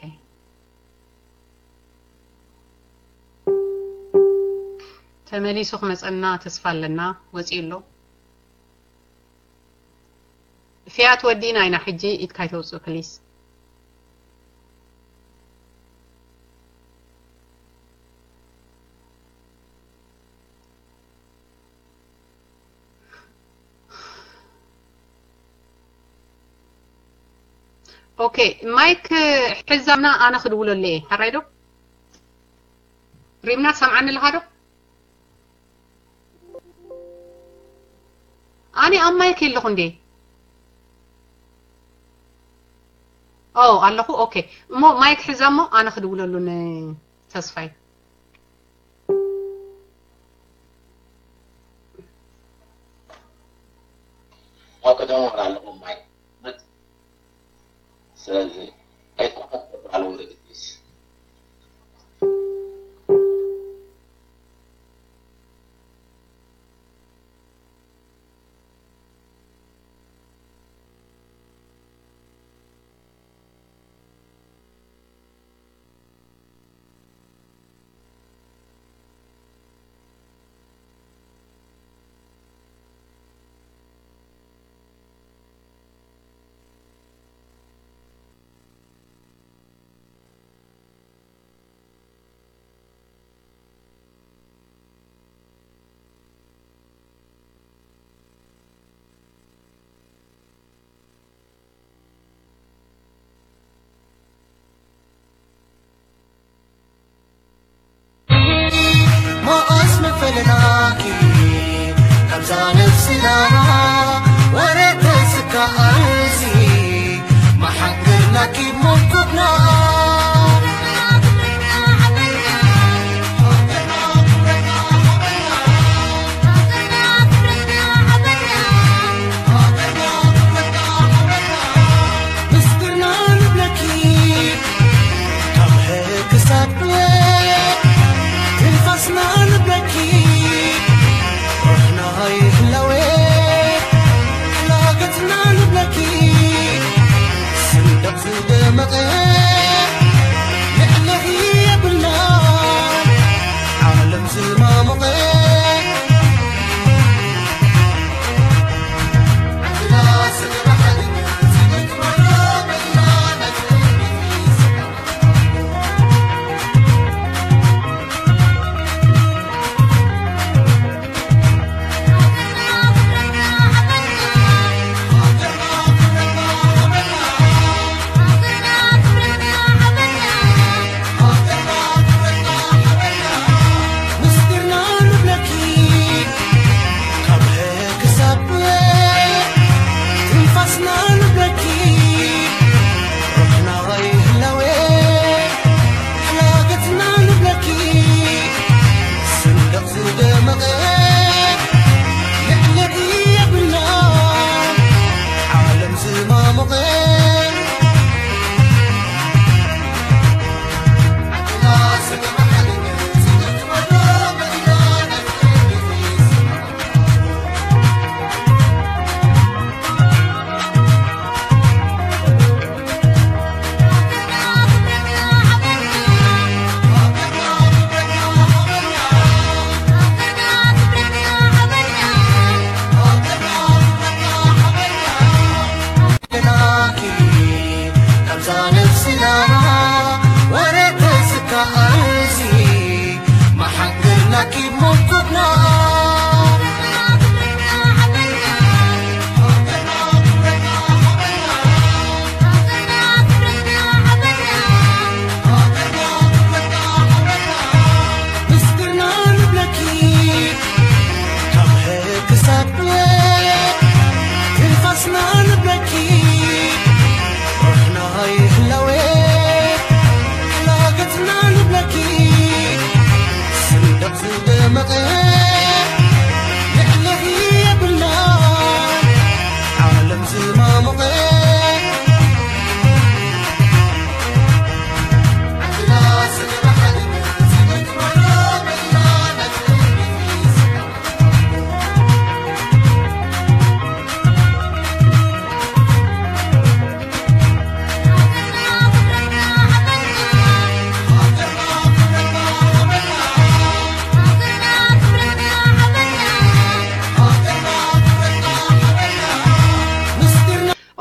ተመሊሱ ክመጸና ተስፋ ኣለና። ወጺኡ ኣሎ። ፍያት ወዲእና ኢና ሕጂ፣ ኢድካ ኣይተውጽእ ፕሊስ። ኦኬ፣ ማይክ ሕዛና፣ ኣነ ክድውለሉ እየ። ሓራይ ዶ? ሪምና ትሰምዓኒ ኣለኻ ዶ? ኣነ ኣብ ማይክ የለኹ እንዴ? ኦ፣ ኣለኹ። ኦኬ። እሞ ማይክ ሕዛ እሞ ኣነ ክድውለሉ ንተስፋይ። ኣብ ቀደም ወላ ኣለኹ ማይክ። ስለዚ ኣይኮነን በዓል ወረደ ፕሊስ። Keep on cooking on.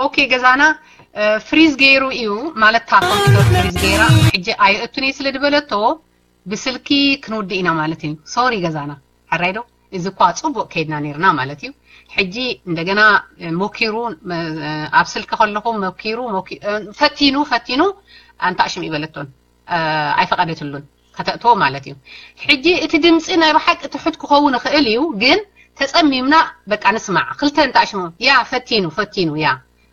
ኦኬ ገዛና ፍሪዝ ገይሩ እዩ ማለት እታ ኮምፒተር ፍሪዝ ገይራ ሕጂ ኣየእቱን እየ ስለ ዝበለቶ ብስልኪ ክንውድእ ኢና ማለት እዩ። ሶሪ ገዛና ሕራይ ዶ እዚ እኳ ፅቡቅ ከይድና ነርና ማለት እዩ። ሕጂ እንደገና ሞኪሩ ኣብ ስልኪ ከለኹ ሞኪሩ ፈቲኑ ፈቲኑ ኣንታ ሽም ይበለቶን ኣይፈቀደትሉን ከተእትዎ ማለት እዩ። ሕጂ እቲ ድምፂ ናይ ብሓቂ ትሑት ክኸውን ይኽእል እዩ፣ ግን ተፀሚምና በቃ ንስማዕ። ክልተ እንታይ ሽሙ ያ ፈቲኑ ፈቲኑ ያ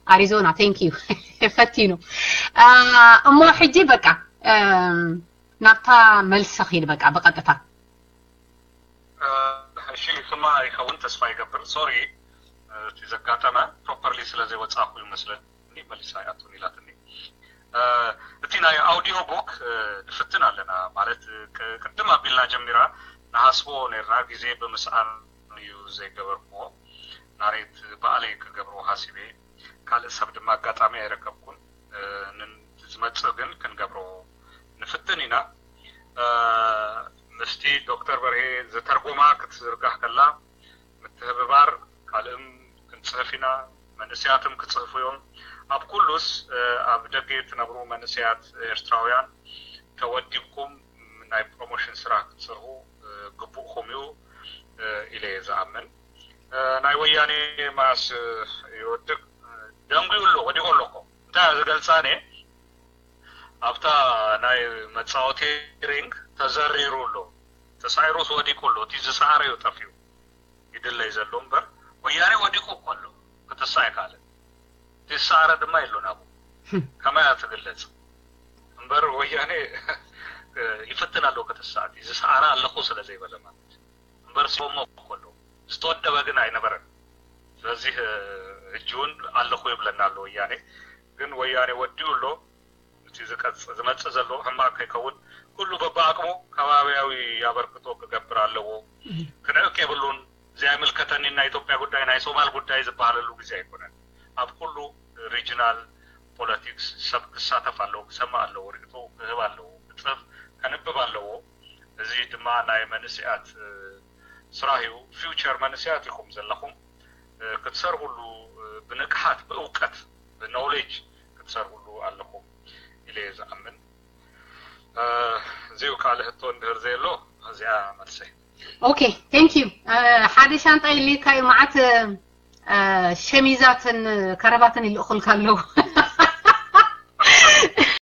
ኣሪዞና thank you ፈቲኑ እሞ ሕጂ በቃ ናብታ መልሲ ኺድ በቃ ብቐጥታ። እሺ ክማ ይኸውን ተስፋ ይገብር። ሶሪ እቲ ዘጋጠመ ፕሮፐርሊ ስለ ዘይወፃእኩ ይመስለኒ መሊሳ እያ ትውን ኢላትኒ። እቲ ናይ ኣውዲዮ ቡክ ንፍትን ኣለና ማለት ቅድም ኣቢልና ጀሚራ ንሃስቦ ነርና ግዜ ብምስኣን እዩ ዘይገበርክዎ። ናሬት በኣለይ ክገብሮ ሃሲበ ካልእ ሰብ ድማ ኣጋጣሚ ኣይረከብኩን። ንዝመፅእ ግን ክንገብሮ ንፍትን ኢና። ምስቲ ዶክተር በርሄ ዝተርጎማ ክትዝርጋሕ ከላ ምትህብባር ካልእም ክንፅህፍ ኢና። መንእሰያትም ክፅህፉ እዮም። ኣብ ኩሉስ ኣብ ደገ ትነብሩ መንእሰያት ኤርትራውያን ተወዲብኩም ናይ ፕሮሞሽን ስራሕ ክትሰርሑ ግቡእኩም እዩ ኢለ እየ ዝኣምን። ናይ ወያኔ ማስ ይወድቅ ደንጉዩ ኣሎ ወዲቁ ኣሎ እኮ እንታይ ዝገልፃ ነ ኣብታ ናይ መፃወቲ ሪንግ ተዘሪሩ ኣሎ ተሳዒሩስ ወዲቁ ኣሎ እቲ ዝሰዓረ እዩ ጠፊኡ ይድለይ ዘሎ እምበር ወያኔ ወዲቁ እኮ ኣሎ ክትሳ ኣይካልን እቲ ዝሰዓረ ድማ የሎን ኣብኡ ከማይ እያ ትግለጽ እምበር ወያኔ ይፍትን ኣለዎ ከተሳእቲ ዝሰኣና ኣለኹ ስለ ዘይበለ ማለት እዩ። እምበር ስሞ ከሎ ዝተወደበ ግን ኣይነበረን። ስለዚህ ሕጂ እውን ኣለኹ ይብለና ኣሎ ወያኔ። ግን ወያኔ ወዲኡ ኣሎ። እቲ ዝመፅእ ዘሎ ሕማቕ ከይከውን ኩሉ በብኣቅሙ ከባቢያዊ ኣበርክቶ ክገብር ኣለዎ። ክንዕቅ የብሉን። እዚ ኣይምልከተኒ ናይ ኢትዮጵያ ጉዳይ ናይ ሶማል ጉዳይ ዝበሃለሉ ግዜ ኣይኮነን። ኣብ ኩሉ ሪጅናል ፖለቲክስ ሰብ ክሳተፍ ኣለዎ፣ ክሰምዕ ኣለዎ፣ ርእቶ ክህብ ኣለዎ፣ ክፅህፍ ከንብብ ኣለዎ። እዚ ድማ ናይ መንእሰያት ስራሕ እዩ። ፊውቸር መንእሰያት ኢኹም ዘለኹም ክትሰርሁሉ ብንቅሓት ብእውቀት ብኖሌጅ ክትሰርሁሉ ኣለኹም ኢለ እየ ዝኣምን። እዚኡ ካልእ ህቶ እንድህር ዘየሎ እዚኣ መልሰይ። ኦኬ፣ ቴንክ ዩ። ሓደ ሻንጣ ኢልካ እዩ መዓት ሸሚዛትን ከረባትን ይልእኹልካ ኣለዉ።